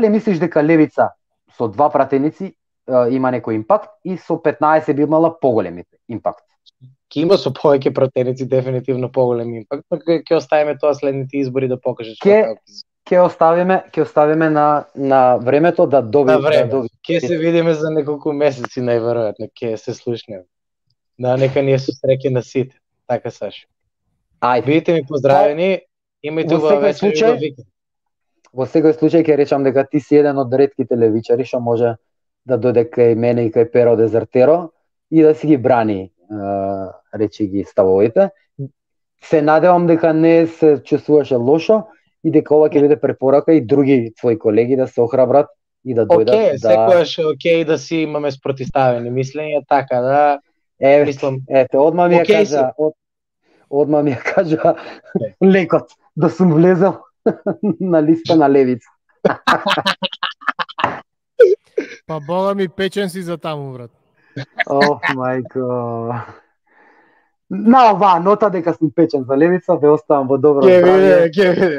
мислиш дека левица со 2 пратеници има некој импакт и со 15 би имала поголем импакт? Ке има со повеќе пратеници дефинитивно поголем импакт, но ќе оставиме тоа следните избори да покажат што ќе оставиме на времето да доби. Ќе се видиме за неколку месеци најверојатно, ќе се слушнеме. Да, нека ни е со среќа на сите. Така, Сашо. Ајде. Бидете ми поздравени, имајте убава вечер и убав викенд. Во секој случај ќе речам дека ти си еден од ретките левичари што може да дојде кај мене и кај Перо Дезертеро и да си ги брани, речи ги ставовите. Се надевам дека не се чувствуваше лошо и дека ова ќе биде препорака и други твои колеги да се охрабрат и да дојдат. Секогаш е окей да си имаме спротиставени мислења, така да мислам. Ете, одма ми ја кажа лекот да сум влезел на листа на левица. Па бога ми печен си за таму, брат. Ох, мајко. На оваа нота дека сум печен за левица, ве оставам во добро здравје. Ќе види.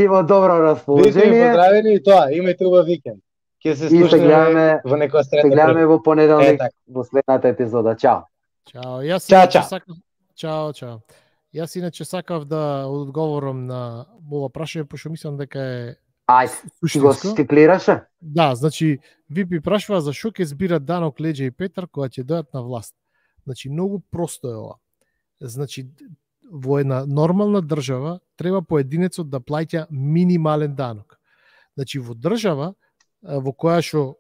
И во добро расположение. Бидете поздравени и тоа, имајте убав викенд. Ќе се слушаме во некоја среда. Се гледаме во понеделник во следната епизода. Чао. Чао. Чао. Јас иначе сакав да одговорам на ова прашање, пошто мислам дека е Ајде, го стиклираше? Да, значи, Випи прашува за шо ќе збират Данок, Леџа и Петар кога ќе дојдат на власт. Значи, многу просто е ова. Значи, во една нормална држава треба поединецот да плаќа минимален данок. Значи, во држава во која што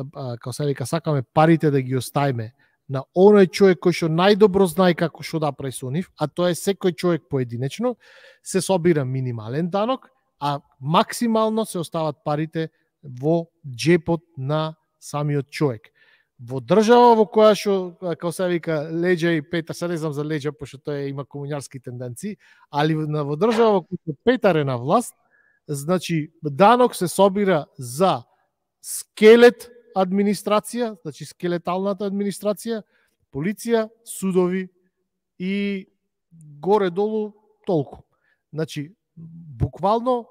како се вика, сакаме парите да ги оставиме на оној човек кој што најдобро знае како што да прави со нив, а тоа е секој човек поединечно, се собира минимален данок, а максимално се остават парите во джепот на самиот човек. Во држава во која што, како се вика, Леџа и Петар, се не знам за Леџа, пошто тој има комуњарски тенденции, али во држава во која Петар е на власт, значи данок се собира за скелет администрација, значи скелеталната администрација, полиција, судови и горе-долу толку. Значи, буквално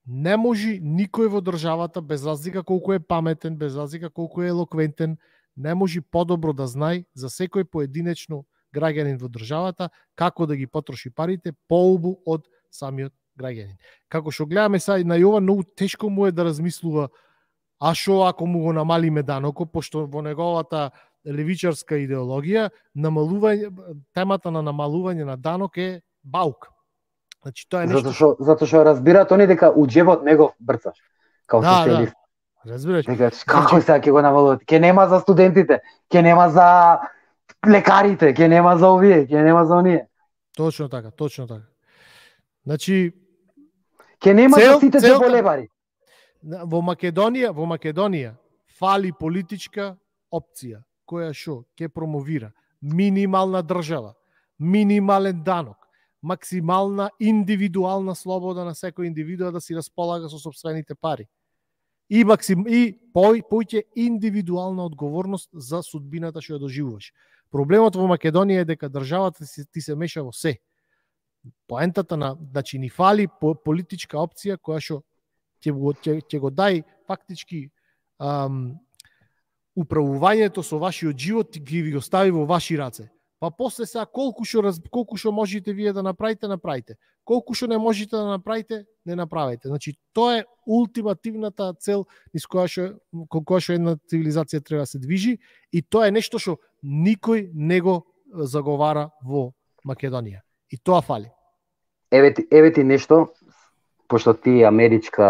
не може никој во државата, без разлика колку е паметен, без разлика колку е елоквентен, не може подобро да знае за секој поединечно граѓанин во државата како да ги потроши парите поубу од самиот граѓанин. Како што гледаме сега на Јован, многу тешко му е да размислува а шо ако му го намалиме данокот, пошто во неговата левичарска идеологија темата на намалување на данок е баук. Значи тоа е нешто затоа што разбираат они дека у џебот него брцаш. Као социјалист. Да. Разбираш. Дека како сега ќе го намалуваат? Ќе нема за студентите, ќе нема за лекарите, ќе нема за овие, ќе нема за оние. Точно така. Значи ќе нема за сите џеболебари. Во Македонија фали политичка опција која што ќе промовира минимална држава, минимален данок, максимална индивидуална слобода на секој индивидуа да си располага со сопствените пари. И поќе индивидуална одговорност за судбината што ја доживуваш. Проблемот во Македонија е дека државата ти се меша во се. Поентата значи ни фали политичка опција која што ќе го дај фактички управувањето со вашиот живот ги ви остави во ваши раце. Па после сега колку што можете вие да направите. Колку што не можете да направите, не направите. Значи тоа е ултимативната цел кон која што една цивилизација треба да се движи и тоа е нешто што никој не го заговара во Македонија. И тоа фали. Еве ти нешто, пошто ти амерички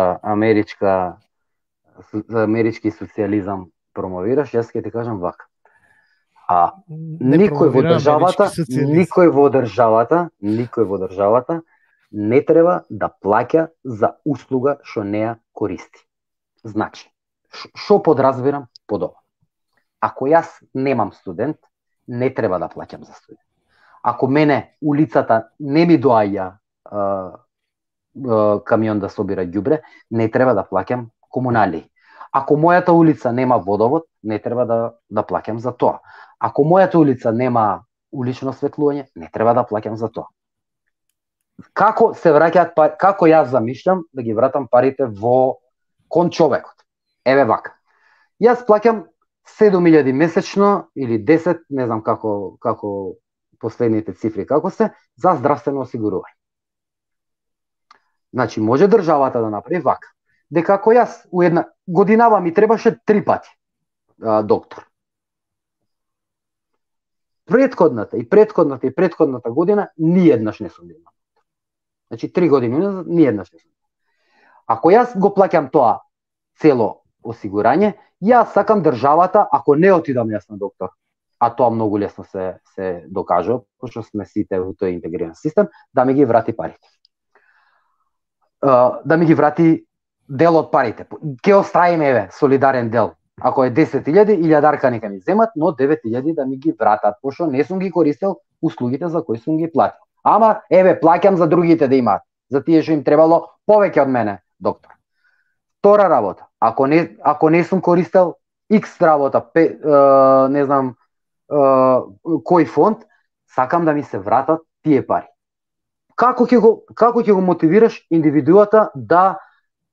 социјализам промовираш, јас ќе ти кажам вака. Никој во државата не треба да плаќа за услуга што не ја користи. Значи, што подразбирам под ова? Ако јас немам студент, не треба да плаќам за студент. Ако мене улицата не ми доаѓа камион да собира ѓубре, не треба да плаќам комунали. Ако мојата улица нема водовод, не треба да плаќам за тоа. Ако мојата улица нема улично осветлување, не треба да плаќам за тоа. Како се враќаат пари, како јас замишлям да ги вратам парите кон човекот? Еве вака. Јас плаќам 7.000 месечно или 10, не знам како последните цифри како се, за здравствено осигурување. Значи, може државата да направи вака. Дека ако јас у една годинава ми требаше 3 пати доктор. Предходната година ниеднаш не сум бил. Значи 3 години ниеднаш не сум. Ако јас го плаќам тоа цело осигурање, јас сакам државата, ако не отидам јас на доктор, а тоа многу лесно се докажува, пошто сме сите во тој интегриран систем, да ми ги врати парите. Да ми ги врати дел од парите. Ке оставиме, еве, солидарен дел. Ако е 10.000, 1000 нека ми земат, но 9.000 да ми ги вратат, пошто не сум ги користел услугите за кои сум ги платил. Ама, еве, плаќам за другите да имаат. За тие што им требало повеќе од мене, доктор. Втора работа. Ако не сум користел X работа, не знам кој фонд, сакам да ми се вратат тие пари. Како ќе го мотивираш индивидуата да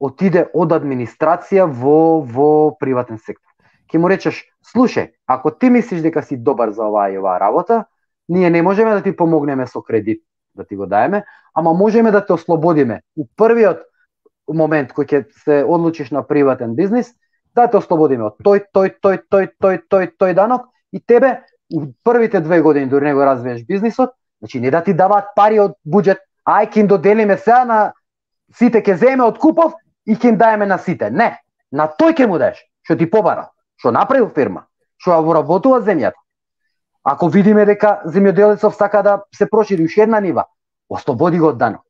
отиде од администрација во приватен сектор? Ќе му речеш, слушај, ако ти мислиш дека си добар за оваа и оваа работа, ние не можеме да ти помогнеме со кредит, да ти го даеме, ама можеме да те ослободиме. У првиот момент кој ќе се одлучиш на приватен бизнис, да те ослободиме од тој данок и тебе у првите 2 години дори не го развиеш бизнисот, значи не да ти даваат пари од буџет, ај ќе им доделиме сега на сите, ќе земеме од купов и ќе им даеме на сите. Не, на тој ќе му даеш, што ти побарал, што направил фирма, што ја воработува земјата. Ако видиме дека земјоделецов сака да се прошири уште една нива, ослободи го од данок.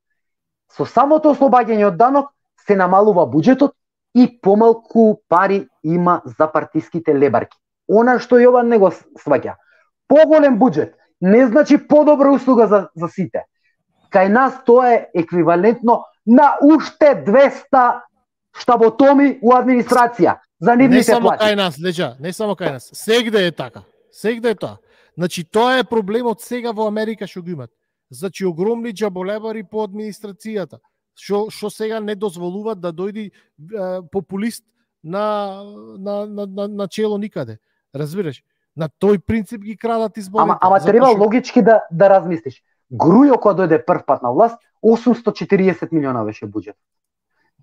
Со самото ослобаѓање од данок се намалува буџетот и помалку пари има за партиските лебарки. Она што Јован не го сваќа. Поголем буџет не значи подобра услуга за сите. Кај нас тоа е еквивалентно на уште 200 штаботоми у администрација за нивните плати. Не само кај нас, Леџа, не само кај нас. Сегде е така. Сегде е тоа. Значи тоа е проблемот сега во Америка што го имат. Значи огромни џаболебари по администрацијата, што сега не дозволуваат да дојди популист на чело никаде. Разбираш? На тој принцип ги крадат изборите. Ама треба логички да размислиш. Грујо кога дојде прв пат на власт, 840 милиона беше буџет.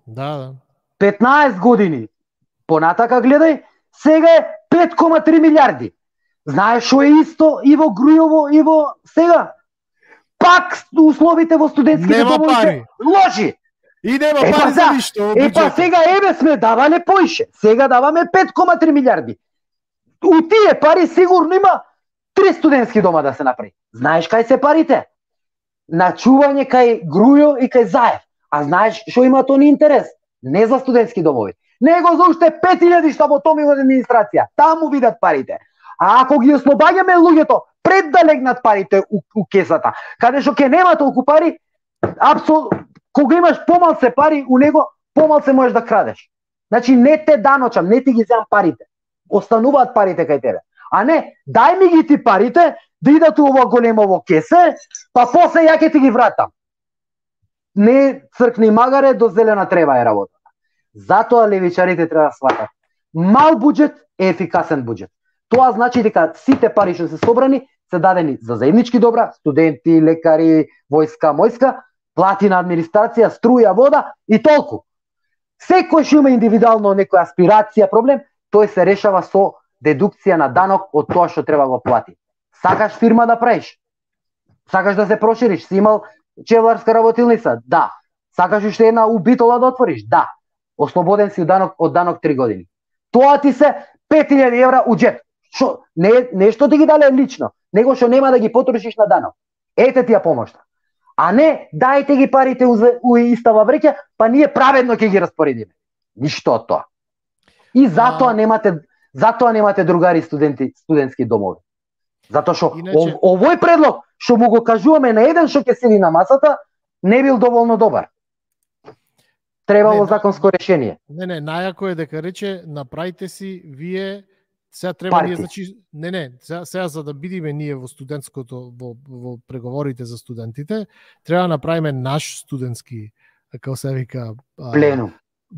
Да. 15 години понатака гледај, сега е 5,3 милиарди. Знаеш што е исто и во Грујово и во сега? Пак условите во студентските домови се лоши. И нема пари за ништо. Па сега сме давале поише. Сега даваме 5,3 милиарди. У тие пари сигурно има 3 студентски дома да се направи. Знаеш кај се парите? На чување кај Грујо и кај Заев. А знаеш што имаат они интерес? Не за студентски домови, него за уште 5000 штаботоми во администрација. Таму видат парите. А ако ги ослобаѓаме луѓето пред да легнат парите у кесата, каде што ќе нема толку пари, кога имаш помалце пари у него, помалце можеш да крадеш. Значи не те даночам, не ти ги земам парите. Остануваат парите кај тебе. А не, дај ми ги ти парите, да идат у ова големово кесе, па после ја ќе ти ги вратам. Не цркни магаре, до зелена трева е работата. Затоа левичарите треба да сватат. Мал буџет е ефикасен буџет. Тоа значи дека сите пари што се собрани се дадени за заеднички добра, студенти, лекари, војска, плати на администрација, струја, вода и толку. Секој што има индивидуално некоја аспирација, проблем, тој се решава со дедукција на данок од тоа што треба го плати. Сакаш фирма да правиш? Сакаш да се прошириш? Си имал чевларска работилница? Да. Сакаш уште една убитола да отвориш? Да. Ослободен си од данок 3 години. Тоа ти се 5000 евра у џеб. Шо не што ти ги дале лично, него што нема да ги потрошиш на данок. Ете ти ја помошта. А не дајте ги парите у истава вреќа, па ние праведно ќе ги распоредиме. Ништо од тоа. И затоа немате другари студентски домови. Затоа што овој предлог што му го кажуваме на еден што ќе седи на масата, не бил доволно добар. Требало законско решение. Не, најако е дека рече направите си вие Сега треба Парти. ние, значи, сега за да бидиме ние во студентското, во преговорите за студентите, треба да направиме наш студентски, како се вика,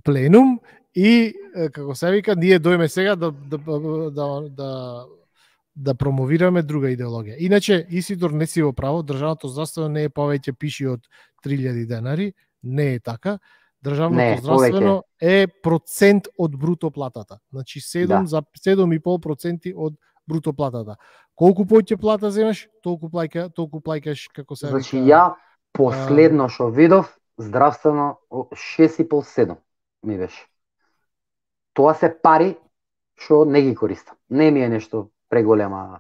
пленум и како се вика, ние дојме сега да промовираме друга идеологија. Иначе, Исидор, не си во право, државното здравствено не е повеќе пиши од 3000 денари, не е така. Државното здравствено е процент од бруто платата. Значи 7,5% од бруто платата. Колку повеќе плата земаш, толку плаќаш како се вика. Значи ја последно што видов здравствено 6,5-7 ми беше. Тоа се пари што не ги користам. Не ми е нешто преголема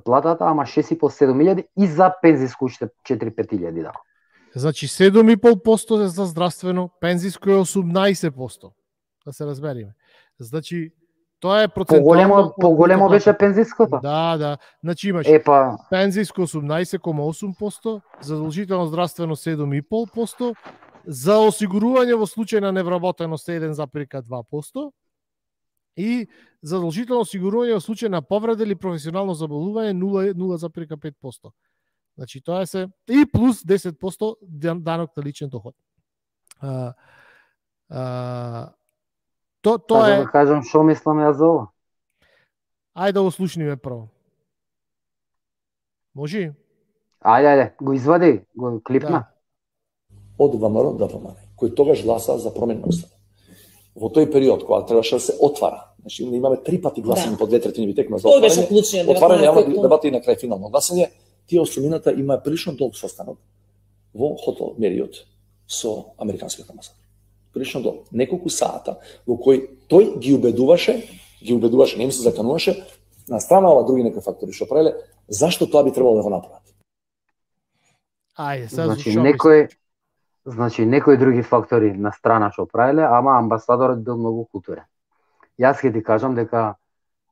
платата, ама 6,5-7 и за пензиско уште 4-5 да. Значи 7,5% е за здравствено, пензиско е 18%. Да се разбериме. Значи тоа е процентуално поголемо беше пензиското. Да. Значи имаш пензиско 18,8%, задолжително здравствено 7,5%, за осигурување во случај на невработеност 1,2% и задолжително осигурување во случај на повреда или професионално заболување 0,5%. Значи тоа е и плюс 10% данок на личен доход. Тоа е. Да кажам што мислам ја за ова. Ајде да го слушниме прво. Може? Ајде, го извади, го клипна. Од ВМРО до ВМРО, кој тогаш гласа за промена на Устав. Во тој период кога требаше да се отвара, значи имаме 3 пати гласање по 2/3 текма за отварање јавна дебата и на крај финално гласање. Тие осмината има прилично долг состанок во хотел Мериот со американскиот амбасадор. Прилично долг, неколку сата во кој тој ги убедуваше, не им се закануваше, на страна ова други некои фактори што правеле, зашто тоа би требало да го направат. Ајде, Значи некои други фактори на страна што правеле, ама амбасадорот бил многу културен. Јас ќе ти кажам дека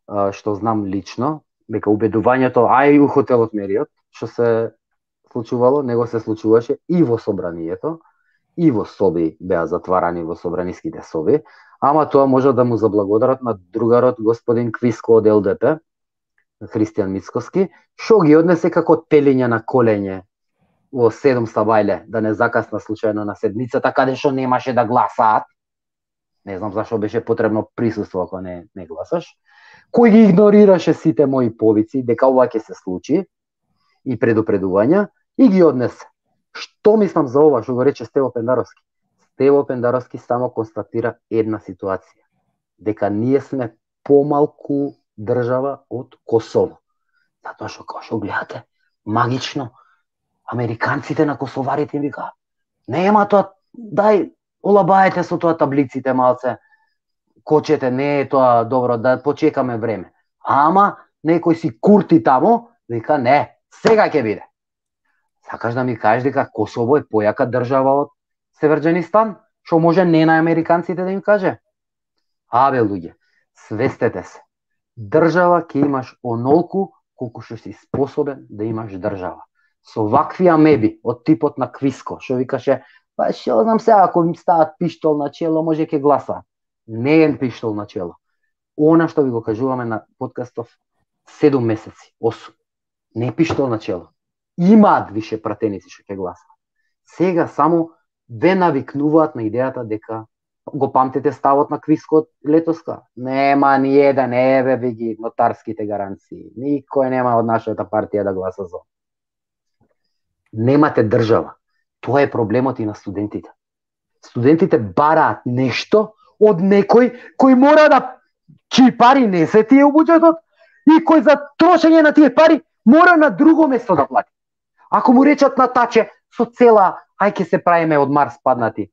што знам лично, дека убедувањето и у хотелот Мериот што се случувало, него се случуваше и во собранието, и во соби беа затварани во собраниските соби, ама тоа може да му заблагодарат на другарот господин Квиско од ЛДП, Христијан Мицкоски, што ги однесе како телење на колење во 7 стабајле, да не закасна случајно на седмицата, каде што немаше да гласаат. Не знам зашо беше потребно присуство ако не гласаш. Кој ги игнорираше сите мои повици дека ова ќе се случи и предупредувања и ги однесе. Што мислам за ова што го рече Стево Пендаровски? Стево Пендаровски само констатира една ситуација, дека ние сме помалку држава од Косово. Затоа што како што гледате, магично американците на косоварите им вика: "Нема тоа, дај олабаете со тоа таблиците малце, кочете, не е тоа добро, да почекаме време." Ама некој си курти тамо, вика: "Не, сега ќе биде." Сакаш да ми кажеш дека Косово е појака држава од Северџанистан, што може не на американците да им каже? Абе луѓе, свестете се. Држава ќе имаш онолку колку што си способен да имаш држава. Со вакви амеби од типот на Квиско, што викаше: "Па што знам сега, ако им стават пиштол на чело, може ќе гласа." Не е пиштол на чело. Она што ви го кажуваме на подкастов 7 месеци, 8. Не е пиштол на чело. Имаат више пратеници што ќе гласаат. Сега само ве навикнуваат на идејата дека го памтите ставот на Квиско од летоска. Нема ни еден, еве ви ги нотарските гаранции. Никој нема од нашата партија да гласа за. Немате држава. Тоа е проблемот и на студентите. Студентите бараат нешто од некој кој мора да чии пари не се тие у буџетот и кој за трошење на тие пари мора на друго место да плати. Ако му речат на таче со цела, ај ќе се правиме од Марс паднати.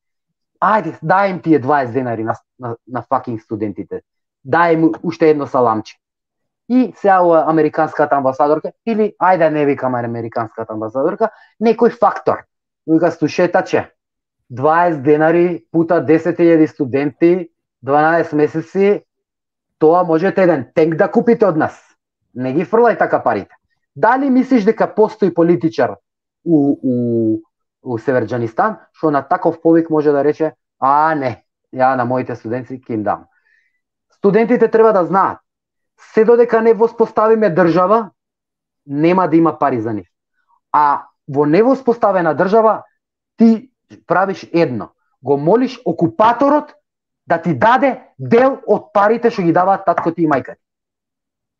Ајде, дај им тие 20 денари на факинг студентите. Дај им уште едно саламче. И сега ова американската амбасадорка, или ајде не викаме американската амбасадорка, некој фактор. Вика: "Слушајте, 20 денари пута 10.000 студенти, 12 месеци, тоа можете еден тенк да купите од нас. Не ги фрлај така парите." Дали мислиш дека постои политичар у Северџанистан што на таков повик може да рече: "А не, ја на моите студенти ќе им дам." Студентите треба да знаат, се додека не воспоставиме држава, нема да има пари за нив. А во невоспоставена држава ти правиш едно. Го молиш окупаторот да ти даде дел од парите што ги даваат татко ти и мајка ти.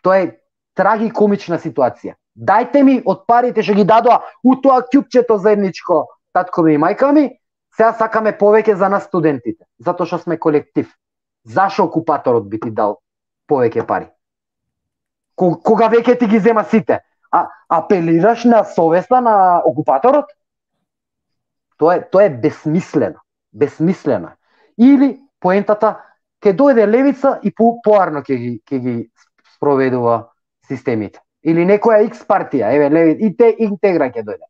Тоа е трагикомична ситуација. Дајте ми од парите што ги дадоа у тоа ќупчето заедничко татко ми и мајка ми, сега сакаме повеќе за нас студентите, затоа што сме колектив. Зашо окупаторот би ти дал повеќе пари? Кога веќе ти ги зема сите? Апелираш на совеста на окупаторот? Тоа е безсмислено. Безсмислено. Или поентата ќе дојде левица и поарно ќе ги спроведува системите. Или некоја X партија, еве леви, интегра ќе дојде.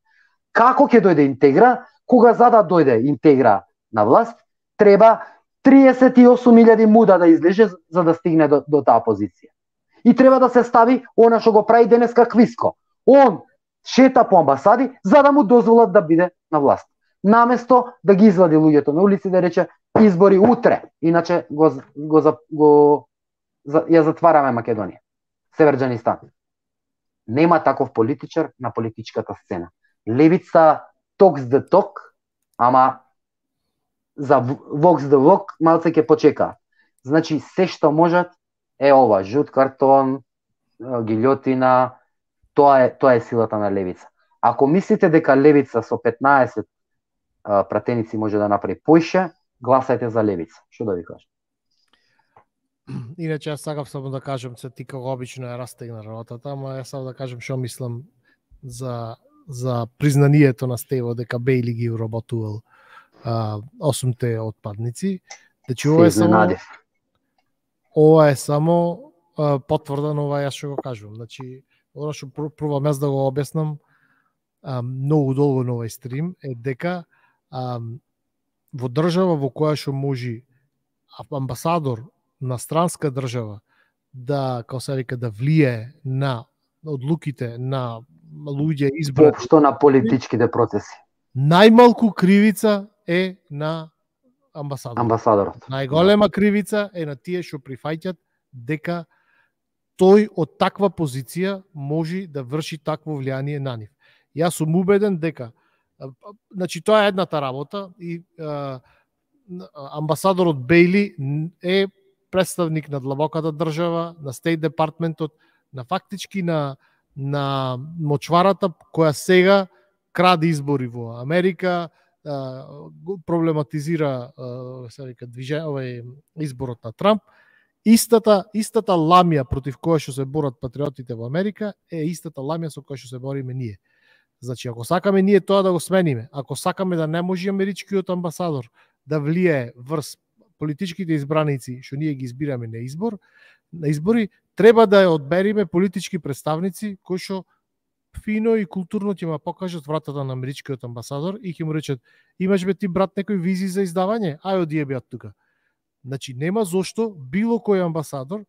Како ќе дојде интегра? Кога за да дојде интегра на власт, треба 38.000 муда да излезе за да стигне до таа позиција. И треба да се стави она што го прави денеска Квиско. Он шета по амбасади за да му дозволат да биде на власт. Наместо да ги извади луѓето на улици да рече избори утре, иначе ја затвараме Македонија. Северџанистан. Нема таков политичар на политичката сцена. Левица talks the talk, ама за walks the walk малце ќе почека. Значи се што можат е ова, жут картон, гилјотина, тоа е силата на левица. Ако мислите дека левица со 15 пратеници може да направи поише, гласајте за левица. Што да ви кажам? Иначе јас сакав само да кажам, се ти како обично е растегна работата, ама јас сакав да кажам што мислам за признанието на Стево дека Бејли ги уработувал 8-те отпадници. Значи ова е само потврда на ова јас што го кажувам. Значи, оно што пробам јас да го објаснам многу долго на овој стрим е дека во држава во која што може амбасадор на странска држава да, како се вика, да влие на одлуките на луѓе избрани воопшто на политичките процеси. Најмалку кривица е на амбасадорот. Најголема кривица е на тие што прифаќат дека тој од таква позиција може да врши такво влијание на нив. Јас сум убеден дека значи тоа е едната работа и амбасадорот Бејли е представник на длабоката држава, на Стейт департментот, на фактички на мочварата која сега краде избори во Америка, проблематизира се вика изборот на Трамп. Истата ламија против која што се борат патриотите во Америка е истата ламија со која што се бориме ние. Значи, ако сакаме ние тоа да го смениме, ако сакаме да не може америчкиот амбасадор да влие врз политичките избраници што ние ги избираме на избори, треба да ја одбериме политички представници кои што фино и културно ќе ма покажат вратата на америчкиот амбасадор и ќе му речат: имаш бе ти брат некој визи за издавање? Ај оди ја тука. Значи нема зошто било кој амбасадор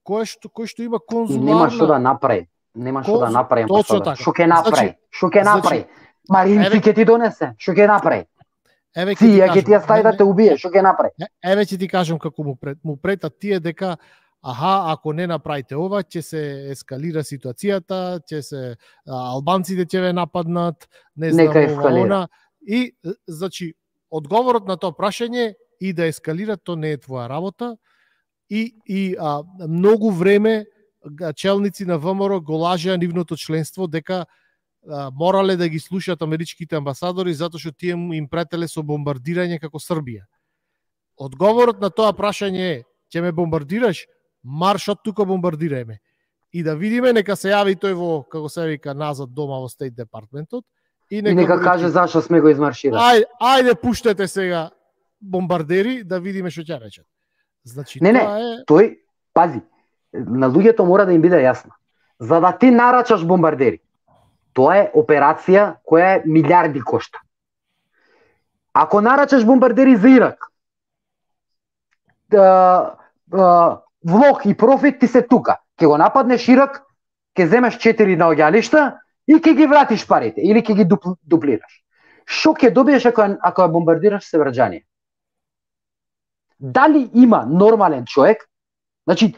кој што има конзуларна... Нема што да направи. Нема што да направи амбасадор. Што ќе направи? Што ќе направи? Маринци ќе ти донесе. Што ќе направи? Тие ќе ти ја стави да те убие. Што ќе направи? Еве ќе ти кажам како му претат тие дека ако не направите ова, ќе се ескалира ситуацијата, ќе се албанците ќе ве нападнат, не знам ова. И значи одговорот на тоа прашање и да ескалира, то не е твоја работа. И многу време челници на ВМРО го лажеа нивното членство дека морале да ги слушаат америчките амбасадори затоа што тие им претеле со бомбардирање како Србија. Одговорот на тоа прашање е: ќе ме бомбардираш? Марш од тука, бомбардирајме. И да видиме, нека се јави тој во, како се вика, назад дома во Стейт департментот и нека каже зашто сме го измарширали. Ајде пуштете сега бомбардери да видиме што ќе речат. Значи тој пази, на луѓето мора да им биде јасно. За да ти нарачаш бомбардери, тоа е операција која е милиарди кошта. Ако нарачаш бомбардери за Ирак, влог и профит ти се тука. Ќе го нападнеш Ирак, ќе земеш 4 наоѓалишта и ќе ги вратиш парите или ќе ги дуплираш. Што ќе добиеш ако ја бомбардираш Северџанија? Дали има нормален човек? Значи,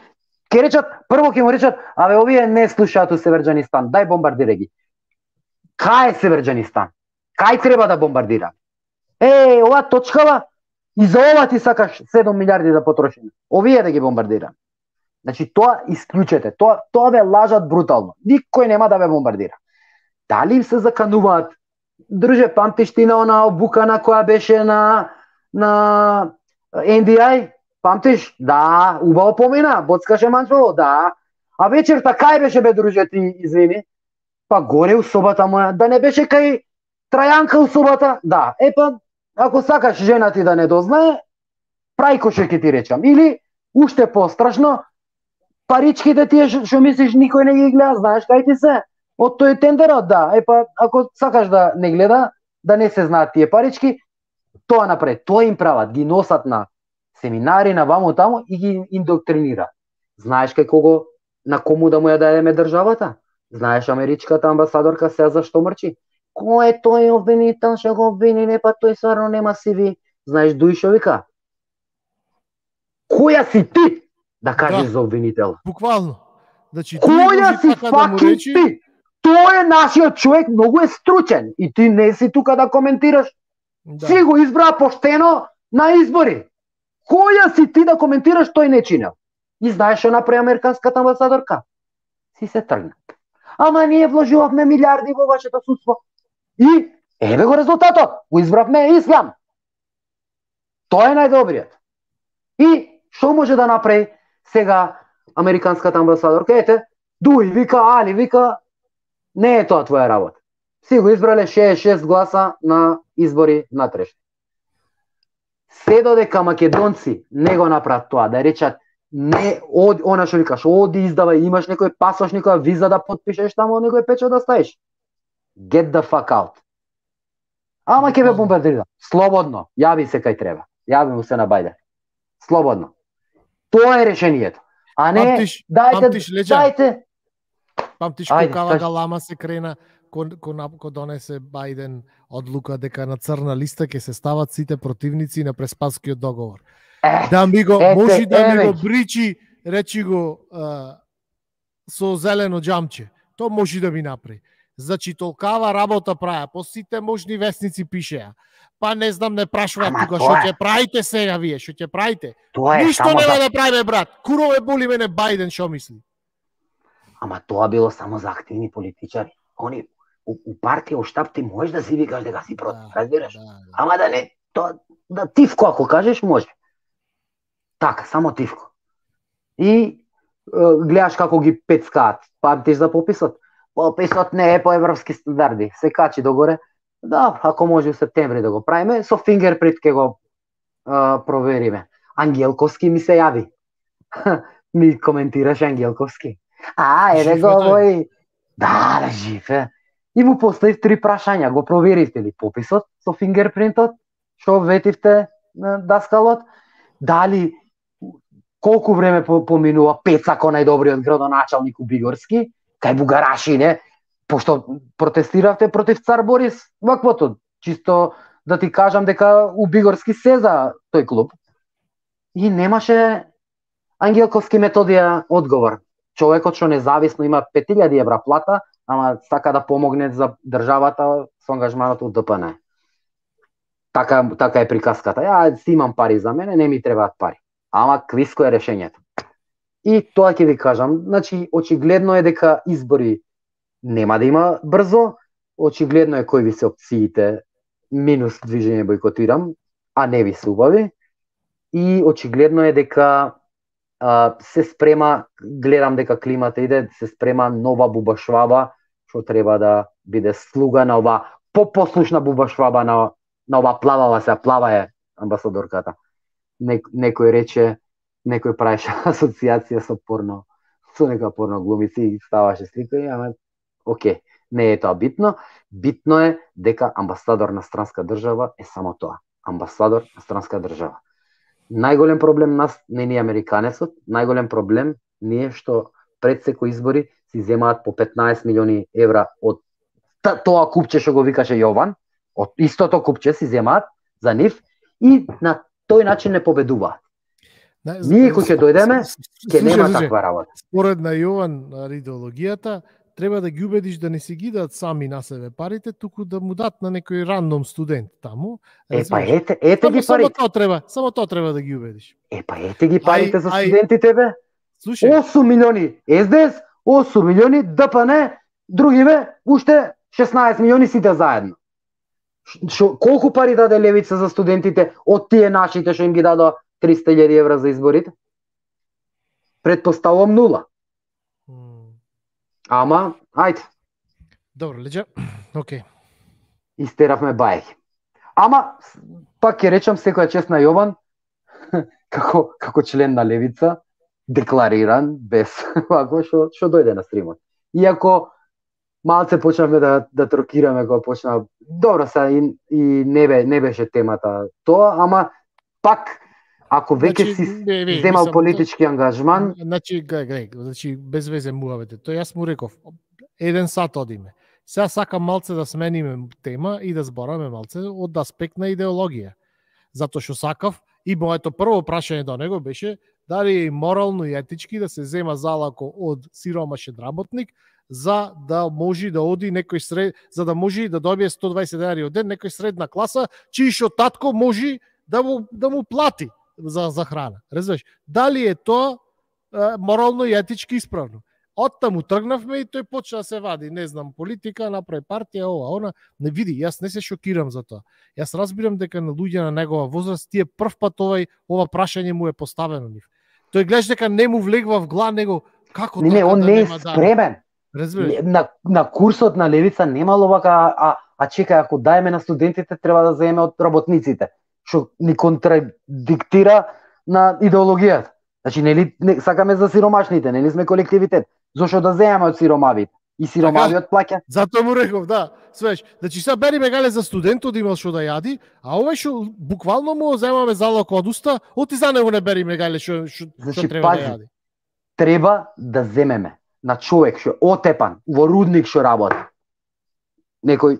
Ке речат, прво ќе му речат, абе овие не слушаат у Северџанистан, дај бомбардирај ги. Кај е Северџанистан? Кај треба да бомбардира? Ова точкава, и за ова ти сакаш 7 милиарди да потроши. Овие да ги бомбардира. Значи тоа исклучете, тоа ве лажат брутално. Никој нема да ве бомбардира. Дали им се закануваат? Друже, памтиш ти на она обукана која беше на NDI? Памтиш? Да, убаво помина, боцкаше манчово, да. А вечерта кај беше бе, друже, ти извини? Па горе у собата моја, да не беше кај Трајанка у собата? Да, ако сакаш жена ти да не дознае, прајко ќе ти речам. Или, уште пострашно, паричките тие што мислиш никој не ги гледа, знаеш кај ти се? Од тој тендерот, да. Ако сакаш да не гледа, да не се знаат тие парички, тоа напред. Тоа им прават, ги носат на семинари, на ваму таму и ги индоктринира. Знаеш кај на кому да му ја дадеме државата? Знаеш америчката амбасадорка сега зашто мрчи? Кој е тој обвинител, што го обвини, не па тој стварно нема CV. Знаеш дуј што вика? Која си ти да кажеш за обвинител? Буквално. Значи, која си факин ти? Тој е нашиот човек, многу е стручен и ти не си тука да коментираш. Да. Си го избра поштено на избори. Која си ти да коментираш, тој не чинел? И знаеш што направи американската амбасадорка? Си се тргна. Ама ние вложувавме милиарди во вашето судство. И еве го резултатот. Го избравме Ислам. Тоа е најдобриот. И што може да направи сега американската амбасадорка? Ете, дуј вика, Али вика, не е тоа твоја работа. Си го избрале 66 гласа на избори натрешни. Се додека македонци не го направат тоа, да речат не, она што викаш, оди издавај, имаш некој пасош, некоја виза да потпишеш таму, некој печат да ставиш. Get the fuck out. Ама ќе ве бомбардира. Слободно, јави се кај треба. Јави му се на Бајден. Слободно. Тоа е решението. А не, дајте. Памтиш кога Галама се крена, ко донесе Бајден одлука дека на црна листа ќе се стават сите противници на Преспанскиот договор. Да ми го, може да ми го бричи, речи го со зелено џамче. Тоа може да ми направи. Значи толкава работа праја, по сите можни вестници пишеа. Па не знам, не прашуваат тука што ќе правите сега вие, што ќе правите. Ништо нема да правиме, брат. Курове боли мене Бајден, што мисли? Ама тоа било само за активни политичари. Они у партија, у штаб ти можеш да си викаш дека си против, разбираш? Ама да не, тоа да тивко ако кажеш може. Така, само тивко. И гледаш како ги пецкаат. Памтиш за пописот? Пописот не е по европски стандарди. Се качи догоре. Да, ако може у септември да го правиме, со фингерпринт ќе го провериме. Ангелковски ми се јави. Ми коментираш Ангелковски. Еве го овој. Да, жив е. И му поставив 3 прашања. Го проверивте ли пописот со фингерпринтот? Што ветивте на даскалот? Дали колку време поминува Пецако најдобриот градоначалник у Бигорски? Кај бугараши, не? Пошто протестиравте против цар Борис ваквото. Чисто да ти кажам дека у Бигорски се за тој клуб. И немаше Ангелковски Методија одговор. Човекот што независно има 5000 евра плата, ама сака да помогне за државата со ангажманот од ДПН. Така е приказката. Ја си имам пари за мене, не ми требаат пари. Ама квиско е решењето. И тоа ќе ви кажам, значи очигледно е дека избори нема да има брзо, очигледно е кои ви се опциите минус движење бойкотирам, а не ви се убави. И очигледно е дека се спрема, гледам дека климата иде, се спрема нова Буба Шваба, што треба да биде слуга на ова попослушна Буба Шваба на ова плавава се, плава е амбасадорката. Некој рече, некој правеше асоциација со порно, со нека порно глумици и ставаше слика, ама окей, не е тоа битно. Битно е дека амбасадор на странска држава е само тоа. Амбасадор на странска држава. Најголем проблем нас не ни американецот, најголем проблем ни е што пред секој избори си земаат по 15 милиони евра од тоа купче што го викаше Јован, од истото купче си земаат за нив и на тој начин не победуваат. Ние кој ќе дојдеме, ќе нема таква работа. Според на Јован идеологијата, треба да ги убедиш да не си ги дадат сами на себе парите, туку да му дат на некој рандом студент таму. Па ете ги парите. Само тоа треба да ги убедиш. Па ете ги парите за студентите бе. Слушај. 8 милиони СДС, 8 милиони ДПН, други бе, уште 16 милиони сите заедно. Колку пари даде Левица за студентите од тие нашите што им ги дадоа 300.000 евра за изборите? Предпоставувам 0. Ама, ајде. Добро, Леđа. Океј. Истеравме бајки. Ама, пак ќе речам секоја чест на Јован, како член на Левица, деклариран, без вако, што дојде на стримот. Иако малце почнавме да трокираме кога почна. Добро са и не беше темата тоа, ама пак ако веќе си земал политички ангажман, значи без везе муавете. Тоа јас му реков, 1 сат одиме. Сега сакам малце да смениме тема и да збораме малце од аспект на идеологија. Затоа што сакав и моето прво прашање до него беше дали е морално и етички да се зема залако од сиромашен работник за да може да оди некој за да може да добие 120 денари од ден некој средна класа, чиј шо татко може да му плати за храна. Разбираш? Дали е тоа морално и етички исправно? Оттаму тргнавме и тој почна да се вади, не знам, политика, направи партија, ова, она. Не види, јас не се шокирам за тоа. Јас разбирам дека на луѓе на негова возраст тие прв пат ова прашање му е поставено нив. Тој гледаш дека не му влегва в глава него како не, он не е спремен. На курсот на Левица немало вака, а чекај, ако даеме на студентите, треба да земеме од работниците, што ни контрадиктира на идеологијата. Значи, нели сакаме за сиромашните, нели сме колективитет. Зошто да земеме од сиромавите? И сиромавиот плаќа. Затоа му реков, да. Свеш, значи сега бериме гале за студентот имал што да јади, а овој што буквално му земаме залог од уста, оти за него не бериме гале што треба да јади. Треба да земеме на човек што отепан во рудник што работи. Некој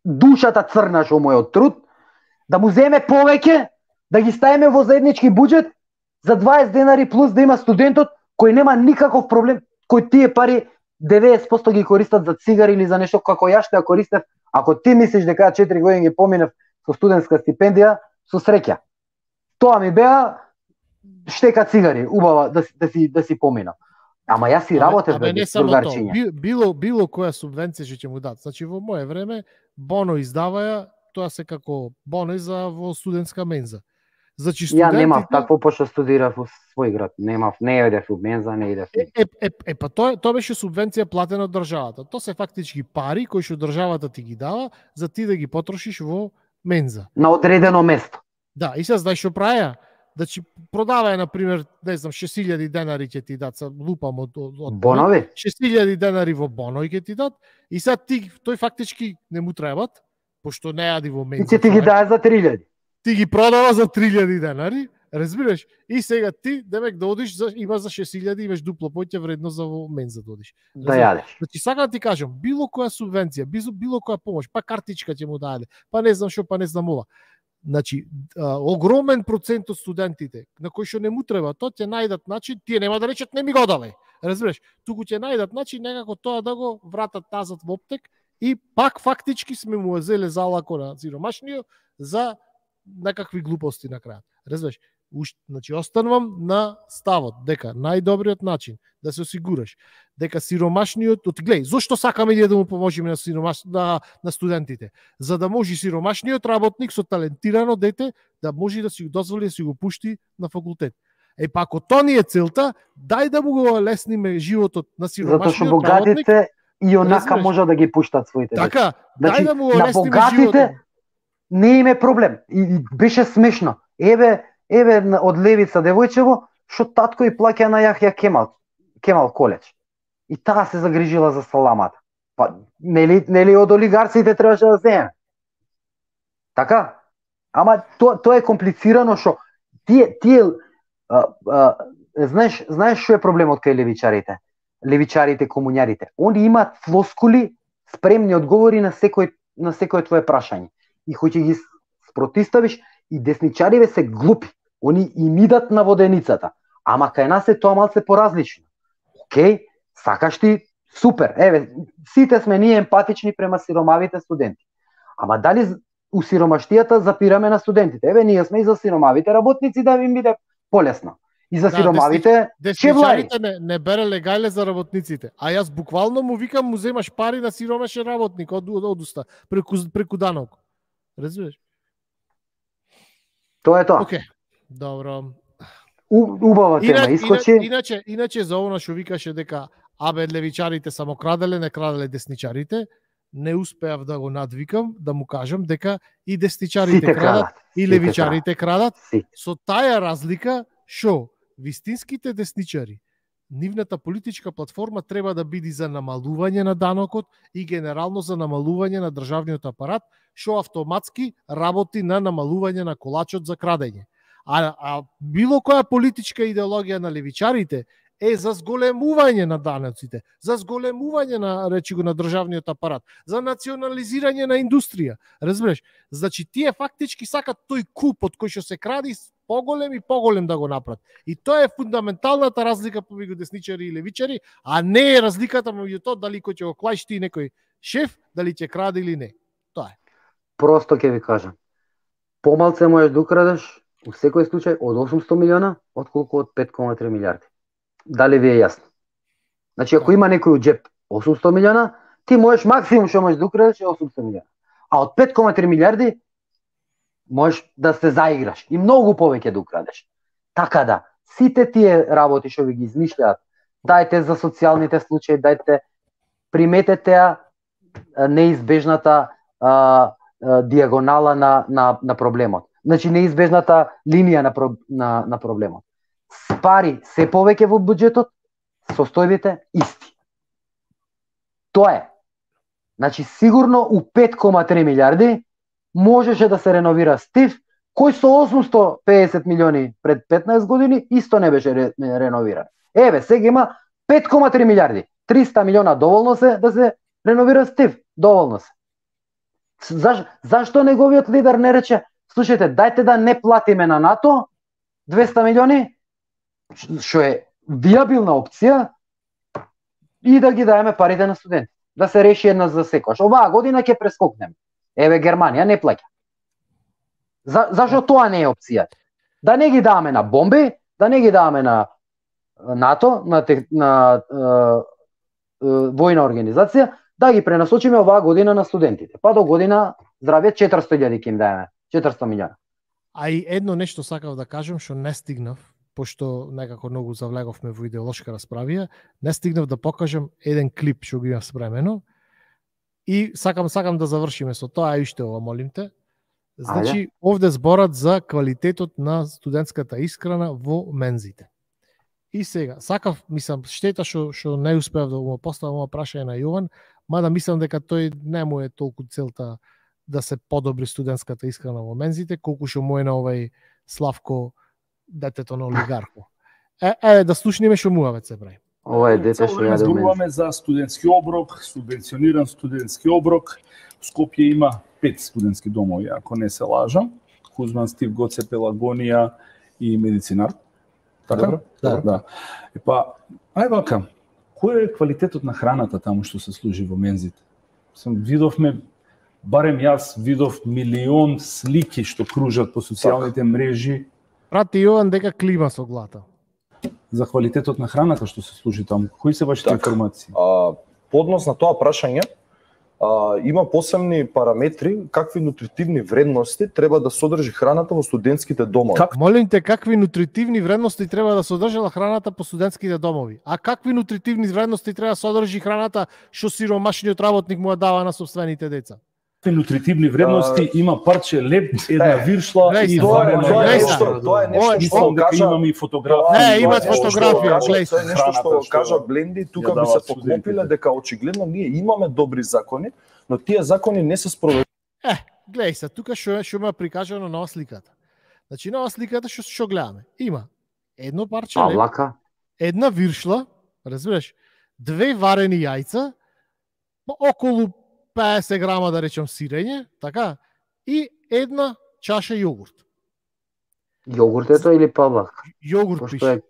душата црна што му е од труд, да му земе повеќе, да ги ставиме во заеднички буџет за 20 денари плюс да има студентот кој нема никаков проблем, кој тие пари 90% ги користат за цигари или за нешто како ја што ја користев. Ако ти мислиш дека 4 години ги поминав со студентска стипендија, со среќа. Тоа ми беа штека цигари, убава да си поминав. Ама јас си работев бе, другарчиња. Било која субвенција што ќе му дат. Значи во мое време Боно издаваја, тоа се како боно за во студентска менза. Значи студентите... Ја немав такво пошто студирав во свој град. Немав, не идев во менза, не идев. Па тоа беше субвенција платена од државата. Тоа се фактички пари кои што државата ти ги дава за ти да ги потрошиш во менза. На одредено место. Да, и сега знаеш што праја? Значи продаваја на пример, не знам, 6000 денари ќе ти дат, лупам од бонови. 6000 денари во бонови ќе ти дат и сега тој фактички не му требат, пошто не јади во менза. И ќе ти ги даде за 3000. Ти ги продава за 3000 денари, разбираш? И сега ти, демек да одиш, има за 6000, имаш дупло поќе вредност за во менза да одиш. Да јадеш. Значи сакам да ти кажам, било која субвенција, било која помош, па картичка ќе му даде, па не знам што, па не знам ова. Значи, огромен процент од студентите на кои што не му треба, тоа ќе најдат начин, тие нема да речат не ми го давај. Разбираш? Туку ќе најдат начин некако тоа да го вратат тазат во оптек и пак фактички сме му зеле залако на сиромашниот за некакви глупости на крајот. Разбираш? Значи, останувам на ставот дека најдобриот начин да се осигураш дека сиромашниот, гледај, зошто сакаме да му поможиме на студентите? За да може сиромашниот работник со талентирано дете да може да си го дозволи да си го пушти на факултет. Па ако тоа ни е целта, дај да му го лесниме животот на сиромашниот работник. Затоа што богатите и онака можат да ги пуштат своите деца. Така, значи, дај да му го лесниме животот. Не име проблем. И беше смешно. Еве од Левица девојчево, што татко и плаќа на Јахја Кемал коледж. И таа се загрижила за саламата. Па нели од олигарците требаше да земе. Така? Ама тоа е комплицирано што знаеш што е проблемот кај левичарите? Левичарите, комуњарите. Они имаат флоскули, спремни одговори на секое твое прашање. И хоќе ги спротиставиш, и десничариве се глупи. Они им идат на воденицата. Ама кај нас е тоа малце поразлично. Океј, сакаш ти, супер. Еве, сите сме ние емпатични према сиромавите студенти. Ама дали у сиромаштијата запираме на студентите? Еве, ние сме и за сиромавите работници да им биде полесно. И за сиромавите чевлари. Не бере легале за работниците. А јас буквално му викам, му земаш пари на сиромашен работник од уста, преку данок. Разбираш? Тоа е тоа. Океј, добро. Убава тема, искочи. Иначе за оно што викаше дека левичарите само краделе, не краделе десничарите, не успеав да го надвикам, да му кажам дека и десничарите крадат, и левичарите крадат, со таа разлика што вистинските десничари, нивната политичка платформа треба да биде за намалување на данокот и генерално за намалување на државниот апарат, што автоматски работи на намалување на колачот за крадење. А било која политичка идеологија на левичарите е за зголемување на даноците, за зголемување на, речи го, на државниот апарат, за национализирање на индустрија. Разбираш? Значи тие фактички сакат тој куп од кој што се кради поголем и поголем да го направат. И тоа е фундаменталната разлика помеѓу десничари и левичари, а не е разликата меѓу тоа дали кој ќе го клајшти некој шеф, дали ќе краде или не. Тоа е. Просто ќе ви кажам. Помалце можеш да украдеш у секој случај од 800 милиона, отколку од 5,3 милиарди. Дали ви е јасно? Значи, ако има некој у джеп 800 милиона, ти можеш максимум што можеш да украдеш е 800 милиона. А од 5,3 милиарди можеш да се заиграш и многу повеќе да украдеш. Така да, сите тие работи што ви ги измишљаат, дајте за социјалните случаи, дајте, приметете неизбежната диагонала на проблемот. Значи, неизбежната линија на проблемот. Пари се повеќе во буџетот, состојбите исти. Тоа е. Значи, сигурно у 5,3 милиарди можеше да се реновира Стив, кој со 850 милиони пред 15 години исто не беше реновиран. Еве, сега има 5,3 милиарди. 300 милиона доволно се да се реновира Стив. Доволно се. Зашто неговиот лидер не рече, слушајте, дајте да не платиме на НАТО 200 милиони, што е виабилна опција, и да ги даеме парите на студенти. Да се реши една за секојаш. Оваа година ќе прескокнеме. Еве, Германија не плаќа. Зашто тоа не е опција? Да не ги даваме на бомби, да не ги даваме на НАТО, на војна организација, да ги пренасочиме оваа година на студентите. Па до година, здравје, 400.000 ќе им даеме. 400 милиона. А и едно нешто сакав да кажам, што не стигнав, пошто некако многу завлеговме во идеолошка расправија, не стигнав да покажам еден клип што го имав спремено, и сакам да завршиме со тоа, и уште ова, молим те. Значи, овде зборат за квалитетот на студентската исхрана во мензите. И сега, сакав, мислам, штета што не успеав да го поставам ова прашање на Јован, мада мислам дека тој не му е толку целта да се подобри студентската исхрана во мензите, колку што му е на овај Славко, детето на олигархо. Да слушниме што муавец се прави. Ова е дете што ја зборуваме за студентски оброк, субвенциониран студентски оброк. В Скопје има 5 студентски домови, ако не се лажам. Кузман, Стив, Гоце, Пелагонија и Медицинар. Така? Да. Епа, ај вака, кој е квалитетот на храната таму што се служи во мензите? Видовме, барем јас видов милион слики што кружат по социјалните мрежи. Прати Јован дека клима со глата. За квалитетот на храната што се служи таму. Кои се вашите информации? Поднос на тоа прашање, има посебни параметри какви нутритивни вредности треба да содржи храната во студентските домови. Молим те, какви нутритивни вредности треба да содржала храната по студентските домови? А какви нутритивни вредности треба да содржи храната што сиромашниот работник му ја дава на собствените деца? Нутритивни вредности има парче леб, една виршла и варено. Тоа е нешто што кажа, имаме и фотографија. Не, имат фотографија, тоа е нешто што кажа Бленди, тука би се поклопиле дека очигледно ние имаме добри закони, но тие закони не се спроведуваат. Гледај се, тука што ме прикажано на сликата. Значи на сликата што гледаме, има едно парче леб, една виршла, разбираш, 2 варени јајца, околу 50 грама, да речем, сирење, така, и една чаша јогурт. Јогуртето или паблак? Јогурт пише.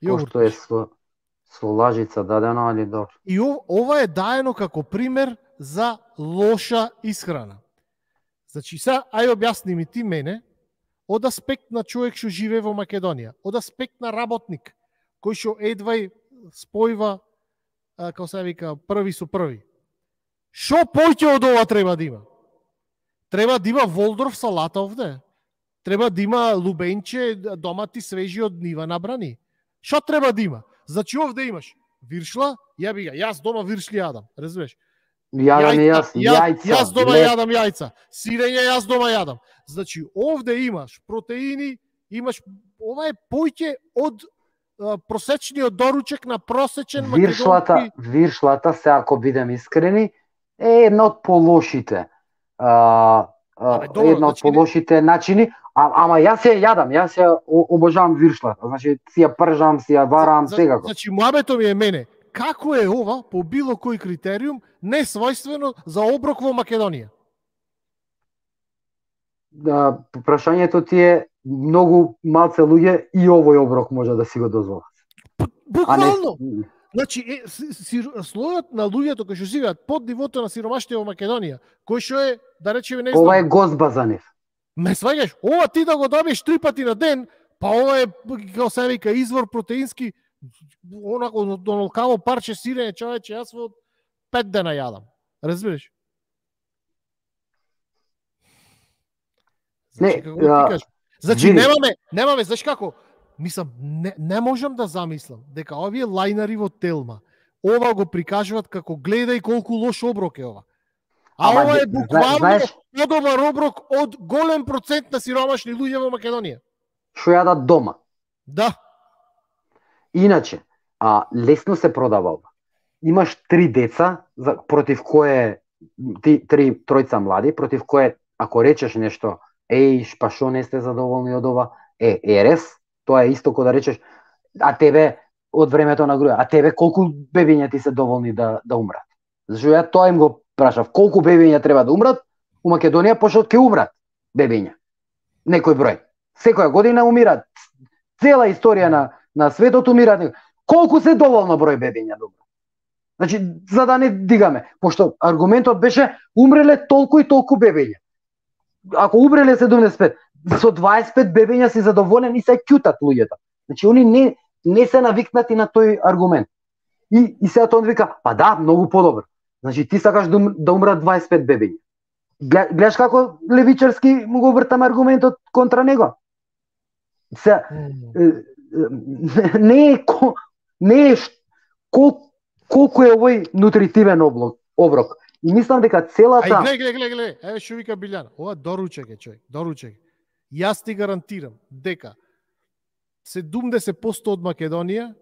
Пошто е со лажица дадено, али добро. И ова е даено како пример за лоша исхрана. Значи, сега, ај објасни ми ти мене, од аспект на човек што живее во Македонија, од аспект на работник, кој што едвај спојва, како се вика, први со први. Шо поќе од ова треба да има? Треба да има Волдорф салата овде. Треба да има лубенче, домати свежи од нива набрани. Шо треба да има? Значи овде имаш виршла, јаби га, јас дома виршли јадам, разбираш? Јас дома јадам јајца. Сирење јас дома јадам. Значи овде имаш протеини, имаш, ова е поќе од просечниот доручек на просечен македонски. Виршлата, се ако бидем искрени, е една од полошите. Една од полошите начини, ама јас ја јадам, јас ја обожавам виршлата. Значи си ја пржам, си ја варам, секако. Значи муабето ми е мене, како е ова по било кој критериум не својствено за оброк во Македонија? Прашањето ти е многу малце луѓе и овој оброк може да си го дозволат. Буквално. Значи, слојот на луѓето кои што живеат под нивото на сиромаштво во Македонија, кој што е, да речеме, не знам. Ова е гозба за нив. Ме сваѓаш, ова ти да го добиеш 3 пати на ден, па ова е, како се вика, извор протеински, онако онолкаво парче сирење, човече, јас во 5 дена јадам. Разбираш? Значи, како ти кажеш? Значи, немаме, знаеш како? Мислам, не можам да замислам дека овие лајнари во Телма ова го прикажуваат како гледај колку лош оброк е ова. Ова е буквално подобар оброк од голем процент на сиромашни луѓе во Македонија. Што јадат дома. Да. Иначе, лесно се продава ова. Имаш 3 деца против кое тројца млади, против кое ако речеш нешто, па шо не сте задоволни од ова, ерес. Тоа е исто кој да речеш, а тебе од времето на груја, а тебе колку бебиња ти се доволни да умрат? Зашто ја тоа им го прашав, колку бебиња треба да умрат? У Македонија пошто ќе умрат бебиња. Некој број. Секоја година умират. Цела историја на светот умират. Колку се доволно број бебиња да умрат? Значи, за да не дигаме, пошто аргументот беше умреле толку и толку бебиња. Ако умреле 75, со 25 бебиња си задоволен и се ќутат луѓето. Значи, они не се навикнати на тој аргумент. И сега тоа вика, па да, многу подобро. Значи, ти сакаш да умрат 25 бебиња. Гледаш како левичарски му го вртам аргументот контра него. Сега, не е колку е овој нутритивен оброк. И мислам дека целата... Гледај, еве што вика Билјана. Ова доручек е, човек, доручек. Јас ти гарантирам дека 70% од Македонија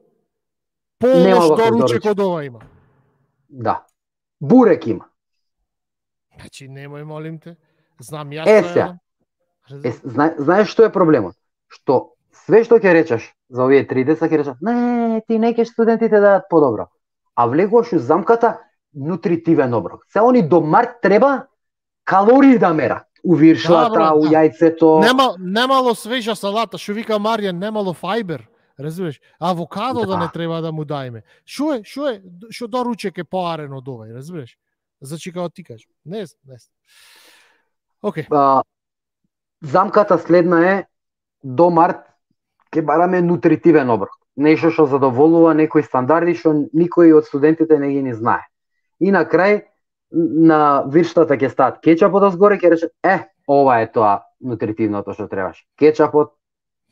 полош доручек од ова има. Да. Бурек има. Значи, немој, молим те. Знам јас. Знаеш што е проблемот? Што све што ќе речеш за овие 3 деца ќе речеш, не, ти не ќе студентите дадат подобро. А влегуваш у замката нутритивен оброк. Се они до март треба калории да мерат. У виршлата, у јајцето. Немало свежа салата, што вика Маријан, немало фајбер. Разбираш? Авокадо да не треба да му дајме. Што доручек е поарен од овај, разбираш? Значи како ти кажеш. Не. Океј. Замката следна е до март ќе бараме нутритивен оброк. Нешто што задоволува некои стандарди што никој од студентите не ги знае. И на крај на вирштата ќе стаат кетчапот одзгоре, ќе рече, ова е тоа нутритивното што требаш. Кетчапот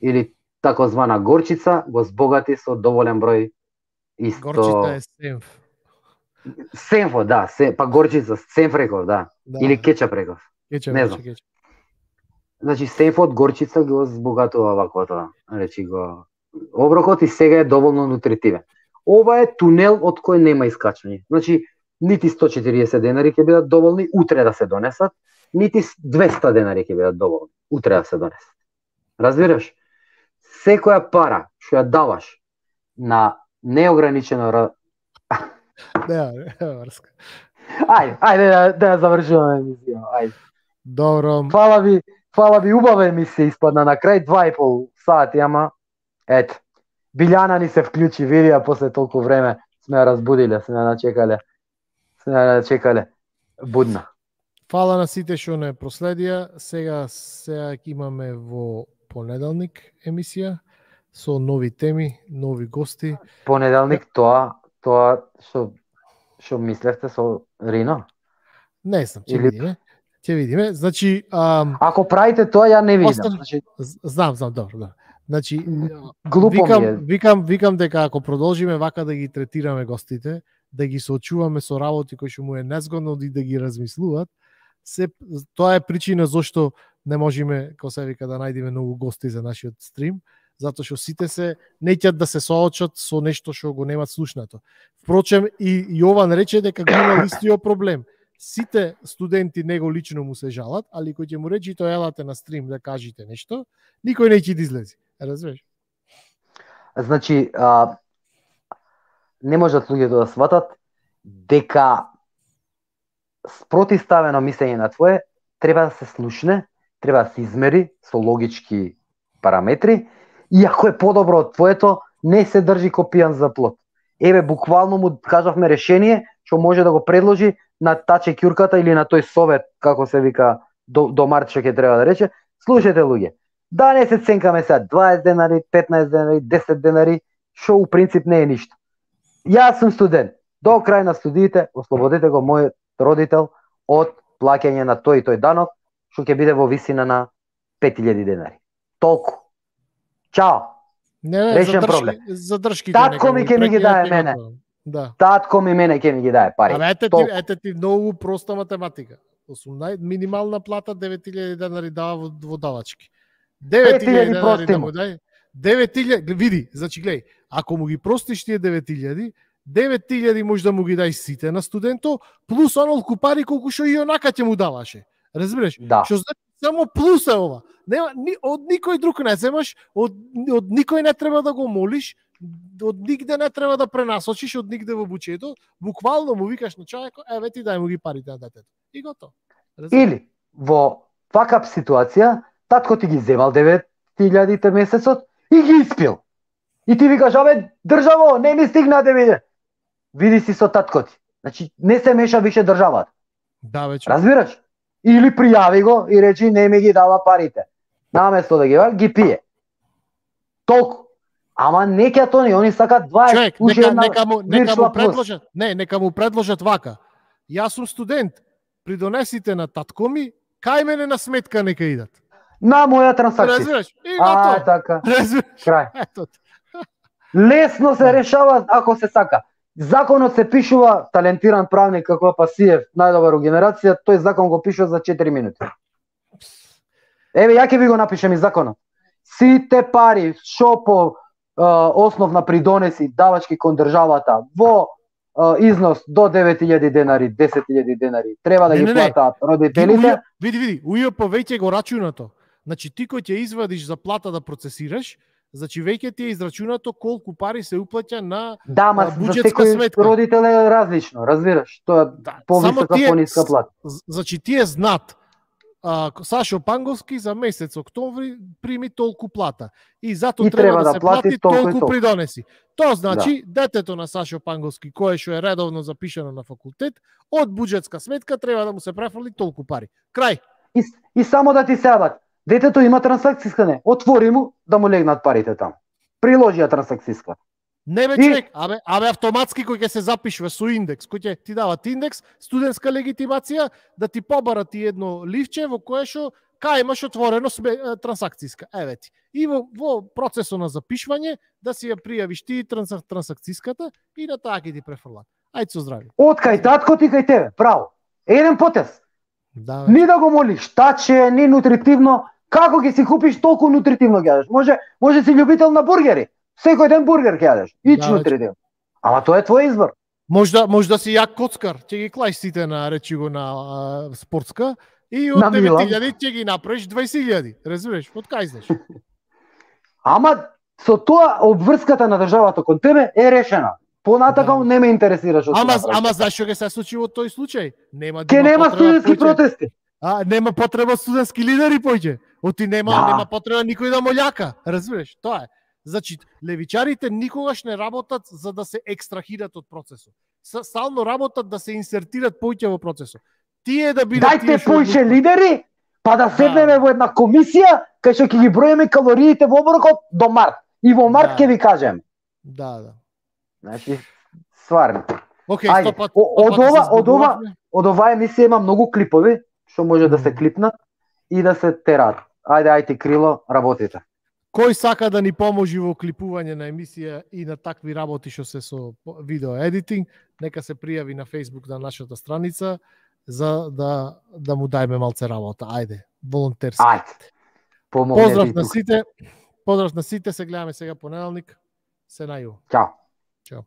или такозвана горчица го збогати со доволен број исто. Горчица е сенф. Сенфо, да, па горчица, сенф реков, да. Или кетчап реков. Не знам. Значи сенфот горчица го збогатува ваквото, речи го оброкот и сега е доволно нутритивен. Ова е тунел од кој нема искачање. Значи нити 140 денари ќе бидат доволни утре да се донесат, нити 200 денари ќе бидат доволни утре да се донесат. Разбираш? Секоја пара што ја даваш на неограничено Ајде да завршуваме емисија. Ајде. Добро. Фала ви Фала ви, убава емисија испадна на крај 2,5 сати, ама ето. Билјана ни се вклучи, види, а после толку време сме ја разбудиле, сме ја начекале будна. Фала на сите што не проследија. Сега имаме во понеделник емисија со нови теми, нови гости. Понеделник тоа што мислевте со Рино? Не знам, ќе видиме. Ќе видиме. Значи, ако правите тоа, ја не видам. Значи, знам, добро. Значи, глупо викам дека ако продолжиме вака да ги третираме гостите, да ги соочуваме со работи кои што му е незгодно и да ги размислуваат, тоа е причина зошто не можеме, како се вика, да најдеме многу гости за нашиот стрим, затоа што сите се неќат да се соочат со нешто што го немат слушнато. Впрочем, и Јован рече дека го има истиот проблем. Сите студенти него лично му се жалат, али кој ќе му рече тоа елате на стрим да кажете нешто, никој не ќе да излези. Разбираш? Значи, не можат луѓето да сватат дека спротивставено мислење на твое треба да се слушне, треба да се измери со логички параметри, и ако е подобро од твоето, не се држи ко пијан за плот. Еве, буквално му кажавме решение што може да го предложи на таче ќурката или на тој совет, како се вика, до март што ќе треба да рече. Слушајте, луѓе, да не се ценкаме сега 20 денари, 15 денари, 10 денари, што у принцип не е ништо. Јас сум студент. До крај на студиите, ослободете го мојот родител од плаќање на тој и тој данок, што ќе биде во висина на 5000 денари. Толку. Чао. Решен проблем. Татко ми ќе ми ги дае мене. Да. Татко ми мене ќе ми ги дае пари. Ете ти многу проста математика. Минимална плата 9000 денари дава во давачки. 9000 денари да му дај. 9000, види, значи гледај, ако му ги простиш тие 9000 може да му ги дај сите на студенто, плюс онолку пари колку што и онака ќе му даваше. Разбираш? Да. Што значи само плюс е ова. Нема од никој друг не земаш, од никој не треба да го молиш, од нигде не треба да пренасочиш, од нигде во буџетот, буквално му викаш на човекот, еве ти дај му ги парите на детето. И готово. Или во ваква ситуација, татко ти ги земал 9000 месецот и ги испил. И ти викаш, абе, државо, не ми стигна да виде. Види си со татко ти. Значи, не се меша више државата. Да, веќе. Разбираш? Или пријави го и речи, не ми ги дава парите. Наместо да ги пие. Толку. Ама не ќе тони, они сакат 20. Човек, нека му предложат вака. Јас сум студент, придонесите на татко ми, кај мене на сметка нека идат. На моја трансакција. Разбираш? И готово. Така. Разбираш? Крај. Ето. Лесно се решава ако се сака. Законот се пишува, талентиран правник како Пасиев, најдобар у генерација, тој закон го пишува за 4 минути. Еве, ја ќе ви го напишем и законот. Сите пари што по основ на придонеси давачки кон државата во износ до 9000 денари, 10000 денари, треба да ги платат родителите. Види, УЈП веќе го рачунато. Значи ти кој ќе извадиш за плата да процесираш, значи веќе ти е израчунато колку пари се уплаќа на буџетска сметка. Родител е различно, разбираш? Тоа повисока, пониска плата. Значи тие знат Сашо Панговски за месец октомври прими толку плата и затоа треба да се плати толку придонеси. Тоа значи детето на Сашо Панговски кое што е редовно запишано на факултет, од буџетска сметка треба да му се префрли толку пари. Крај. И само да ти сеабат, детето има трансакцијска, не, отвори му да му легнат парите таму. Приложи ја трансакцијска. Не бе човек, абе автоматски кој ќе се запишува со индекс, кој ќе ти дават индекс, студентска легитимација, да ти побара ти едно ливче во кое што кај имаш отворено трансакцијска. Еве ти. И во процесот на запишување да си ја пријавиш ти трансакцијската и на таа ќе ти префрлат. Ајде со здравје. Од кај татко ти кај тебе, право. Еден потез. Да, ни да го молиш, таче, ни нутритивно, како ќе си купиш толку нутритивно ќе јадеш? Може си љубител на бургери. Секој ден бургер ќе јадеш. Нутритивно. Ама тоа е твој избор. Може да си јак коцкар, ќе ги клаиш сите на речи го на спортска и од 9000 ќе ги направиш 20000. Разбираш, од кај знаеш? Ама со тоа обврската на државата кон тебе е решена. Понатака не ме интересира што. Ама знаеш што ќе се случи во тој случај? Нема студентски протести. Нема потреба студентски лидери поќе. Оти нема потреба никој да молјака, разбираш? Тоа е. Значи, левичарите никогаш не работат за да се екстрахират од процесот. Стално работат да се инсертират поќе во процесот. Тие да бидат Дајте поише лидери, па да седнеме во една комисија кај што ќе ги броиме калориите во оброкот до март. И во март ќе ви кажем. Да. Значи, стварно. Океј, од ова емисија има многу клипови што може да се клипнат и да се терат. Ајде Крило, работите. Кој сака да ни поможи во клипување на емисија и на такви работи што се со видео едитинг, нека се пријави на Facebook на нашата страница за да му дајме малце работа. Ајде, волонтерски. Поздрав на сите. Поздрав на сите, се гледаме сега понеделник. Се нају. Чао. Чао.